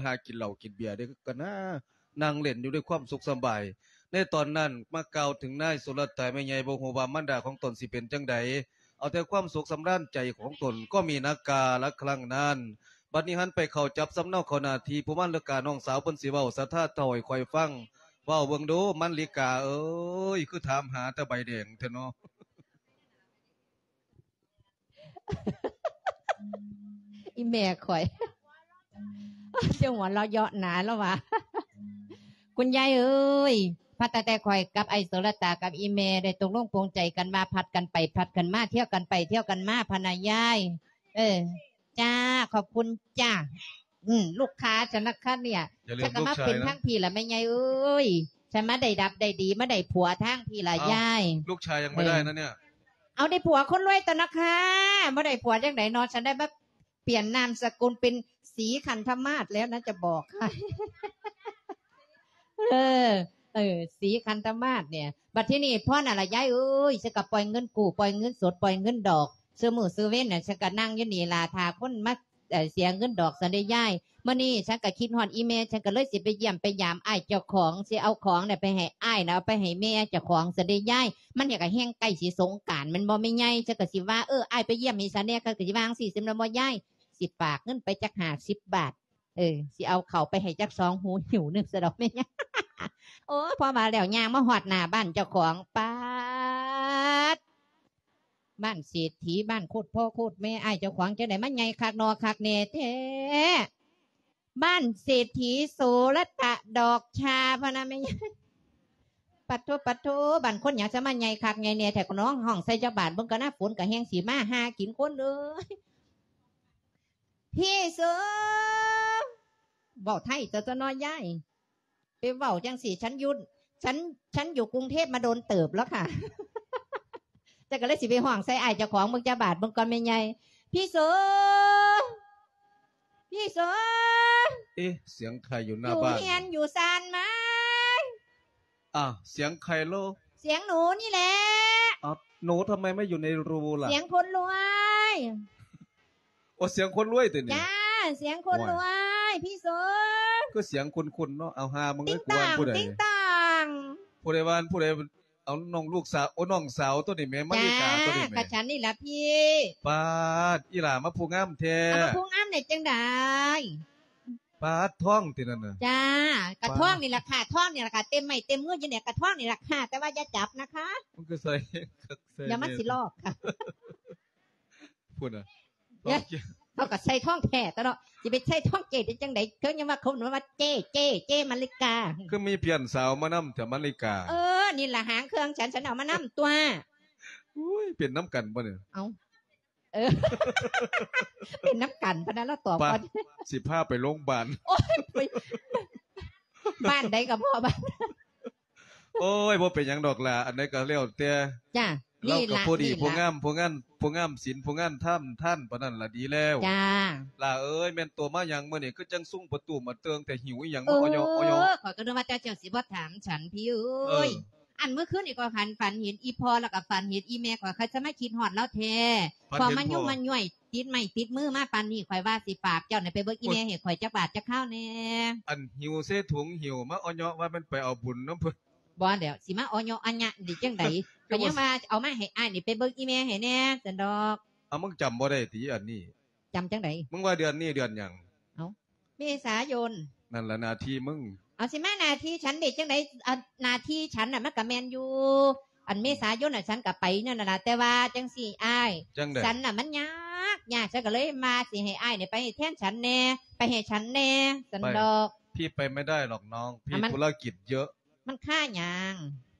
ຫາກິນເຫຼົ້າກິນເບຍເດ້ ກໍນາ ນັ່ງຫຼິ້ນຢູ່ດ້ວຍຄວາມສຸກສະບາຍ. ໃນຕອນນັ້ນມາກ່າວເຖິງນາຍໂສລະຕາແມ່ໃຫຍ່ ບໍ່ຮູ້ວ່າມານດາຂອງຕົນຊິເປັນຈັ່ງໃດ, ເອົາແຕ່ຄວາມສຸກສຳລານໃຈຂອງຕົນກໍມີນາກາລະຄັ້ງນັ້ນ. ບັດນີ້ຫັນໄປເຂົ້າຈັບສຳເນົາເຂົ້າໜ້າທີ່ ຜູ້ມານລິການ້ອງສາວເພິ່ນຊິເວົ້າສະທ້າເລົ່າໃຫ້ຂ້ອຍຟັງ. ເວົ້າເບິ່ງດູ ມານລິກາເອີຍ ຄືຖາມຫາແຕ່ໃບແດງແທ້ເນາະ. ອີແມ່ຂ້ອຍ ຈະຫົວເລາະເຍາະໜາລາວວ່າ ຄຸນຍາຍເອີຍ ພັດຕັ້ງແຕ່ຂ້ອຍກັບໄອ້ໂສລະຕາກັບອີແມ່ໄດ້ຕົກລົງປົງໃຈກັນວ່າ ຜັດກັນໄປຜັດກັນມາ ທ່ຽວກັນໄປທ່ຽວກັນມາພະນາຍາຍ. ເອີ ຈ້າ ຂອບຄຸນຈ້າ. ອືມ ລູກຄ້າຊັ້ນນະຄັບເນຍ. ຈັ່ງກໍມາເປັນທາງພີ້ລະແມ່ໃຫຍ່ເອີຍ. ຊັ້ນມາໄດ້ດັບໄດ້ດີ ມາໄດ້ຜົວທາງພີ້ລະຍາຍ. ເອົ້າ ລູກຊາຍຍັງໄມ່ໄດ້ນະເນຍ. ເອີ ເອົາ ໄດ້ຜົວຄົນລວຍຕົວະນະຄ່າ. ບໍ່ໄດ້ຜົວຈັ່ງໃດເນາະ ຊັ້ນໄດ້ມາປ່ຽນນາມສະກຸນເປັນສີຄັນທະມາດແລ້ວນະ ຈະບອກໃຫ້. ເອີ ເອີ ສີຄັນທະມາດເນຍ. ບັດທີນີ້ພໍນັ້ນລະຍາຍເອີຍ ຊັ້ນກໍປ່ອຍເງິນກູ້ ປ່ອຍເງິນສົດ ປ່ອຍເງິນດອກ ຊື່ມື້ຊື່ເວັນນະ. ຊັ້ນກໍນັ່ງຢູ່ນີ້ລະ ຖ້າຄົນມາ ເອີ ເສຍເງິນດອກຊັ້ນເດ້ຍາຍ. ມື້ນີ້ຊັ້ນກໍຄິດຮອດອີແມ່ ຊັ້ນກໍເລີຍຊິໄປຢ້ຽມໄປຢາມອ້າຍເຈົ້າຂອງ ຊິເອົາຂອງນະໄປໃຫ້ອ້າຍນະ ເອົາໄປໃຫ້ແມ່ເຈົ້າຂອງຊັ້ນເດ້ຍາຍ. ມັນກໍແຮ່ງໃກ້ຊິສົງການແມ່ນບໍ່ແມ່ໃຫຍ່? ຊັ້ນກໍຊິວ່າ ເອີ ອ້າຍໄປຢ້ຽມໃຫ້ຊັ້ນແດ່ ຂ້ອຍກໍຊິວ່າຈັ່ງຊີ້ຊັ້ນແມ່ນບໍ່ຍາຍ? ຊິຝາກເງິນໄປຈັກຫ້າສິບບາດ ເອີ ຊິເອົາເຂົ້າໄປໃຫ້ຈັກສອງຫູຫິ້ວໜຶ່ງຊະດອກແມ່ໃຫຍ່. ໂອ້ ພໍວ່າແລ້ວຍ່າງມາຮອດໜ້າບ້ານເຈົ້າຂອງ ປາດ ບ້ານເສດຖີ ບ້ານໂຄດພໍ່ໂຄດແມ່ ອ້າຍເຈົ້າຂອງຈັ່ງໃດມາໃຫຍ່ຄັກໜໍ່ຄັກແນ່ແທ້ ບ້ານເສດຖີໂສລະຕະດອກຊາ ພະນະແມ່ໃຫຍ່. ປະໂທ ປະໂທ ບ້ານຄົນຫຍັງຊະມາໃຫຍ່ຄັກໃຫຍ່ແນ່ແທ້ ກໍນ້ອງຮ້ອງໃສ່ຈັກບາດເບິ່ງກ່ອນນະ ຝົນກໍແຮ່ງຊິມາ ຫາກິນຄົນເອີຍ. ພີ່ເສີ ເວົ້າໄທຕົວະເນາະຍາຍ. ໄປເວົ້າຈັ່ງຊີ້ ສັນຢູ່ ສັນ ສັນຢູ່ກຸງເທບມາດົນເຕີບແລ້ວຄ່ະ. ຈັກກໍເລີຍຊິໄປຮ້ອງໃສ່ອ້າຍເຈົ້າຂອງເບິ່ງຈັກບາດເບິ່ງກ່ອນແມ່ໃຫຍ່. ພີ່ເສີ ພີ່ເສີ ເອະ ສຽງໃຜຢູ່ໜ້າບ້ານ? ຢູ່ເຮືອນຢູ່ຊານໄໝ? ອ້າວ ສຽງໃຜໂລ? ສຽງໜູນີ້ແຫຼະ. ອ້າວ ໜູທຳໄມມາຢູ່ໃນຮູລະ? ສຽງຄົນລວຍ. ໂອ ສຽງຄົນລວຍຕິນີ້? ຈ້າ ສຽງຄົນລວຍ ພີ່ເສີ. ຄືສຽງຄຸ້ນໆເນາະ. ເອົາ ຫາມຶງເອີຍ ກູວ່າຜູ້ໃດ? ຕິງຕ່າງ ຕິງຕ່າງ. ຜູ້ໃດວ່າ ຜູ້ໃດ? ເອົາ ນ້ອງລູກສາວ ໂອ ນ້ອງສາວຕົວນີ້ແໝ ມາລິກາຕົວນີ້ແໝ. ກະສັນນີ້ລະພີ່. ປາດ ອີຫຼ້າມາຜູ້ງາມແທ້. ເອົາ ມາຜູ້ງາມໄດ້ຈັ່ງໃດ? ປາດ ທ້ອງຕິນັ້ນນະ? ຈ້າ ກະທ້ອງນີ້ລະຄ່ະ ທ້ອງນີ້ລະຄ່ະ ເຕັມໄມ້ເຕັມມືຢູ່ນີ້ ກະທ້ອງນີ້ລະຄ່ະ ແຕ່ວ່າຢ່າຈັບນະຄະ. ມັນຄືໃສ່ ໃສ່ ດຽວມັນຊິລອກຄ່ະ. ພຸ້ນນະ ເຂົາກໍໃສ່ທອງແທ້ຕົວະເນາະ ຊິໄປໃສ່ທອງເຈ້ໄດ້ຈັ່ງໃດ? ເຄີຍຍິນວ່າເຂົາເອີ້ນວ່າເຈ້ ເຈ້ ເຈ້ມາລິກາ. ຄືມີເພື່ອນສາວມານຳແທ້ມາລິກາ? ເອີ ນີ້ລະຫາງເຄື່ອງ ສັນ ສັນເອົາມານຳຕົວະ. ໂອ້ຍ ເປັນນຳກັນບໍ່ນີ້? ເອົ້າ ເອີ ເປັນນຳກັນພະນະ ລາວຕອບກ່ອນ. ຊິພາໄປໂລງບານ. ໂອ້ຍ ໄປ ບ້ານໃດກໍພໍບ້ານ. ໂອ້ຍ ບໍ່ເປັນຫຍັງດອກຫຼ້າ ອັນໃດກໍແລ້ວແຕ່. ຈ້າ ລາວກໍຜູ້ດີ ນີ້ລະ ຜູ້ງາມ ຜູ້ງາມ ຜູ້ງາມສິນ ຜູ້ງາມທຳ ທ່ານປານນັ້ນລະດີແລ້ວ. ຈ້າ ຫຼ້າເອີຍ ແມ່ນໂຕມາຫຍັງມື້ນີ້ ຄືຈັ່ງຊຸງປະຕູມາເຕີງແທ້ ຫິວອີ່ຫຍັງມາ ເອີ ອອຍອອຍ? ຂ້ອຍກໍນຶກວ່າເຈົ້າ ເຈົ້າຊິບໍ່ຖາມສັນ ພີ່ເອີຍ. ເອີ ອັນມື້ຄືນນີ້ຂ້ອຍຝັນ ຝັນເຫັນອີ່ພໍ່ ແລ້ວກໍຝັນເຫັນອີ່ແມ່ຂ້ອຍ ຂ້ອຍສະມາຄິດຮອດລາວແທ້. ພໍ່ມາຫຍຸ້ງມາຫຍ້ວຍ ຕິດໄມ້ຕິດມືມາປານນີ້ ຂ້ອຍວ່າຊິຝາກເຈົ້ານີ້ໄປເບິ່ງອີ່ແມ່ໃຫ້ຂ້ອຍຈັກບາດຈັກຄາວແດ່. ອັນຫິວເຊຖົງຫິວມາເອາະເຍາະວ່າແມ່ນໄປເອົາບຸນນຳເພິ່ນ. ບໍ່ແລ້ວ ຊິມາເອາະເຍາະອະຍະນີ້ຈັ່ງໃດ? ກໍຍັງວ່າເອົາມາໃຫ້ອ້າຍນີ້ໄປເບິ່ງອີ່ແມ່ໃຫ້ແດ່ຊັ້ນດອກ. ເອົາ ມຶງຈຳບໍ່ໄດ້ຕິອັນນີ້? ຈຳຈັ່ງໃດ? ມຶງວ່າເດືອນນີ້ເດືອນຫຍັງ? ເອົ້າ ເມສາຍົນ. ນັ້ນລະໜ້າທີ່ມຶງ. ເອົາ ຊິມາໜ້າທີ່ສັນໄດ້ຈັ່ງໃດ? ອັນໜ້າທີ່ສັນນະມັນກະແມ່ນຢູ່ ອັນເມສາຍົນນະສັນກະໄປນັ້ນລະ ແຕ່ວ່າຈັ່ງຊີ້ອ້າຍ ຈັ່ງໃດ? ສັນນະມັນຍາກ ຍາກ ສັນກະເລີຍວ່າຊິໃຫ້ອ້າຍນີ້ໄປແທນສັນແດ່ ໄປໃຫ້ສັນແດ່ ສັນດອກ. ພີ່ໄປໄມ່ໄດ້ຫຼອກນ້ອງ ພີ່ທຸລະກິດເຍີະ. ມັນຄາຫຍັງ?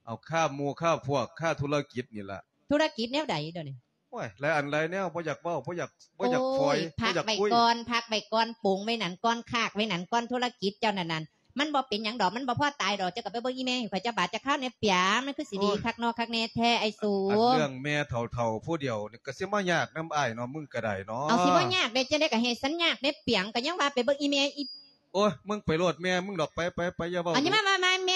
ເອົາ ຄາໝູ່ຄາພວກ ຄາທຸລະກິດນີ້ລະ. ທຸລະກິດແນວໃດດຽວນີ້? ໂອ້ຍ ຫຼາຍອັນຫຼາຍແນວ ບໍ່ຢາກເວົ້າ ບໍ່ຢາກ ບໍ່ຢາກຟອຍ ໂອ້ຍ ພັກໄວ້ກ່ອນ ພັກໄວ້ກ່ອນ ປົງໄວ້ນັ້ນກ່ອນ ຄາກໄວ້ນັ້ນກ່ອນ ທຸລະກິດເຈົ້ານັ້ນນັ້ນ ມັນບໍ່ເປັນຫຍັງດອກ ມັນບໍ່ພໍຕາຍດອກ. ເຈົ້າກໍໄປເບິ່ງອີ່ແມ່ໃຫ້ຂ້ອຍຈັກບາດຈັກຄາວແດ່ ປຽງ ມັນຄືຊິດີຄັກເນາະ ໂອ້ຍ ຄັກແນ່ແທ້ ໄອ້ສູ. ອັນເລື່ອງແມ່ເຖົ້າໆຜູ້ດຽວນີ້ ກໍຊິມາຍາກນຳອ້າຍເນາະ ມຶງກໍໄດ້ເນາະ. ເອົາ ຊິບໍ່ຍາກໄດ້ຈັ່ງໃດ ກໍເຮັດສັນຍາກແດ່ ປຽງ ກໍຍັງວ່າໄປເບິ່ງອີ່ແມ່ອີ່ ໂອ້ຍ ມຶງໄປໂລດແມ່ມຶງດອກ ໄປ ໄປ ໄປ ຢ່າເວົ້າ. ອັນນີ້ມາ ມາ ມາ ແມ່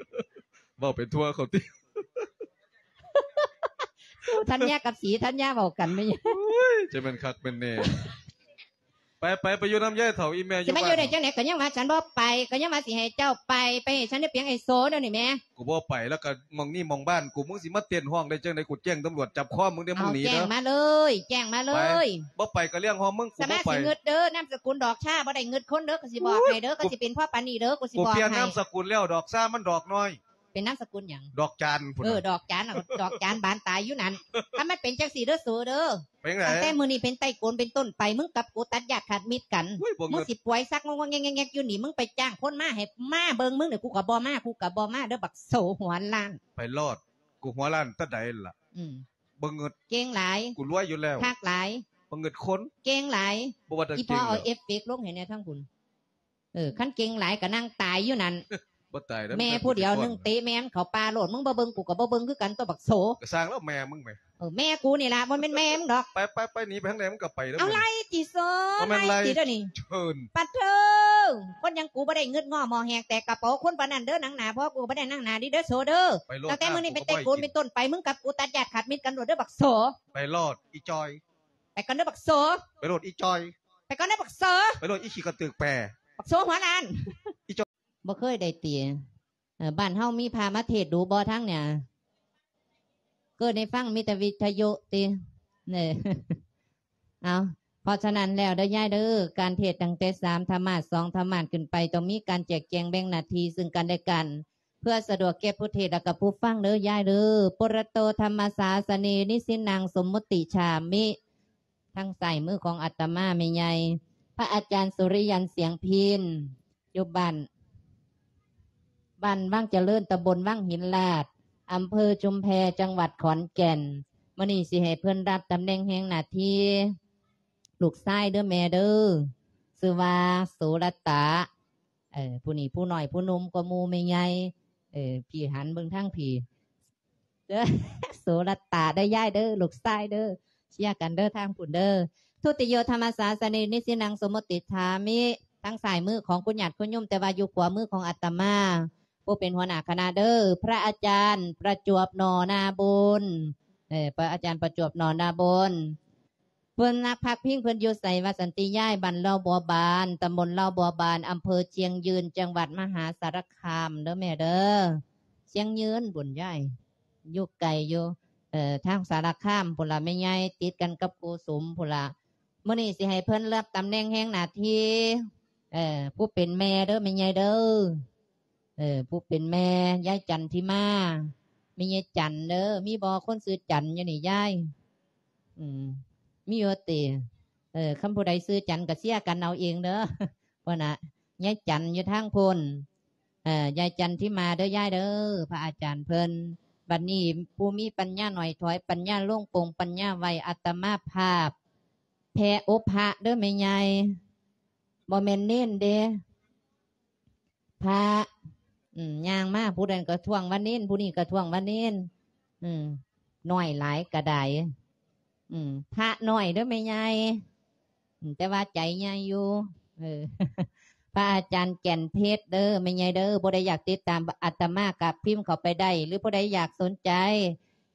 ເວົ້າໄປທົ່ວເຂົາຕິ. ໂອ້ ທັນຍາກັບສີທັນຍາເວົ້າກັນແມ່ນຫຍັງ? ໂອ້ຍ ຈະແມ່ນຄັກແມ່ນແນ່. ໄປ ໄປ ໄປຢູ່ນຳຍາຍເຖົ້າອີ່ແມ່ຢູ່ບ້ານ. ຊິມາຢູ່ໄດ້ຈັ່ງໃດ? ກໍຍັງວ່າສັນບໍ່ໄປ ກໍຍັງວ່າຊິໃຫ້ເຈົ້າໄປ ໄປໃຫ້ສັນໄດ້ປຽງໄອ້ໂສດຽວນີ້ແໝ. ກູບໍ່ໄປ ແລ້ວກໍໝ່ອງນີ້ໝ່ອງບ້ານກູ ມຶງຊິມາເຕັ້ນຮ້ອງໄດ້ຈັ່ງໃດ? ກູແຈ້ງຕຳຫຼວດຈັບຄໍມຶງເດີ້ ມຶງໜີເດີ້. ແຈ້ງມາເລີຍ ແຈ້ງມາເລີຍ. ບໍ່ໄປກໍເລື່ອງຂອງມຶງ ກູບໍ່ໄປ. ສາມາດຊິງຶດເດີ້ ນາມສະກຸນດອກຊາ ບໍ່ໄດ້ງຶດຄົນເດີ ກໍຊິບອກໃຫ້ເດີ. ໂອ້ຍ ກໍຊິເປັນພໍປານນີ້ເດີ ກູຊິບອກໃຫ້. ກູປ່ຽນນາມສະກຸນແລ້ວ ດອກຊາມັນດອກນ້ອຍ. ເປັນນາມສະກຸນຫຍັງ? ດອກຈານພຸ້ນ. ເອີ ດອກຈານ ດອກຈານບານຕາຍຢູ່ນັ້ນ. ຖ້າມັນເປັນຈັ່ງຊີ້ເດີໂສເດີ. ເປັນຈັ່ງໃດ? ຕັ້ງແຕ່ມື້ນີ້ເປັນຕົ້ນໄປ ກູເປັນຕົ້ນໄປ ມຶງກັບກູຕັດຍາດຂາດມິດກັນ. ໂອ້ຍ ບໍ່ງຶດ. ມຶງຊິປ່ວຍຊັກງອກໆແງກໆຢູ່ນີ້ ມຶງໄປຈ້າງຄົນມາໃຫ້ມາເບິ່ງມຶງນີ້ ກູກໍບໍ່ມາ ກູກໍບໍ່ມາເດີ ບັກໂສຫົວລ້ານ. ໄປໂລດ ກູຫົວລ້ານແຕ່ໃດລະ? ອືມ ບໍ່ງຶດ. ເກັ່ງຫຼາຍ. ກູລວຍຢູ່ແລ້ວ. ຄັກຫຼາຍ. ບໍ່ງຶດຄົນ. ເກັ່ງຫຼາຍ. ບໍ່ວ່າແຕ່ ອີ່ພໍ່ເກັ່ງ ເອົາເອັຟເຟັກລົງໃຫ້ແດ່ທາງພຸ້ນ. ເອີ ຄັນເກັ່ງຫຼາຍກໍນັ່ງຕາຍຢູ່ນັ້ນ. ບໍ່ຕາຍເດີ້ ແມ່ຜູ້ດຽວໜຶ່ງ ເຕະແມ່ມັນເຂົ້າປ່າໂລດ. ມຶງບໍ່ເບິ່ງ ກູກໍບໍ່ເບິ່ງຄືກັນຕົວະບັກໂສ. ກໍຊ່າງແລ້ວແມ່ມຶງແໝ. ເອີ ແມ່ກູນີ້ລະ ບໍ່ແມ່ນແມ່ມຶງດອກ. ໄປ ໄປ ໄປ ໜີໄປທາງໃດ ມຶງກໍໄປເດີ້. ເອົາ ໄລ່ຕິໂສ. ບໍ່ແມ່ນໄລ່ ໄລ່ຕິເດີນີ້. ເຊີນ ປັດເທີ ຄົນຢ່າງກູບໍ່ໄດ້ງຶດງໍ້ໝໍ້ແຫກແຕກກະເປົາຄົນປານນັ້ນເດີ. ນັ່ງໜ້າພໍ່ກູບໍ່ໄດ້ນັ່ງໜ້າດີເດີໂສເດີ. ໄປໂລດ. ຕັ້ງແຕ່ມື້ນີ້ເປັນແຕ່ກູເປັນຕົ້ນໄປ ມຶງກັບກູຕັດຍາດຂາດມິດກັນໂລດເດີບັກໂສ. ໄປໂລດ ອີ່ຈ່ອຍ. ໄປກ່ອນເດີບັກໂສ. ໄປໂລດ ອີ່ຈ່ອຍ. ໄປກ່ອນເດີບັກໂສ. ໄປໂລດ ອີ່ຂີ້ກະຕຶກແປ. ບັກໂສຫົວລ້ານ ອີ່ຈ່ອຍ. ບໍ່ເຄີຍໄດ້ຕິ? ເອີ ບ້ານເຮົາມີພະມາເທດດູບໍ່ທາງເໜືອ? ເກີດໄດ້ຟັງມີແຕ່ວິທະຍຸຕິ? ເອີ ເອົາ ເພາະສະນັ້ນແລ້ວເດີຍາຍເດີ ການເທດຕັ້ງແຕ່ສາມທຳມາດ ສອງທຳມາດຂຶ້ນໄປ ຕ້ອງມີການແຈກແຈງແບ່ງໜ້າທີ່ຊຶ່ງກັນແລະກັນ ເພື່ອສະດວກແກ່ຜູ້ເທດ ແລະກະຜູ້ຟັງເດີຍາຍເດີ. ປຸຣະໂຕທຳມະສາສະເນ ນິຊິນັງ ສົມມຸດຕິຈາມິ. ທາງຊ້າຍມືຂອງອາດຕະມາແມ່ໃຫຍ່ ພະອາຈານສຸລິຍັນ ສຽງພິນ ຢູ່ບ້ານ ບ້ານວັງຈະເລີນ ຕຳບົນວັງຫີນລາດ ອຳເພີຊຸມແພ ຈັງຫວັດຂອນແກ່ນ. ມື້ນີ້ຊິໃຫ້ເພິ່ນຮັບຕຳແໜ່ງແຫ່ງໜ້າທີ່ ລູກຊາຍເດີແມ່ເດີ ຊື່ວ່າໂສລະຕະ. ເອີ ຜູ້ນີ້ຜູ້ນ້ອຍຜູ້ໜຸ່ມກວ່າໝູ່ແມ່ໃຫຍ່. ເອີ ພີ່ຫັນເບິ່ງທາງພີ້ ເດີ ໂສລະຕະເດີຍາຍເດີ ລູກຊາຍເດີ ເຊຍກັນເດີທາງພຸ້ນເດີ. ທຸຕິໂຍທຳມະສາສະເນ ນິຊິນັງ ສົມມຸດຕິຈາມິ. ທາງຊ້າຍມືຂອງຄຸນຍາດຄຸນໂຍມ ແຕ່ວ່າຢູ່ຂວາມືຂອງອາດຕະມາ ຜູ້ເປັນຫົວໜ້າຄະນະເດີ ພະອາຈານປະຈວບ ໜໍ່ນາບຸນ. ເອີ ພະອາຈານປະຈວບ ໜໍ່ນາບຸນ. ເພິ່ນນັກພັກພິງເພິ່ນຢູ່ໃສວ່າຊັ້ນຕິຍາຍ? ບ້ານເລົ່າບົວບານ ຕຳບົນເລົ່າບົວບານ ອຳເພີຊຽງຍືນ ຈັງຫວັດມະຫາສາລະຄາມເດີແມ່ເດີ. ຊຽງຍືນພຸ້ນຍາຍ ຢູ່ໄກຢູ່ ເອີ ທາງສາລະຄາມພຸ້ນລະແມ່ໃຫຍ່ ຕິດກັນກັບໂກສຸມພຸ້ນລະ. ມື້ນີ້ຊິໃຫ້ເພິ່ນເລືອກຕຳແໜ່ງແຫ່ງໜ້າທີ່ ເອີ ຜູ້ເປັນແມ່ເດີແມ່ໃຫຍ່ເດີ. ເອີ ຜູ້ເປັນແມ່ ຍາຍຈັນທິມາ ແມ່ໃຫຍ່ຈັນເດີ. ມີບໍ່ຄົນຊື່ຈັນຢູ່ນີ້ຍາຍ? ອືມ ມີຢູ່ຕິ? ເອີ ຄັນຜູ້ໃດຊື່ຈັນກໍເຊຍກັນເອົາເອງເດີ. ພຸ້ນນະ ຍາຍຈັນຢູ່ທາງພຸ້ນ. ເອີ ຍາຍຈັນທິມາເດີຍາຍເດີ ພະອາຈານເພິ່ນ. ບັດນີ້ຜູ້ມີປັນຍາໜ້ອຍຖອຍ ປັນຍາລົງປົງ ປັນຍາໄວ ອາດຕະມາພາບ ແຜ່ອົບພະເດີແມ່ໃຫຍ່ ບໍ່ແມ່ນເນນເດ ພະ. ອືມ ຍ່າງມາ ຜູ້ນັ້ນກໍທ້ວງວ່າເນນ ຜູ້ນີ້ກໍທ້ວງວ່າເນນ. ອືມ ນ້ອຍຫຼາຍກະດາຍ. ອືມ ພະນ້ອຍເດີແມ່ໃຫຍ່. ອືມ ແຕ່ວ່າໃຈໃຫຍ່ຢູ່. ເອີ ພະອາຈານແກ່ນເພັດເດີແມ່ໃຫຍ່ເດີ. ຜູ້ໃດຢາກຕິດຕາມອາດຕະມາກໍພິມເຂົ້າໄປໄດ້ ຫຼືຜູ້ໃດຢາກສົນໃຈ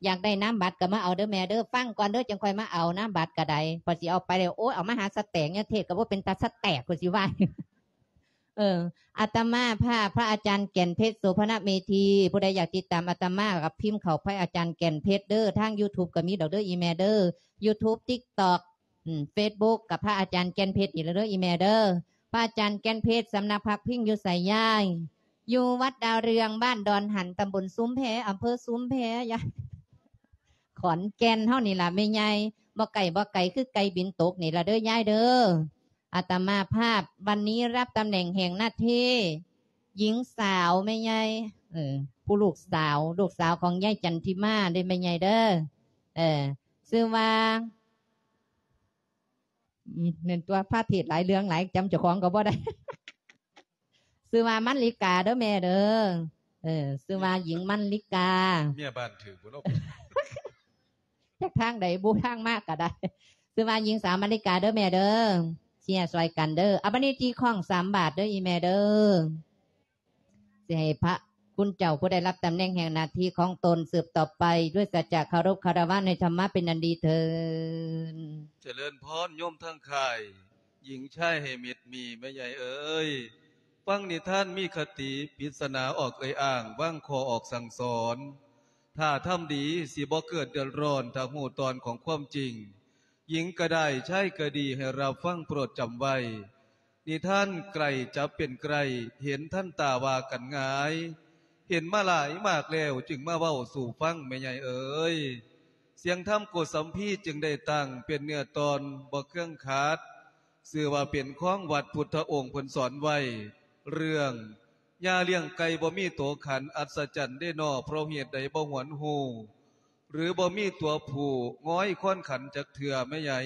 ຢາກໄດ້ນາມບັດກໍມາເອົາເດີແມ່ເດີ. ຟັງກ່ອນເດີ ຈັ່ງຄ່ອຍມາເອົານາມບັດກໍໄດ້. ພໍຊິເອົາໄປແລ້ວ ໂອ້ຍ ເອົາມາຫາສະແຕກ ຍາເທດກໍບໍ່ເປັນຕາສະແຕກ ຂ້ອຍຊິວ່າ. ເອີ ອາດຕະມາພາບ ພະອາຈານແກ່ນເພັດ ໂສພະນະເມທີ. ຜູ້ໃດຢາກຕິດຕາມອາດຕະມາກໍພິມເຂົ້າ ພະອາຈານແກ່ນເພັດເດີ. ທາງຢູທູບກໍມີດອກເດີ ອີ່ແມ່ເດີ. ຢູທູບ ຕິກຕັອກ ອືມ ເຟສບຸກ ກັບພະອາຈານແກ່ນເພັດນີ້ລະເດີ ອີ່ແມ່ເດີ. ພະອາຈານແກ່ນເພັດ ສຳນັກພັກພິງຢູ່ໃສຍາຍ? ຢູ່ວັດດາວເຮືອງ ບ້ານດອນຫັນ ຕຳບົນຊຸມແພ ອຳເພີຊຸມແພ ຍາຍ ຂອນແກ່ນເຮົານີ້ລະແມ່ໃຫຍ່. ບໍ່ໄກ ບໍ່ໄກ ຄືໄກ່ບິນຕົກນີ້ລະເດີຍາຍເດີ. ອາດຕະມາພາບ ວັນນີ້ຮັບຕຳແໜ່ງແຫ່ງໜ້າທີ່ ຍິງສາວແມ່ໃຫຍ່ ເອີ ຜູ້ລູກສາວ ລູກສາວຂອງຍາຍຈັນທິມາເດ້ແມ່ໃຫຍ່ເດີ. ເອີ ຊື່ວ່າ ອືມ ແມ່ນຕົວະ ພາເທດຫຼາຍເລື່ອງຫຼາຍ ຈຳເຈົ້າຂອງກໍບໍ່ໄດ້. ຊື່ວ່າມັນລິກາເດີແມ່ເດີ. ເອີ ຊື່ວ່າຍິງມັນລິກາ. ເມຍບ້ານຖືກບໍ່ເນາະ? ຈາກທາງໃດບຸ ທາງມາກໍໄດ້. ຊື່ວ່າຍິງສາວມັນລິກາເດີແມ່ເດີ. ເຊຍຊ່ອຍກັນເດີ. ອາ ບັດນີ້ຕີຄ້ອງສາມບາດເດີອີ່ແມ່ເດີ. ຊິໃຫ້ພະຄຸນເຈົ້າຜູ້ໄດ້ຮັບຕຳແໜ່ງແຫ່ງໜ້າທີ່ຂອງຕົນສືບຕໍ່ໄປ ດ້ວຍສັດຈະເຄົາລົບຄາລະວະໃນທຳມະເປັນອັນດີເທີນ. ຈະເລີນພອນໂຍມທັງຄ້າຍ ຍິງຊາຍໃຫ້ມິດມີແມ່ໃຫຍ່ເອີຍ. ຟັງນິທານມີຄະຕິ ປິດສະໜາອອກເອີ່ຍອ້າງ ວາງຂໍ້ອອກສັ່ງສອນ. ຖ້າທຳດີ ຊິບໍ່ເກີດເດືອດຮ້ອນ ຖ້າຮູ້ຕອນຂອງຄວາມຈິງ. ຍິງກໍໄດ້ ຊາຍກໍດີ ໃຫ້ຮັບຟັງໂປດຈຳໄວ້. ນິທານໃກ້ຈະເປັນໃກ້ ເຫັນທັນຕາວ່າກັນງ່າຍ. ເຫັນມາຫຼາຍມາກແລ້ວ ຈຶ່ງມາເວົ້າສູ່ຟັງແມ່ໃຫຍ່ເອີຍ. ສຽງທຳໂກສັມພີຈຶ່ງໄດ້ຕັ້ງ ເປັນເນື້ອຕອນບໍ່ເຄື່ອງຂັດ. ຊື່ວ່າເປັນຂອງວັດ ພຸດທະອົງເພິ່ນສອນໄວ້ ເລື່ອງ ຍ່າລ້ຽງໄກ່ບໍ່ມີໂຕຂັນ ອັດສະຈັນເດນໍ ເພາະເຫດໃດບໍ່ຫວນຮູ້ ຫຼືບໍ່ມີຕົວຜູ້ງອຍຄວນຂັນຈັກເທື່ອແມ່ໃຫຍ່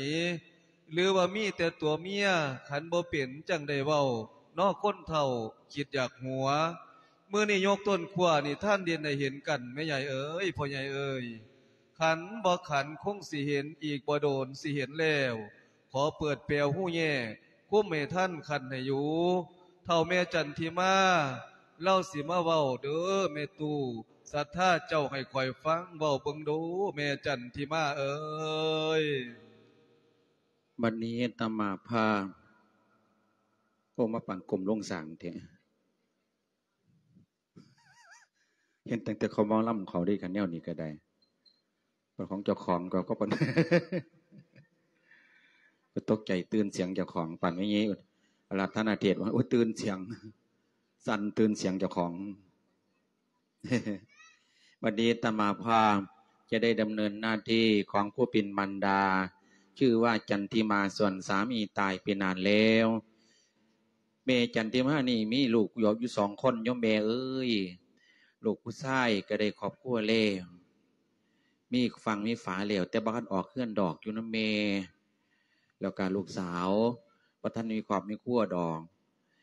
ຫຼືວ່າມີແຕ່ຕົວເມຍ ຂັນບໍ່ເປັນຈັ່ງໄດ້ເວົ້າ ເນາະຄົນເຖົ້າຄິດຢາກຫົວ. ມື້ນີ້ຍົກຕົ້ນຂົ້ວນິທານເດັ່ນໃຫ້ເຫັນກັນແມ່ໃຫຍ່ເອີຍ ພໍ່ໃຫຍ່ເອີຍ. ຂັນບໍ່ຂັນຄົງຊິເຫັນ ອີກບໍ່ດົນຊິເຫັນແລ້ວ. ຂໍເປີດແປວຮູແຍກ ຄຸມໃຫ້ທັນຂັນໃຫ້ຢູ່. ເຖົ້າແມ່ຈັນທິມາ ລາວຊິມາເວົ້າເດີແມ່ຕູ້. ສັດທາເຈົ້າໃຫ້ຂ້ອຍຟັງ ເວົ້າເບິ່ງດູແມ່ຈັນທິມາເອີຍ. ບັດນີ້ອາດຕະມາພາບ ໂອ້ ມາປານກົມລົງສ້າງແທ້. ເຫັນຕັ້ງແຕ່ເຂົາໝໍລຳເຂົາເດ້ ຄັນແນວນີ້ກໍໄດ້. ເປັນຂອງເຈົ້າຂອງກໍ ກໍປານ ກໍຕົກໃຈຕື່ນສຽງເຈົ້າຂອງ ປານແມ່ເຍອາລາທະນາເທດວ່າ ໂອ້ຍ ຕື່ນສຽງ ສັ່ນຕື່ນສຽງເຈົ້າຂອງ. ບັດນີ້ອາດຕະມາພາບຈະໄດ້ດຳເນີນໜ້າທີ່ຂອງຜູ້ເປັນມານດາ ຊື່ວ່າຈັນທິມາ ສ່ວນສາມີຕາຍໄປນານແລ້ວ. ແມ່ຈັນທິມານີ້ມີລູກຢູ່ສອງຄົນໂຍມແມ່ເອີຍ. ລູກຜູ້ຊາຍກໍໄດ້ຄອບຄົວແລ້ວ ມີຝັ່ງມີຝາແລ້ວ ແຕ່ບໍ່ທັນອອກເຮືອນດອກ ຢູ່ນຳແມ່. ແລ້ວກໍລູກສາວບໍ່ທັນມີຄອບມີຄົວດອກ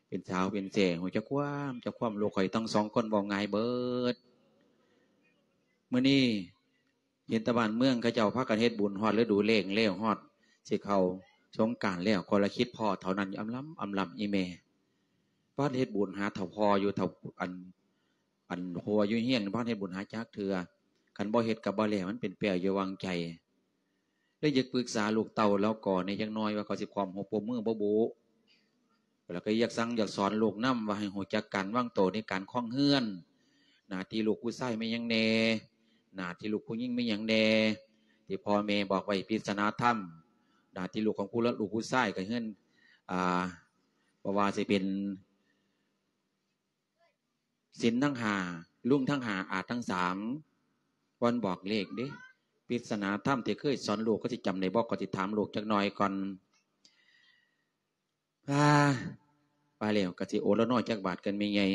ເປັນສາວເປັນແສ້ ຮູ້ຈັກຄວາມ ຈັກຄວາມ. ລູກຂ້ອຍທັງສອງຄົນເວົ້າງ່າຍເບີດ. ມື້ນີ້ ເຫັນແຕ່ບ້ານເມືອງເຂົາເຈົ້າພາກັນເຮັດບຸນ ຮອດລະດູແລ້ງແລ້ວ ຮອດຊິເຂົ້າສົງການແລ້ວ ຂ້ອຍລະຄິດພໍ້ເທົ່ານັ້ນ ອຳລຳ ອຳລຳອີ່ແມ່. ພາກັນເຮັດບຸນຫາເຖົ້າພໍ່ຢູ່ ເຖົ້າ ອັນ ອັນຜົວຢູ່ເຮືອນ ພາກັນເຮັດບຸນຫາຈັກເທື່ອ. ຄັນບໍ່ເຮັດກໍບໍ່ແລ້ວ ມັນເປັນແປ້ວຢູ່ຫວ່າງໃຈ. ເລີຍຢາກປຶກສາລູກເຕົ້າລາວກໍແດ່ຈັກໜ່ອຍ ວ່າເຂົາຊິພ້ອມຮູ້ປົບມືບໍ່ບຸ. ແລ້ວກໍຢາກສັ່ງຢາກສອນລູກນຳ ວ່າໃຫ້ຮູ້ຈັກການວາງໂຕໃນການຄອງເຮືອນ. ໜ້າທີ່ລູກຜູ້ຊາຍມີຫຍັງແດ່ ໜ້າທີ່ລູກຜູ້ຍິງມີຫຍັງແດ່ ທີ່ພໍ່ແມ່ບອກໄວ້ ພິຈາລະນາທຳ. ໜ້າທີ່ລູກຂອງຜູ້ລະ ລູກຜູ້ຊາຍກໍເຮືອນ ອ່າ ບໍ່ວ່າຊິເປັນ ສິນທັງຫ້າ ລຸງທັງຫ້າ ອາດທັງສາມ ວັນບອກເລກເດ້. ພິຈາລະນາທຳທີ່ເຄີຍສອນລູກ ເຂົາຊິຈຳໄດ້ບໍ່? ກໍຊິຖາມລູກຈັກໜ່ອຍກ່ອນ. ອາ ວ່າແລ້ວກໍຊິໂອລະນໍຈັກບາດກັນແມ່ໃຫຍ່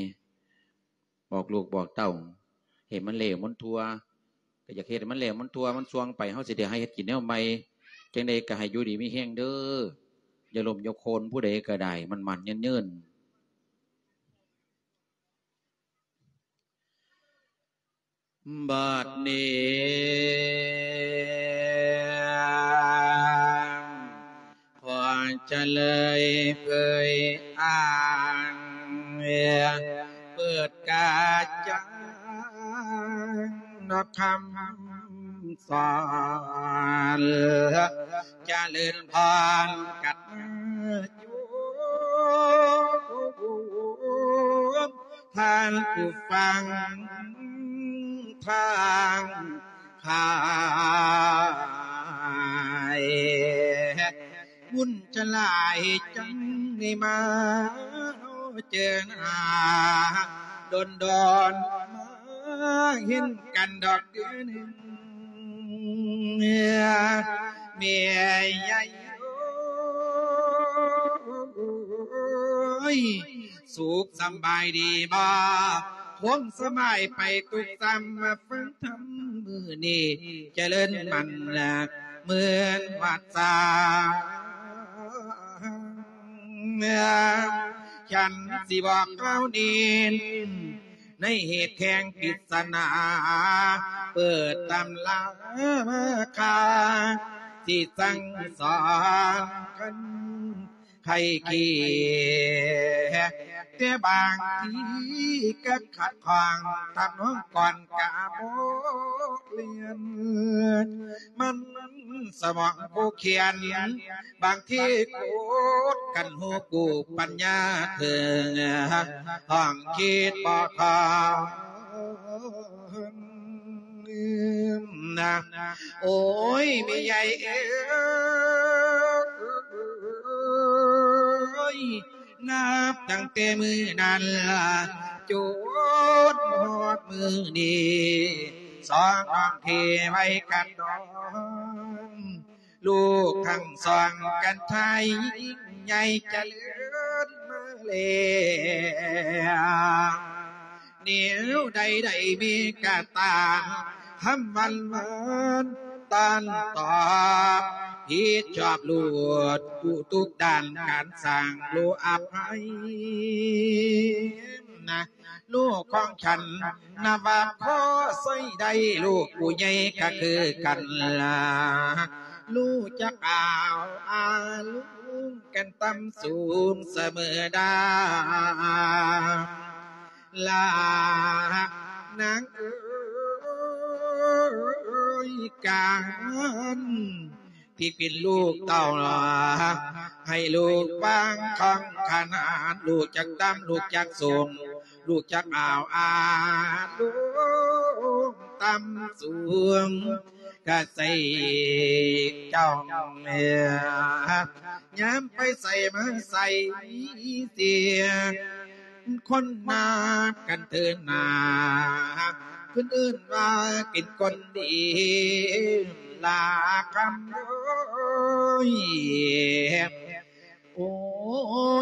ບອກລູກບອກເຕົ້າ ໃຫ້ມັນແລ້ວມັນທົ່ວ. ກໍຢາກເຮັດໃຫ້ມັນແລ້ວມັນທົ່ວ ມັນສ່ວງໄປ ເຮົາຊິໄດ້ຫາເຮັດກິນແນວໃໝ່. ຈັ່ງໃດກໍໃຫ້ຢູ່ດີມີແຮງເດີ ຢ່າລົ້ມຢ່າໂຄນ ຜູ້ໃດກໍໄດ້ ໝັ້ນໆຍືນໆ. ບັດນີ້ ຂໍຈະເລີຍເຜີຍອ້າງ ເປີດກາຈັງນະຄຳສອນ ຈະເລີນພອນກັນຢູ່ ທ່ານຜູ້ຟັງທັງຫຼາຍ ບຸນຈະຫຼາຍຈັ່ງໄດ້ມາເຈີໜ້າ ດົນໆມາເຫັນກັນດອກເທື່ອໜຶ່ງ ແມ່ໃຫຍ່ເອີຍ ສຸກສຳບາຍດີບໍ່? ຄົງສະບາຍໄປທຸກສ່ຳ ມາຟັງທຳມື້ນີ້ ຈະເລີນໝັ້ນເໝືອນວັດສາ ຄັນຊິບອກກ່າວເນັ້ນ ໃນເຫດແຫ່ງປິດສະໜາ ເປີດຕຳລາມາຄ່າ ຊິສັ່ງສອນກັນໄຂ້ເຄ ແຕ່ບາງທີກໍຂັດຂ້ອງ ທຳນອງກ່ອນກະບໍ່ລຽນ ມັນສະໝອງຜູ້ຂຽນ ບາງທີໂຄດກັນຮູ້ກູປັນຍາເຖິງ ຫ້ອງຄິດບໍ່ຄ່ອງນະ ໂອ້ຍ ແມ່ໃຫຍ່ເອີຍ ນັບຕັ້ງແຕ່ມື້ນັ້ນ ຈົນຮອດມື້ນີ້ ສອງນ້ອງເຄໄວ້ກັນນອນ ລູກທັງສອງກັນໄທຍ ໃຫຍ່ຈະເລີນມາແລ້ວ ແນວໃດໃດມີກະຕາມ ຄຳຫວັນຫວານຕ້ອນຕອບ ຜິດຊອບລູກທຸກດ້ານ ການສ້າງລູກອະໄພນະ ລູກຂອງສັນ ນັບວ່າພໍໃຊ້ໄດ້ ລູກຜູ້ໃຫຍ່ກໍຄືກັນລະ ຮູ້ຈັກອ້າວອາລຸງກັນຕ່ຳສູງສະເໝີດາ ລານາງເອີຍ ການ ທີ່ເປັນລູກເຕົ້າ ໃຫ້ລູກຟັງຂອງຂະໜາດ ຮູ້ຈັກຕ່ຳ ຮູ້ຈັກສູງ ຮູ້ຈັກອ້າວອາລຸງຕ່ຳສູງ ກະໃສ່ເຈົ້າ ຍາມໄປໃສມາໃສເສຍ ຄົນນັບກັນເທີນໜ້າ ເພິ່ນເອີ້ນວ່າເປັນຄົນດີ ລາຄຳເອີຍ ໂອ້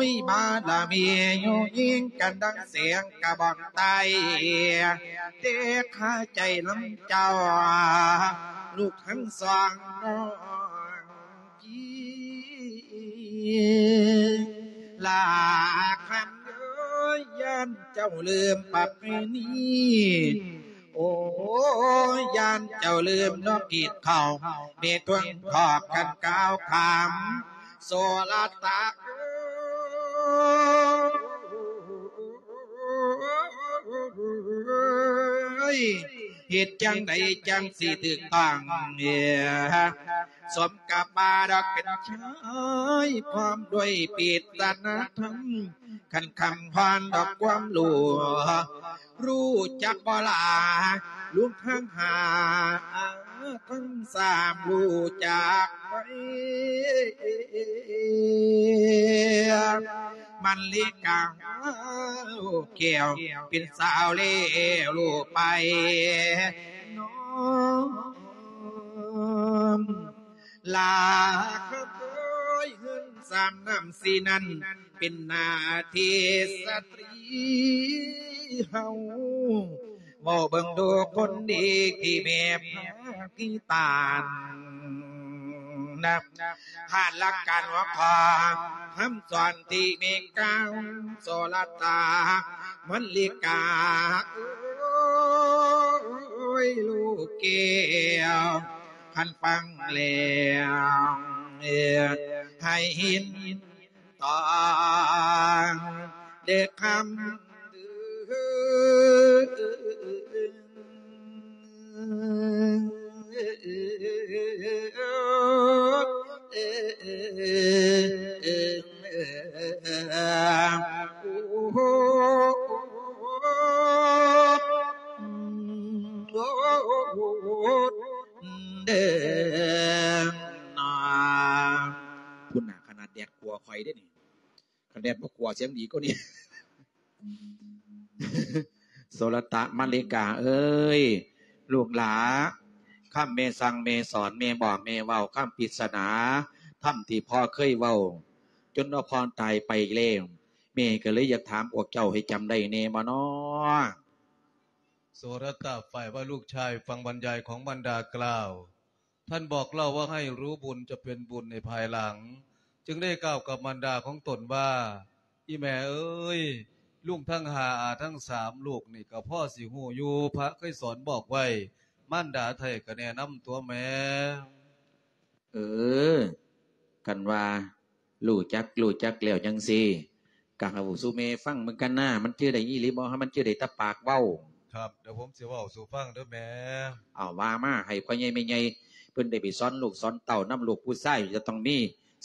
ຍ ບາລະມີຢູ່ຍິງກັນດັ່ງແສງກະບອງໄຕ້ ແຕ່ຄາໃຈນຳເຈົ້າ ລູກທັງສອງນ້ອງ ລາຄຳເອີຍ ຢ້ານເຈົ້າລືມປະເພນີ ໂອ້ຍ ຢ້ານເຈົ້າລືມນ້ອງກິນເຂົ້າ ແມ່ທວງທອກກັນກ່າວຄຳ ໂສລະຕາເອີຍ ເຮັດຈັ່ງໃດຈັ່ງຊິຖືກຕ້ອງ ສົມກັບວ່າດອກເປັນຊາຍ ພ້ອມດ້ວຍປິດຕະນະທຳ ຄັນຄຳພອນດອກຄວາມຮູ້ ຮູ້ຈັກບໍ່ລາ ລວມທັງຫ້າທັງສາມ ຮູ້ຈັກໄປ ມັນລິກາແກ້ວ ເປັນສາວແລ້ວຮູ້ໄປ ນ້ອງ ລາເອີຍ ເຮືອນສາມນ້ຳສີ່ນັ້ນ ເປັນໜ້າທີ່ສະຕຣີເຮົາ ເວົ້າເບິ່ງດູຄົນດີທີ່ແມ່ພາທີ່ຕານນະ ຜ່ານຫຼັກການຫົວຂໍ້ ຄຳສອນທີ່ແມ່ກ່າວ ໂສລະຕາ ມັນລິກາເອີຍ ລູກແກ້ວ ຄັນຟັງແລ້ວ ໃຫ້ເຫັນຕ້ອງເດີຄຳເດີ. ເດ້ນີ້ ຄັນແດດບໍ່ກົວສຽງດີກວ່ານີ້. ໂສລະຕະມະລິກາເອີຍ ລູກຫຼ້າ ຄຳແມ່ສັ່ງແມ່ສອນ ແມ່ບອກແມ່ເວົ້າ ຄຳປິດສະໜາ ທຳທີ່ພໍ່ເຄີຍເວົ້າ ຈົນວ່າພໍ່ຕາຍໄປແລ້ວ ແມ່ກໍເລີຍຢາກຖາມພວກເຈົ້າໃຫ້ຈຳໄດ້ແດ່ບໍ່ນໍ? ໂສລະຕະຝ່າຍວ່າລູກຊາຍຟັງບັນຍາຍຂອງມານດາກ່າວ ທ່ານບອກເລົ່າວ່າໃຫ້ຮູ້ບຸນຈະເປັນບຸນໃນພາຍຫຼັງ ຈຶ່ງໄດ້ກ່າວກັບມານດາຂອງຕົນວ່າ ອີ່ແມ່ເອີຍ ລຸງທັງຫ້າ ອາທັງສາມ ລູກນີ້ກໍພໍຊິຮູ້ຢູ່ ພະເຄີຍສອນບອກໄວ້ ມານດາໄທ້ກໍແນະນຳຕົວແມ່. ເອີ ຄັນວ່າຮູ້ຈັກ ຮູ້ຈັກແລ້ວຈັ່ງຊີ້ ກໍເວົ້າສູ່ແມ່ຟັງເບິ່ງກັນນາ ມັນຈື່ໄດ້ອີ່ຫຼີບໍ່ ມັນຈື່ໄດ້ແຕ່ປາກເວົ້າ? ຄັບ ດຽວຜົມຊິເວົ້າສູ່ຟັງເດີແມ່. ເອົາ ວ່າມາ ໃຫ້ພໍ່ໃຫຍ່ແມ່ໃຫຍ່ເພິ່ນໄດ້ໄປສອນລູກສອນເຕົ້ານຳ ລູກຜູ້ຊາຍຈະຕ້ອງມີ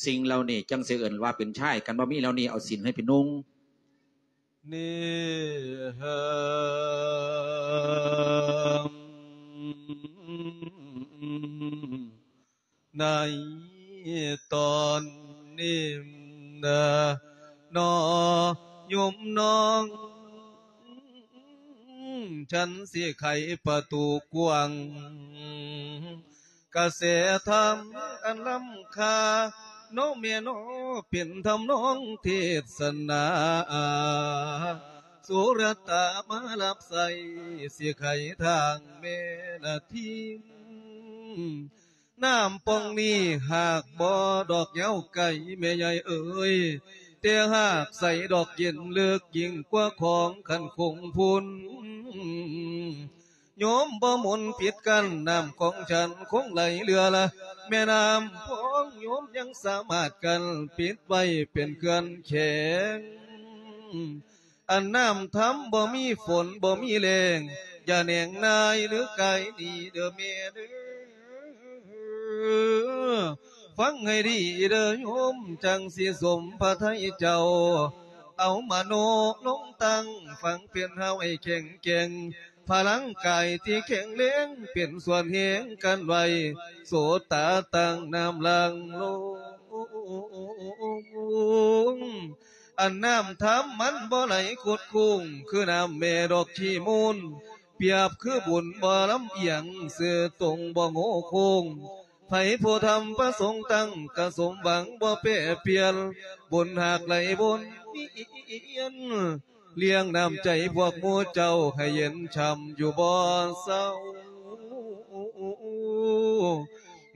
ສິ່ງເຫຼົ່ານີ້ ຈັ່ງຊິເອີ້ນວ່າເປັນຊາຍ ຄັນບໍ່ມີເຫຼົ່ານີ້ ເອົາສິ້ນໃຫ້ໄປນຸ່ງ. ນີ້ ໃນຕອນນີ້ນະ ນ້ອຍໂຍມນ້ອງ ສັນຊິໄຂປະຕູກວ້າງ ກະແສທຳອັນລ້ຳຄ່າ ເນາະແມ່ເນາະ ເປັນທຳນອງເທດສະໜາ ສຸລະຕາມາຮັບໃຊ້ ຊິໄຂທາງແມ່ນະທີມ ນ້ຳປ່ອງນີ້ຫາກບໍ່ດອກຍາວໄກ ແມ່ໃຫຍ່ເອີຍ ແຕ່ຫາກໃສດອກເຢັນເລິກຍິ່ງກວ່າຂອງຄັນຄົງພຸ້ນ ໂຍມບໍ່ໝົນປິດກັ້ນ ນ້ຳຂອງສັນຄົງໄຫຼເຫຼືອລະ ແມ່ນ້ຳຂອງໂຍມຍັງສາມາດກັ້ນປິດໄວ້ເປັນເຂື່ອນແຂງ ອັນນ້ຳທຳບໍ່ມີຝົນບໍ່ມີແລ້ງ ຢ່າແໜງນາຍຫຼືກາຍໜີເດີແມ່ເດີ. ຟັງໃຫ້ດີເດີໂຍມ ຈັ່ງຊິສົມພະໄທເຈົ້າ ເອົາມະໂນລົງຕັ້ງ ຟັງເປັນຮາວໃຫ້ແຂງແກ່ງ ພະລັງກາຍທີ່ແຂງແຮງ ເປັນສ່ວນແຮງກັນໄວ້ ໂສດຕາຕັ້ງນ້ຳຫຼັງລົງ ອັນນ້ຳທຳມັນບໍ່ໄຫຼຄົດໂຄ້ງ ຄືນ້ຳແມ່ດອກຂີ້ມູນ ປຽບຄືບຸນບໍ່ລຳອຽງ ຊື່ຕົງບໍ່ໂງ່ໂຄ້ງ ໃຜຜູ້ທຳປະສົງຕັ້ງ ກະສົມຫວັງບໍ່ແປປ່ຽນ ບຸນຫາກໄຫຼວົນວຽນ ລ້ຽງນ້ຳໃຈພວກໝູ່ເຈົ້າ ໃຫ້ເຢັນຊ່ຳຢູ່ບໍ່ເຊົາ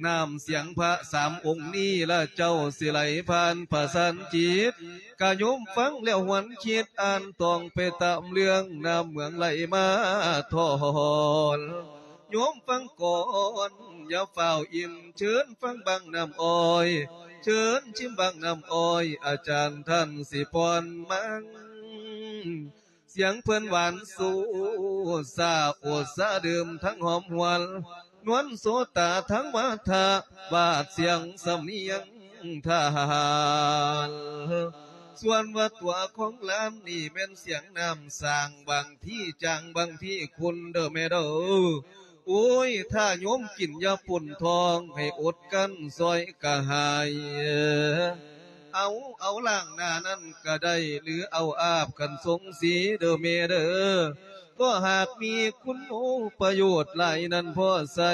ນ້ຳສຽງພະສາມອົງນີ້ລະ ເຈົ້າຊິໄຫຼຜ່ານປະສານຈິດ ກະໂຍມຟັງແລ້ວຫວນຄິດ ອ່ານຕ້ອງໄປຕາມເລື່ອງ ນ້ຳເມືອງໄຫຼມາຖອນ ໂຍມຟັງກ່ອນ ຢ່າຟ້າວອີ່ມ ເຊີນຟັງບັ້ງນ້ຳອ້ອຍ ເຊີນຊິມບັ້ງນ້ຳອ້ອຍ ອາຈານທ່ານຊິປ້ອນມັນ ສຽງເພິ່ນຫວານຊູສາ ໂອດສາດື່ມທັງຫອມຫວນ ນວນໂສຕາທັງວາທະ ວາດສຽງສຳນຽງທານ ສ່ວນວ່າຕົວຂອງຫຼານນີ້ແມ່ນສຽງນ້ຳສ້າງ ບາງທີຈາງ ບາງທີຂຸ່ນເດີແມ່ເດີ. ໂອ້ຍ ຖ້າໂຍມກິນຢາປົນທ້ອງ ໃຫ້ອົດກັ້ນຊ່ອຍກະຫາຍ ເອົາ ເອົາລ້າງໜ້ານັ້ນກະໄດ້ ຫຼືເອົາອາບກັນສົງສີເດີແມ່ເດີ ກໍຫາກມີຄຸນໂອປະໂຫຍດຫຼາຍນັ້ນພໍໃຊ້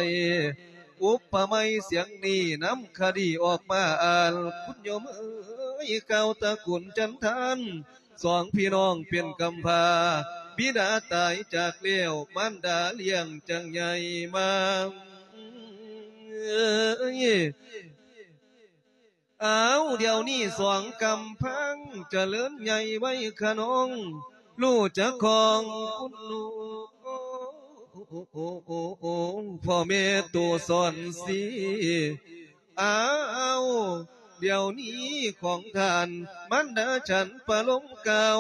ອຸປະໄມສຽງນີ້ນຳຄະດີອອກມາອ່ານ ຄຸນໂຍມເອີຍ ກ່າວຕະກຸນຈັນທານ ສອງພີ່ນ້ອງເປັນກຳພ້າ ບິດາຕາຍຈາກແລ້ວ ມານດາລ້ຽງຈັ່ງໃຫຍ່ມາ. ອ້າວ ດຽວນີ້ສອງກຳພັງຈະເລີນໃຫຍ່ໄວຂະນ້ອງ ຮູ້ຈັກຂອງຄຸນລູກ ພໍ່ແມ່ໂຕສອນສີ ອ້າວ ດຽວນີ້ຂອງທ່ານ ມານດາສັນປະລົມກ່າວ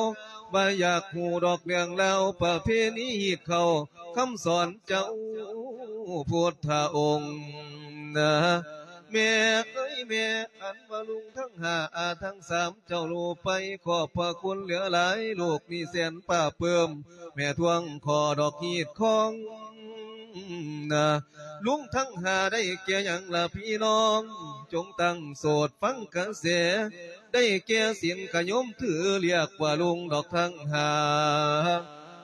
ວ່າຢາກຮູ້ດອກເລື່ອງລາວປະເພນີຮີດເຂົ້າ ຄຳສອນເຈົ້າພຸດທະອົງນະ ແມ່ເອີຍແມ່ ອັນວ່າລຸງທັງຫ້າ ອາທັງສາມ ເຈົ້າຮູ້ໄປ ຂອບພະຄຸນເຫຼືອຫຼາຍ ລູກນີ້ແສນປາບປຶ້ມ ແມ່ທວງຂໍດອກຮີດຂອງນະ ລຸງທັງຫ້າໄດ້ແກ່ຫຍັງລະພີ່ນ້ອງ ຈົ່ງຕັ້ງໂສດຟັງກະແສ ໄດ້ແກ່ສິນຂະຍົມຖື ລຽກວ່າລຸງດອກທັງຫ້າ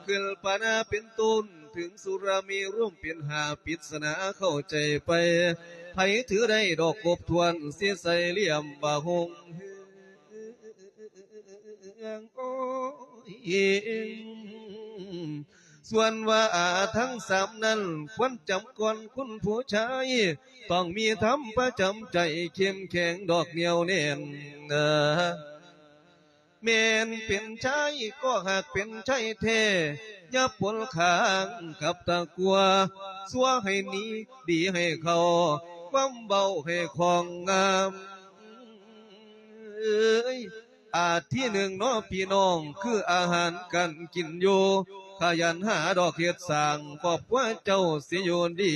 ຂຶ້ນປານາເປັນຕົ້ນ ເຖິງສຸລາມີລວມເປັນຫ້າ ປິດສະໜາເຂົ້າໃຈໄປ ໃຜຖືໄດ້ດອກຄົບຖ້ວນ ຊິໃສ່ລຽມວ່າຫົງເຮືອງ ໂອ້ຍ ສ່ວນວ່າອາທັງສາມນັ້ນ ຄວນຈຳກ່ອນຄຸນຜູ້ຊາຍ ຕ້ອງມີທຳປະຈຳໃຈ ເຂັ້ມແຂງດອກໜຽວແໜ້ນ ແມ່ນເປັນຊາຍກໍຫາກເປັນຊາຍແທ້ ຢ່າປົນຂ້າງກັບຕາກົວ ຊົ່ວໃຫ້ໜີ ດີໃຫ້ເຂົ້າ ຄວາມເວົ້າໃຫ້ຄ່ອງງາມ ເອີຍ ອາທິໜຶ່ງເນາະພີ່ນ້ອງ ຄືອາຫານການກິນຢູ່ ຂະຫຍັນຫາດອກເຮັດສ້າງ ຄອບຄົວເຈົ້າຊິຢູ່ດີ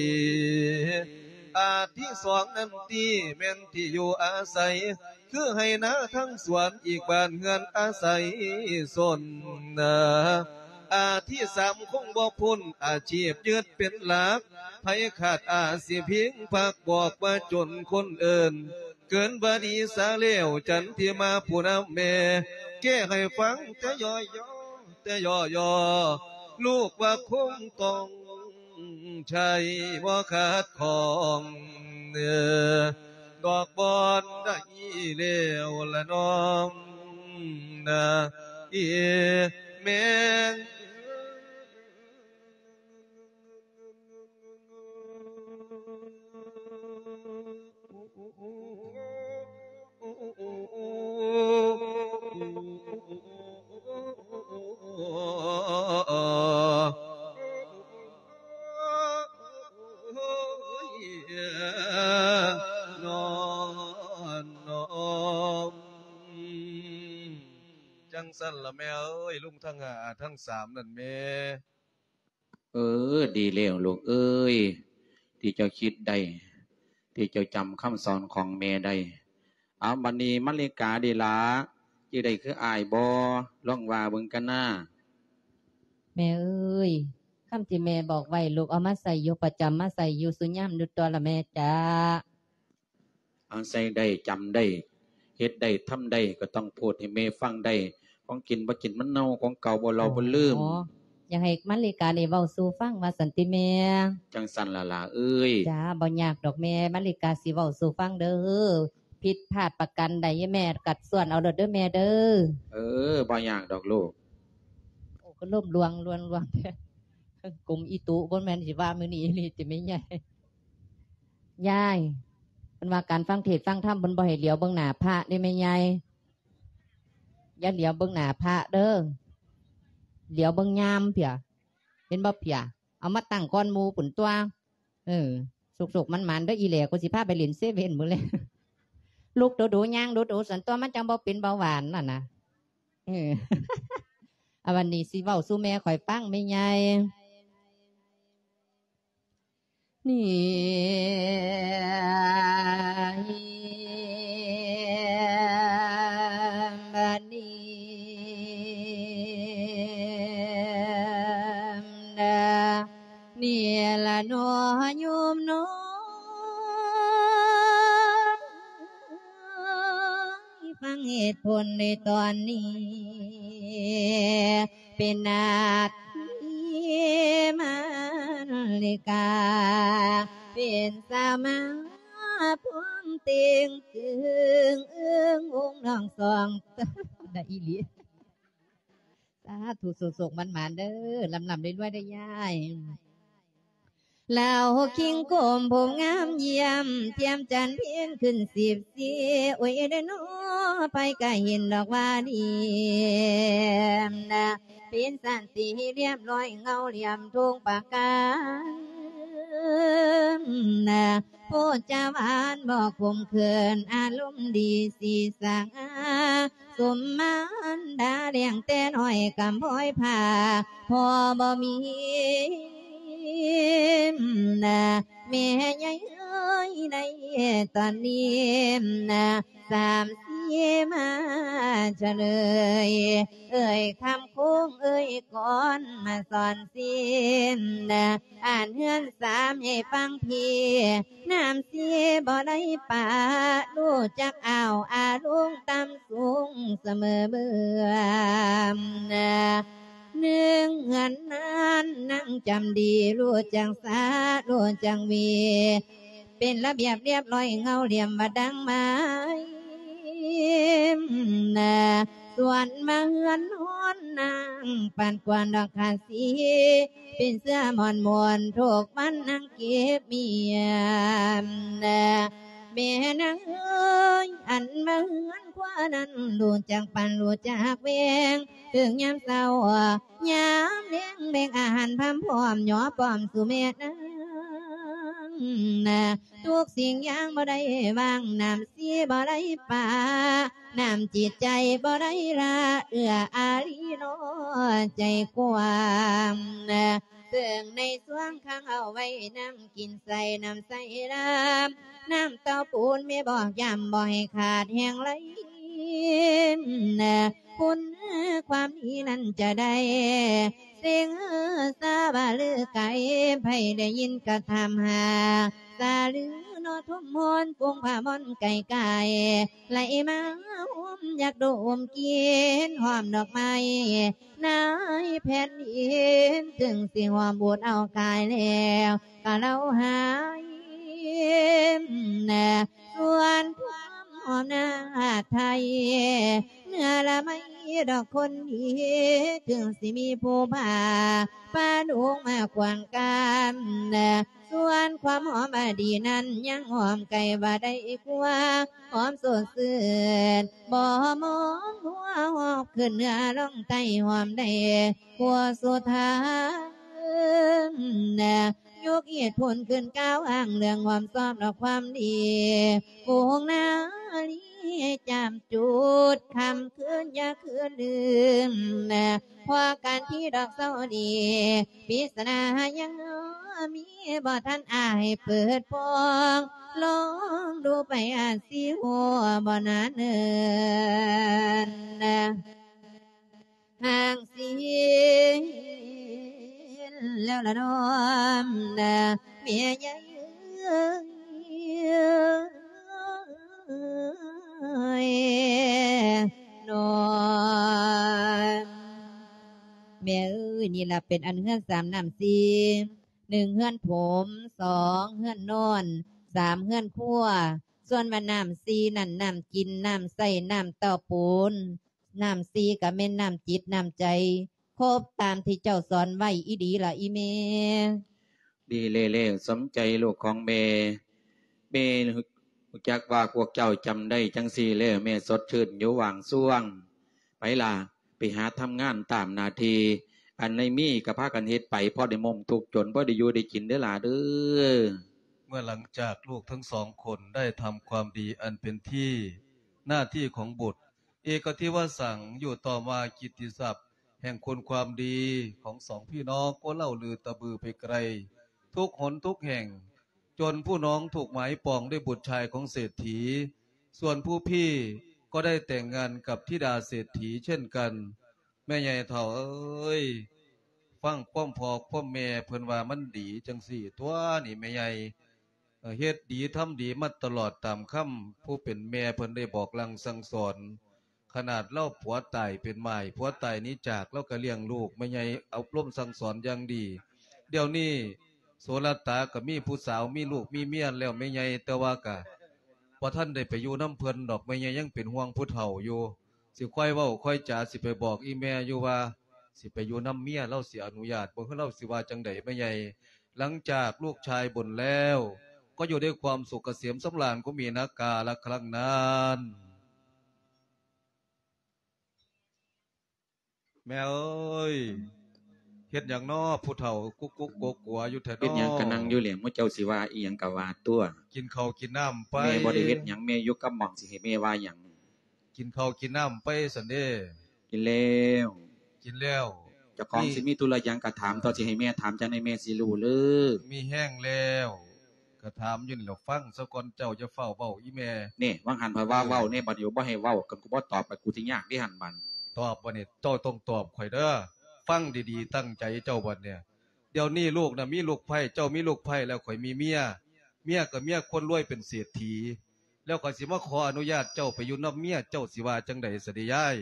ອາທິສອງນັ້ນຕິ ແມ່ນທີ່ຢູ່ອາໄສ ຄືໄຮ່ນາທັງສວນ ອີກບ້ານເຮືອນອາໄສຊົນນາ ອາທິສາມຄົງບໍ່ພົ້ນ ອາຊີບຍຶດເປັນຫຼັກ ໃຜຂາດອາຊີບພິງພັກ ບອກວ່າຈົນຄົນເອີ້ນ ເກີນວ່າດີສາແລ້ວ ຈັນທິມາຜູ້ນຳແມ່ ແກ້ໃຫ້ຟັງແຕ່ຍໍ່ໆ ແຕ່ຍໍ່ໆ ລູກວ່າຄົງຕ້ອງໃຊ້ບໍ່ຂາດຂ້ອງ ເອີ ດອກບ່ອນໃດແລ້ວລະນ້ອງນາ ເອີ ແມ່. ຈັ່ງຊັ້ນລະແມ່ເອີຍ ລຸງທັງຫ້າ ອາທັງສາມນັ້ນແມ່. ເອີ ດີແລ້ວລູກເອີຍ ທີ່ເຈົ້າຄິດໄດ້ ທີ່ເຈົ້າຈຳຄຳສອນຂອງແມ່ໄດ້. ເອົາ ບັດນີ້ມາລິກາເດລະ ຈື່ໄດ້ຄືອ້າຍບໍ່? ລອງວ່າເບິ່ງກັນນາ. ແມ່ເອີຍ ຄຳທີ່ແມ່ບອກໄວ້ ລູກເອົາມາໃຊ້ຢູ່ປະຈຳ ມາໃຊ້ຢູ່ສູ່ຍາມຢູ່ຕົວະລະແມ່ຈ໋າ. ເອົາ ໃຊ້ໄດ້ ຈຳໄດ້ ເຮັດໄດ້ ທຳໄດ້ ກໍຕ້ອງໂພດໃຫ້ແມ່ຟັງໄດ້. ຂອງກິນບໍ່ກິນມັນເນົ່າ ຂອງເກົ່າບໍ່ເລົາບໍ່ລືມ. ອໍ ຢາກໃຫ້ມາລິການີ້ເວົ້າສູ່ຟັງວ່າຊັ້ນຕິແມ່. ຈັ່ງຊັ້ນລະຫຼ້າເອີຍ. ຈ້າ ບໍ່ຍາກດອກແມ່ ມາລິກາຊິເວົ້າສູ່ຟັງເດີ້. ຜິດພາດປະການໃດແມ່ກໍຊວນເອົາໂລດເດີ້ແມ່ເດີ້. ເອີ ບໍ່ຍາກດອກລູກ. ໂອ້ ກໍລົມລວງ ລວງ ລວງແທ້ ກົມອີຕຸ ບໍ່ແມ່ນຊິວ່າມື້ນີ້ອີ່ຫຼີຕິແມ່ໃຫຍ່. ຍາຍ ເພິ່ນວ່າການຟັງເທດຟັງທຳ ເພິ່ນບໍ່ໃຫ້ຫຼຽວເບິ່ງໜ້າພະເດ້ແມ່ໃຫຍ່. ຢ່າຫຼຽວເບິ່ງໜ້າພະເດີ້ ຫຼຽວເບິ່ງຍາມເພຍ ເຫັນບໍ່ເພຍ ເອົາມາຕັ້ງກ່ອນໝູ່ພຸ້ນຕົວະ. ເອີ ສຸກໆ ໝານໆ ເດີ້ອີແຫຼ ກູຊິພາໄປຫຼິ້ນເຊເວັ່ນມື້ແລງ. ລຸກດູໆ ຍ່າງດູໆ ຊັ້ນຕົວະ ມັນຈັ່ງບໍ່ເປັນເບົາຫວານນັ້ນນະ. ເອີ ອາ ວັນນີ້ຊິເວົ້າສູ່ແມ່ຂ້ອຍຟັງ ແມ່ໃຫຍ່. ນີ້ ບາດນີ້ ດາ ນີ້ລະເນາະໂຍມເນາະ ຟັງເຫດຜົນໃນຕອນນີ້ ເປັນໜ້າທີ່ມາລິກາ ເປັນສາວມາພວມເຕັງຕຶງ ອຶ້ງອົງນ້ອງສອງ ໄດ້ອີ່ຫຼີ. ສາທຸ ໂຊກໆ ໝານໆ ເດີ້ ລ່ຳໆ ລວຍໆ ເດີ້ຍາຍ. ລາວຄິງກົມຜົມງາມຢ້ຽມ ທຽມຈັນເພັນຂຶ້ນສິບສີ່ ໂອ້ຍເດີນໍ ໃຜກະເຫັນດອກວ່າດີນະ ເປັນສັນຕິຮຽບຮ້ອຍ ເງົາຫຼ່ຽມທົ່ງປະການນະ ໂພດຈາຫວານບໍ່ຂົມເຂີນ ອາລົມດີສີສະຫງາ ສົມມານດາລ້ຽງແຕ່ນ້ອຍກຳພ້ອຍພາ ພໍ່ບໍ່ມີນະ ແມ່ໃຫຍ່ ຍ ໃນຕອນນີ້ນະ ສາມສີ່ມາສະເລີຍ ເອີຍຄຳຄົງເອີຍກອນ ມາສອນສິນນະ ອ່ານເຮືອນສາມໃຫ້ຟັງພີ່ ນ້ຳສີບໍ່ໄດ້ປະ ຮູ້ຈັກອ້າວອາລົງຕ່ຳສູງສະເໝີເໝືອນນະ ໜຶ່ງເຮືອນນັ້ນນາງຈຳດີ ຮູ້ຈັກສາ ຮູ້ຈັກວີ ເປັນລະບຽບລຽບຮ້ອຍ ເງົາຫຼ່ຽມວ່າດັ່ງໄມ້ນະ ສ່ວນມາເຮືອນນອນນາງປານກວນດອກຂາສີ ເປັນເສື້ອໝອນໝົນທຸກວັນນາງເກັບມ້ຽນນະ ແມ່ນາງເອີຍ ອັນມາເຮືອນຄວານັ້ນ ຮູ້ຈັກປັ້ນ ຮູ້ຈັກແຫວງ ເຖິງຍາມເຊົ້າ ຍາມແລງແບ່ງອາຫານພາມພ້ອມ ຍໍປ້ອມສູ່ແມ່ນາງນະ ທຸກສິ່ງຢ່າງບໍ່ໄດ້ວາງ ນ້ຳສີບໍ່ໄດ້ປະ ນ້ຳຈິດໃຈບໍ່ໄດ້ລະ ເອື້ອອາລີນ້ອຍໃຈກວ້າງນະ ເຊິ່ງໃນຊ່ວງຂັງເອົາໄວ້ ນ້ຳກິນໃສ່ ນ້ຳໃສ່ລາມ ນ້ຳເຕົ້າປູນແມ່ບອກຢ້ຳ ບໍ່ໃຫ້ຂາດແຫ້ງໄຫຼນະ ຄຸນຄວາມດີນັ້ນຈະໄດ້ ເສັງສາວ່າລືໄກ ໃຜໄດ້ຍິນກະຖາມຫາ ສາລືນໍຖົມມອນ ປຸງຜ້າໝອນໄກ່ກາຍ ໄຫຼມາຫົ່ມຢາກດົມກິ່ນ ຫອມດອກໄມ້ ນາຍແຜ່ນດິນ ເຖິງຊິຫອມບູດເອົາກາຍແລ້ວ ກະເລົ່າຫາຍນະ ສ່ວນຄວາມຫອມນາດໄທ ເນື້ອລະໄມດອກຄົນດີ ເຖິງຊິມີຜູ້ພາ ພາດົງມາຂວາງການນະ ສ່ວນຄວາມຫອມອະດີດນັ້ນ ຍັງຫອມໄກວ່າໄດ້ກວ່າ ຫອມສົດຊື່ນ ບໍ່ມອງຫົວຫອບຂຶ້ນເໜືອລ່ອງໃຕ້ ຫອມໄດ້ຫົວສຸດທາງນະ ຍົກເຫດຜົນຂຶ້ນກ່າວອ້າງ ເລື່ອງຄວາມຊອບດອກຄວາມດີ ຝູງນາລີຈາມຈູດ ຄ່ຳຄືນຢ່າຄືນລືມນະ ເພາະການທີ່ດອກເຊົານີ້ ປິດສະໜາຍັງມີ ບໍ່ທັນອາຍເປີດປ່ອງ ລອງດູໄປອາດຊິຮູ້ບໍ່ນາເນີນນະ ຫ່າງສີແລ້ວລະນ້ອມນະ ແມ່ໃຫຍ່ເອີຍ ນ້ອມ ແມ່ເອີຍ ນີ້ລະເປັນອັນເຮືອນສາມນ້ຳສີ່ ໜຶ່ງເຮືອນຖົມ ສອງເຮືອນນອນ ສາມເຮືອນຄົວ ສ່ວນວ່ານ້ຳສີ່ນັ້ນ ນ້ຳກິນ ນ້ຳໃຊ້ ນ້ຳເຕົ້າປູນ ນ້ຳສີ່ກະແມ່ນນ້ຳຈິດນ້ຳໃຈ ຄົບຕາມທີ່ເຈົ້າສອນໄວ້ອີ່ຫຼີລະອີ່ແມ່. ດີແລ້ວໆ ສົມໃຈລູກຂອງແມ່. ແມ່ຮູ້ຈັກວ່າພວກເຈົ້າຈຳໄດ້ຈັ່ງຊີ້ແລ້ວ ແມ່ສົດຊື່ນຢູ່ຫວ່າງຊ່ວງ. ໄປລະ ໄປຫາທຳງານຕາມໜ້າທີ່ ອັນໃດມີກະພາກັນເຮັດໄປ ພໍໄດ້ມົ້ມທຸກຈົນ ພໍໄດ້ຢູ່ໄດ້ກິນເດີຫຼ້າເດີ. ເມື່ອຫຼັງຈາກລູກທັງສອງຄົນໄດ້ທຳຄວາມດີອັນເປັນທີ່ໜ້າທີ່ຂອງບຸດ ເອກະທິວະສັງ ຢູ່ຕໍ່ມາກິດຕິສັບແຫ່ງຄຸນຄວາມດີຂອງສອງພີ່ນ້ອງກໍເລົ່າລືຕະບືໄປໄກ ທຸກຫົນທຸກແຫ່ງ ຈົນຜູ້ນ້ອງຖືກໝາຍປອງດ້ວຍບຸດຊາຍຂອງເສດຖີ ສ່ວນຜູ້ພີ່ກໍໄດ້ແຕ່ງງານກັບທິດາເສດຖີເຊັ່ນກັນ. ແມ່ໃຫຍ່ເຖົ້າເອີຍ ຟັງຄວາມພໍ່ຄວາມແມ່ເພິ່ນວ່າມັນດີຈັ່ງຊີ້ຕົວະນີ້ແມ່ໃຫຍ່ ເອີ ເຮັດດີທຳດີມາຕະຫຼອດຕາມຄຳຜູ້ເປັນແມ່ເພິ່ນໄດ້ບອກສັ່ງສັ່ງສອນ. ຂະໜາດລາວຜົວຕາຍເປັນໝ້າຍ ຜົວຕາຍໜີຈາກ ລາວກໍລ້ຽງລູກ ແມ່ໃຫຍ່ອົບຮົມສັ່ງສອນຢ່າງດີ. ດຽວນີ້ໂສລະຕາກໍມີຜູ້ສາວ ມີລູກມີເມຍແລ້ວແມ່ໃຫຍ່ ແຕ່ວ່າກໍບໍ່ທັນໄດ້ໄປຢູ່ນຳເພິ່ນດອກ ແມ່ໃຫຍ່ຍັງເປັນຫ່ວງຜູ້ເຖົ້າຢູ່. ຊິຄ່ອຍເວົ້າຄ່ອຍຈາ ຊິໄປບອກອີ່ແມ່ຢູ່ວ່າ ຊິໄປຢູ່ນຳເມຍ ລາວຊິອະນຸຍາດບໍ່ ຫຼືລາວຊິວ່າຈັ່ງໃດແມ່ໃຫຍ່. ຫຼັງຈາກລູກຊາຍບຸນແລ້ວ ກໍຢູ່ດ້ວຍຄວາມສຸກກະເສມສຳລານ ກໍມີນາກາລະຄັ້ງນັ້ນ. ແມ່ເອີຍ ເຮັດຫຍັງນໍ ຜູ້ເຖົ້າກຸກກຸກກົວກົວຢູ່ແທ້ນໍ? ເຮັດຫຍັງກະນັ່ງຢູ່ແຫຼະ ໝູ່ເຈົ້າຊິວ່າອີ່ຫຍັງກະວ່າຕົວະ. ກິນເຂົ້າກິນນ້ຳໄປ. ແມ່ບໍ່ໄດ້ເຮັດຫຍັງ ແມ່ຢູ່ກັບໝ່ອງ ຊິໃຫ້ແມ່ວ່າຫຍັງ? ກິນເຂົ້າກິນນ້ຳໄປຊັ້ນເດ້. ກິນແລ້ວ. ກິນແລ້ວ. ເຈົ້າຂອງຊິມີທຸລະຫຍັງກະຖາມ ຕໍ່ຊິໃຫ້ແມ່ຖາມຈັ່ງໃດແມ່ຊິຮູ້ເລີ. ມີແຮງແລ້ວ. ກໍຖາມຢູ່ນີ້ແຫຼະ ຟັງຊະກ່ອນ ເຈົ້າຢ່າຟ້າວເວົ້າອີ່ແມ່. ນີ້ ວ່າງຫັ້ນຂ້ອຍວ່າເວົ້າແດ່ ບັດນີ້ບໍ່ໃຫ້ເວົ້າ ຄັນກູບໍ່ຕອບ ບັດກູຊິຍາກເດ້ຫັ້ນບັດ. ຕອບບັດນີ້ ເຈົ້າຕ້ອງຕອບຂ້ອຍເດີ້ ຟັງດີໆ ຕັ້ງໃຈເຈົ້າບັດນີ້. ດຽວນີ້ລູກນະມີລູກໃພ້ ເຈົ້າມີລູກໃພ້ແລ້ວ ຂ້ອຍມີເມຍ ເມຍກໍເມຍຄົນລວຍເປັນເສດຖີ ແລ້ວຂ້ອຍຊິມາຂໍອະນຸຍາດເຈົ້າໄປຢູ່ນຳເມຍ ເຈົ້າຊິວ່າຈັ່ງໃດຊະເດຍາຍ?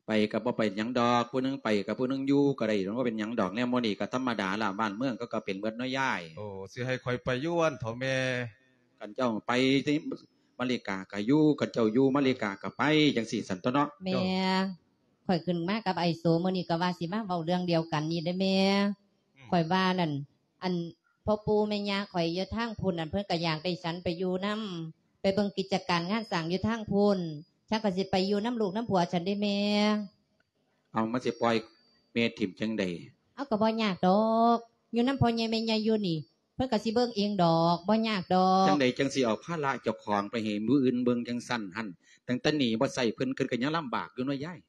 ໄປກໍບໍ່ເປັນຫຍັງດອກ ຜູ້ໜຶ່ງໄປກັບຜູ້ໜຶ່ງຢູ່ກໍໄດ້ ມັນບໍ່ເປັນຫຍັງດອກ ແນວໝູ່ນີ້ກໍທຳມະດາລະ ບ້ານເມືອງເຂົາກໍເປັນເໝິດເນາະຍາຍ. ໂອ້ ຊິໃຫ້ຂ້ອຍໄປຢູ່ຫັ້ນເຖາະແມ່? ຄັນເຈົ້າໄປ ມາລິກາກໍຢູ່ ຄັນເຈົ້າຢູ່ ມາລິກາກໍໄປ ຈັ່ງຊີ້ຊັ້ນຕົວະເນາະ. ແມ່ ຂ້ອຍຂຶ້ນມາກັບໄອ້ໂສ ມື້ນີ້ກໍວ່າຊິມາເວົ້າເລື່ອງດຽວກັນນີ້ເດ້ແມ່. ອືມ ຂ້ອຍວ່ານັ້ນ ອັນ ພໍ່ປູ່ແມ່ຍ່າຂ້ອຍຢູ່ທາງພຸ້ນນັ້ນ ເພິ່ນກໍຢາກໄດ້ສັນໄປຢູ່ນຳ ໄປເບິ່ງກິດຈະການງານສ້າງຢູ່ທາງພຸ້ນ ສັນກໍຊິໄປຢູ່ນຳລູກນຳຜົວສັນເດ້ແມ່. ເອົາ ມັນຊິປ່ອຍແມ່ຖິ້ມຈັ່ງໃດ? ເອົາ ກໍບໍ່ຍາກດອກ ຢູ່ນຳພໍ່ໃຫຍ່ແມ່ໃຫຍ່ຢູ່ນີ້ ເພິ່ນກໍຊິເບິ່ງເອງດອກ ບໍ່ຍາກດອກ. ຈັ່ງໃດຈັ່ງຊິເອົາພາລະເຈົ້າຂອງໄປໃຫ້ຜູ້ອື່ນເບິ່ງຈັ່ງຊັ້ນຫັ້ນ? ຕັ້ງແຕ່ໜີບໍ່ໃຊ້ເພິ່ນ ເພິ່ນກໍຍັງລຳບາກຢູ່ເນາະຍາຍ.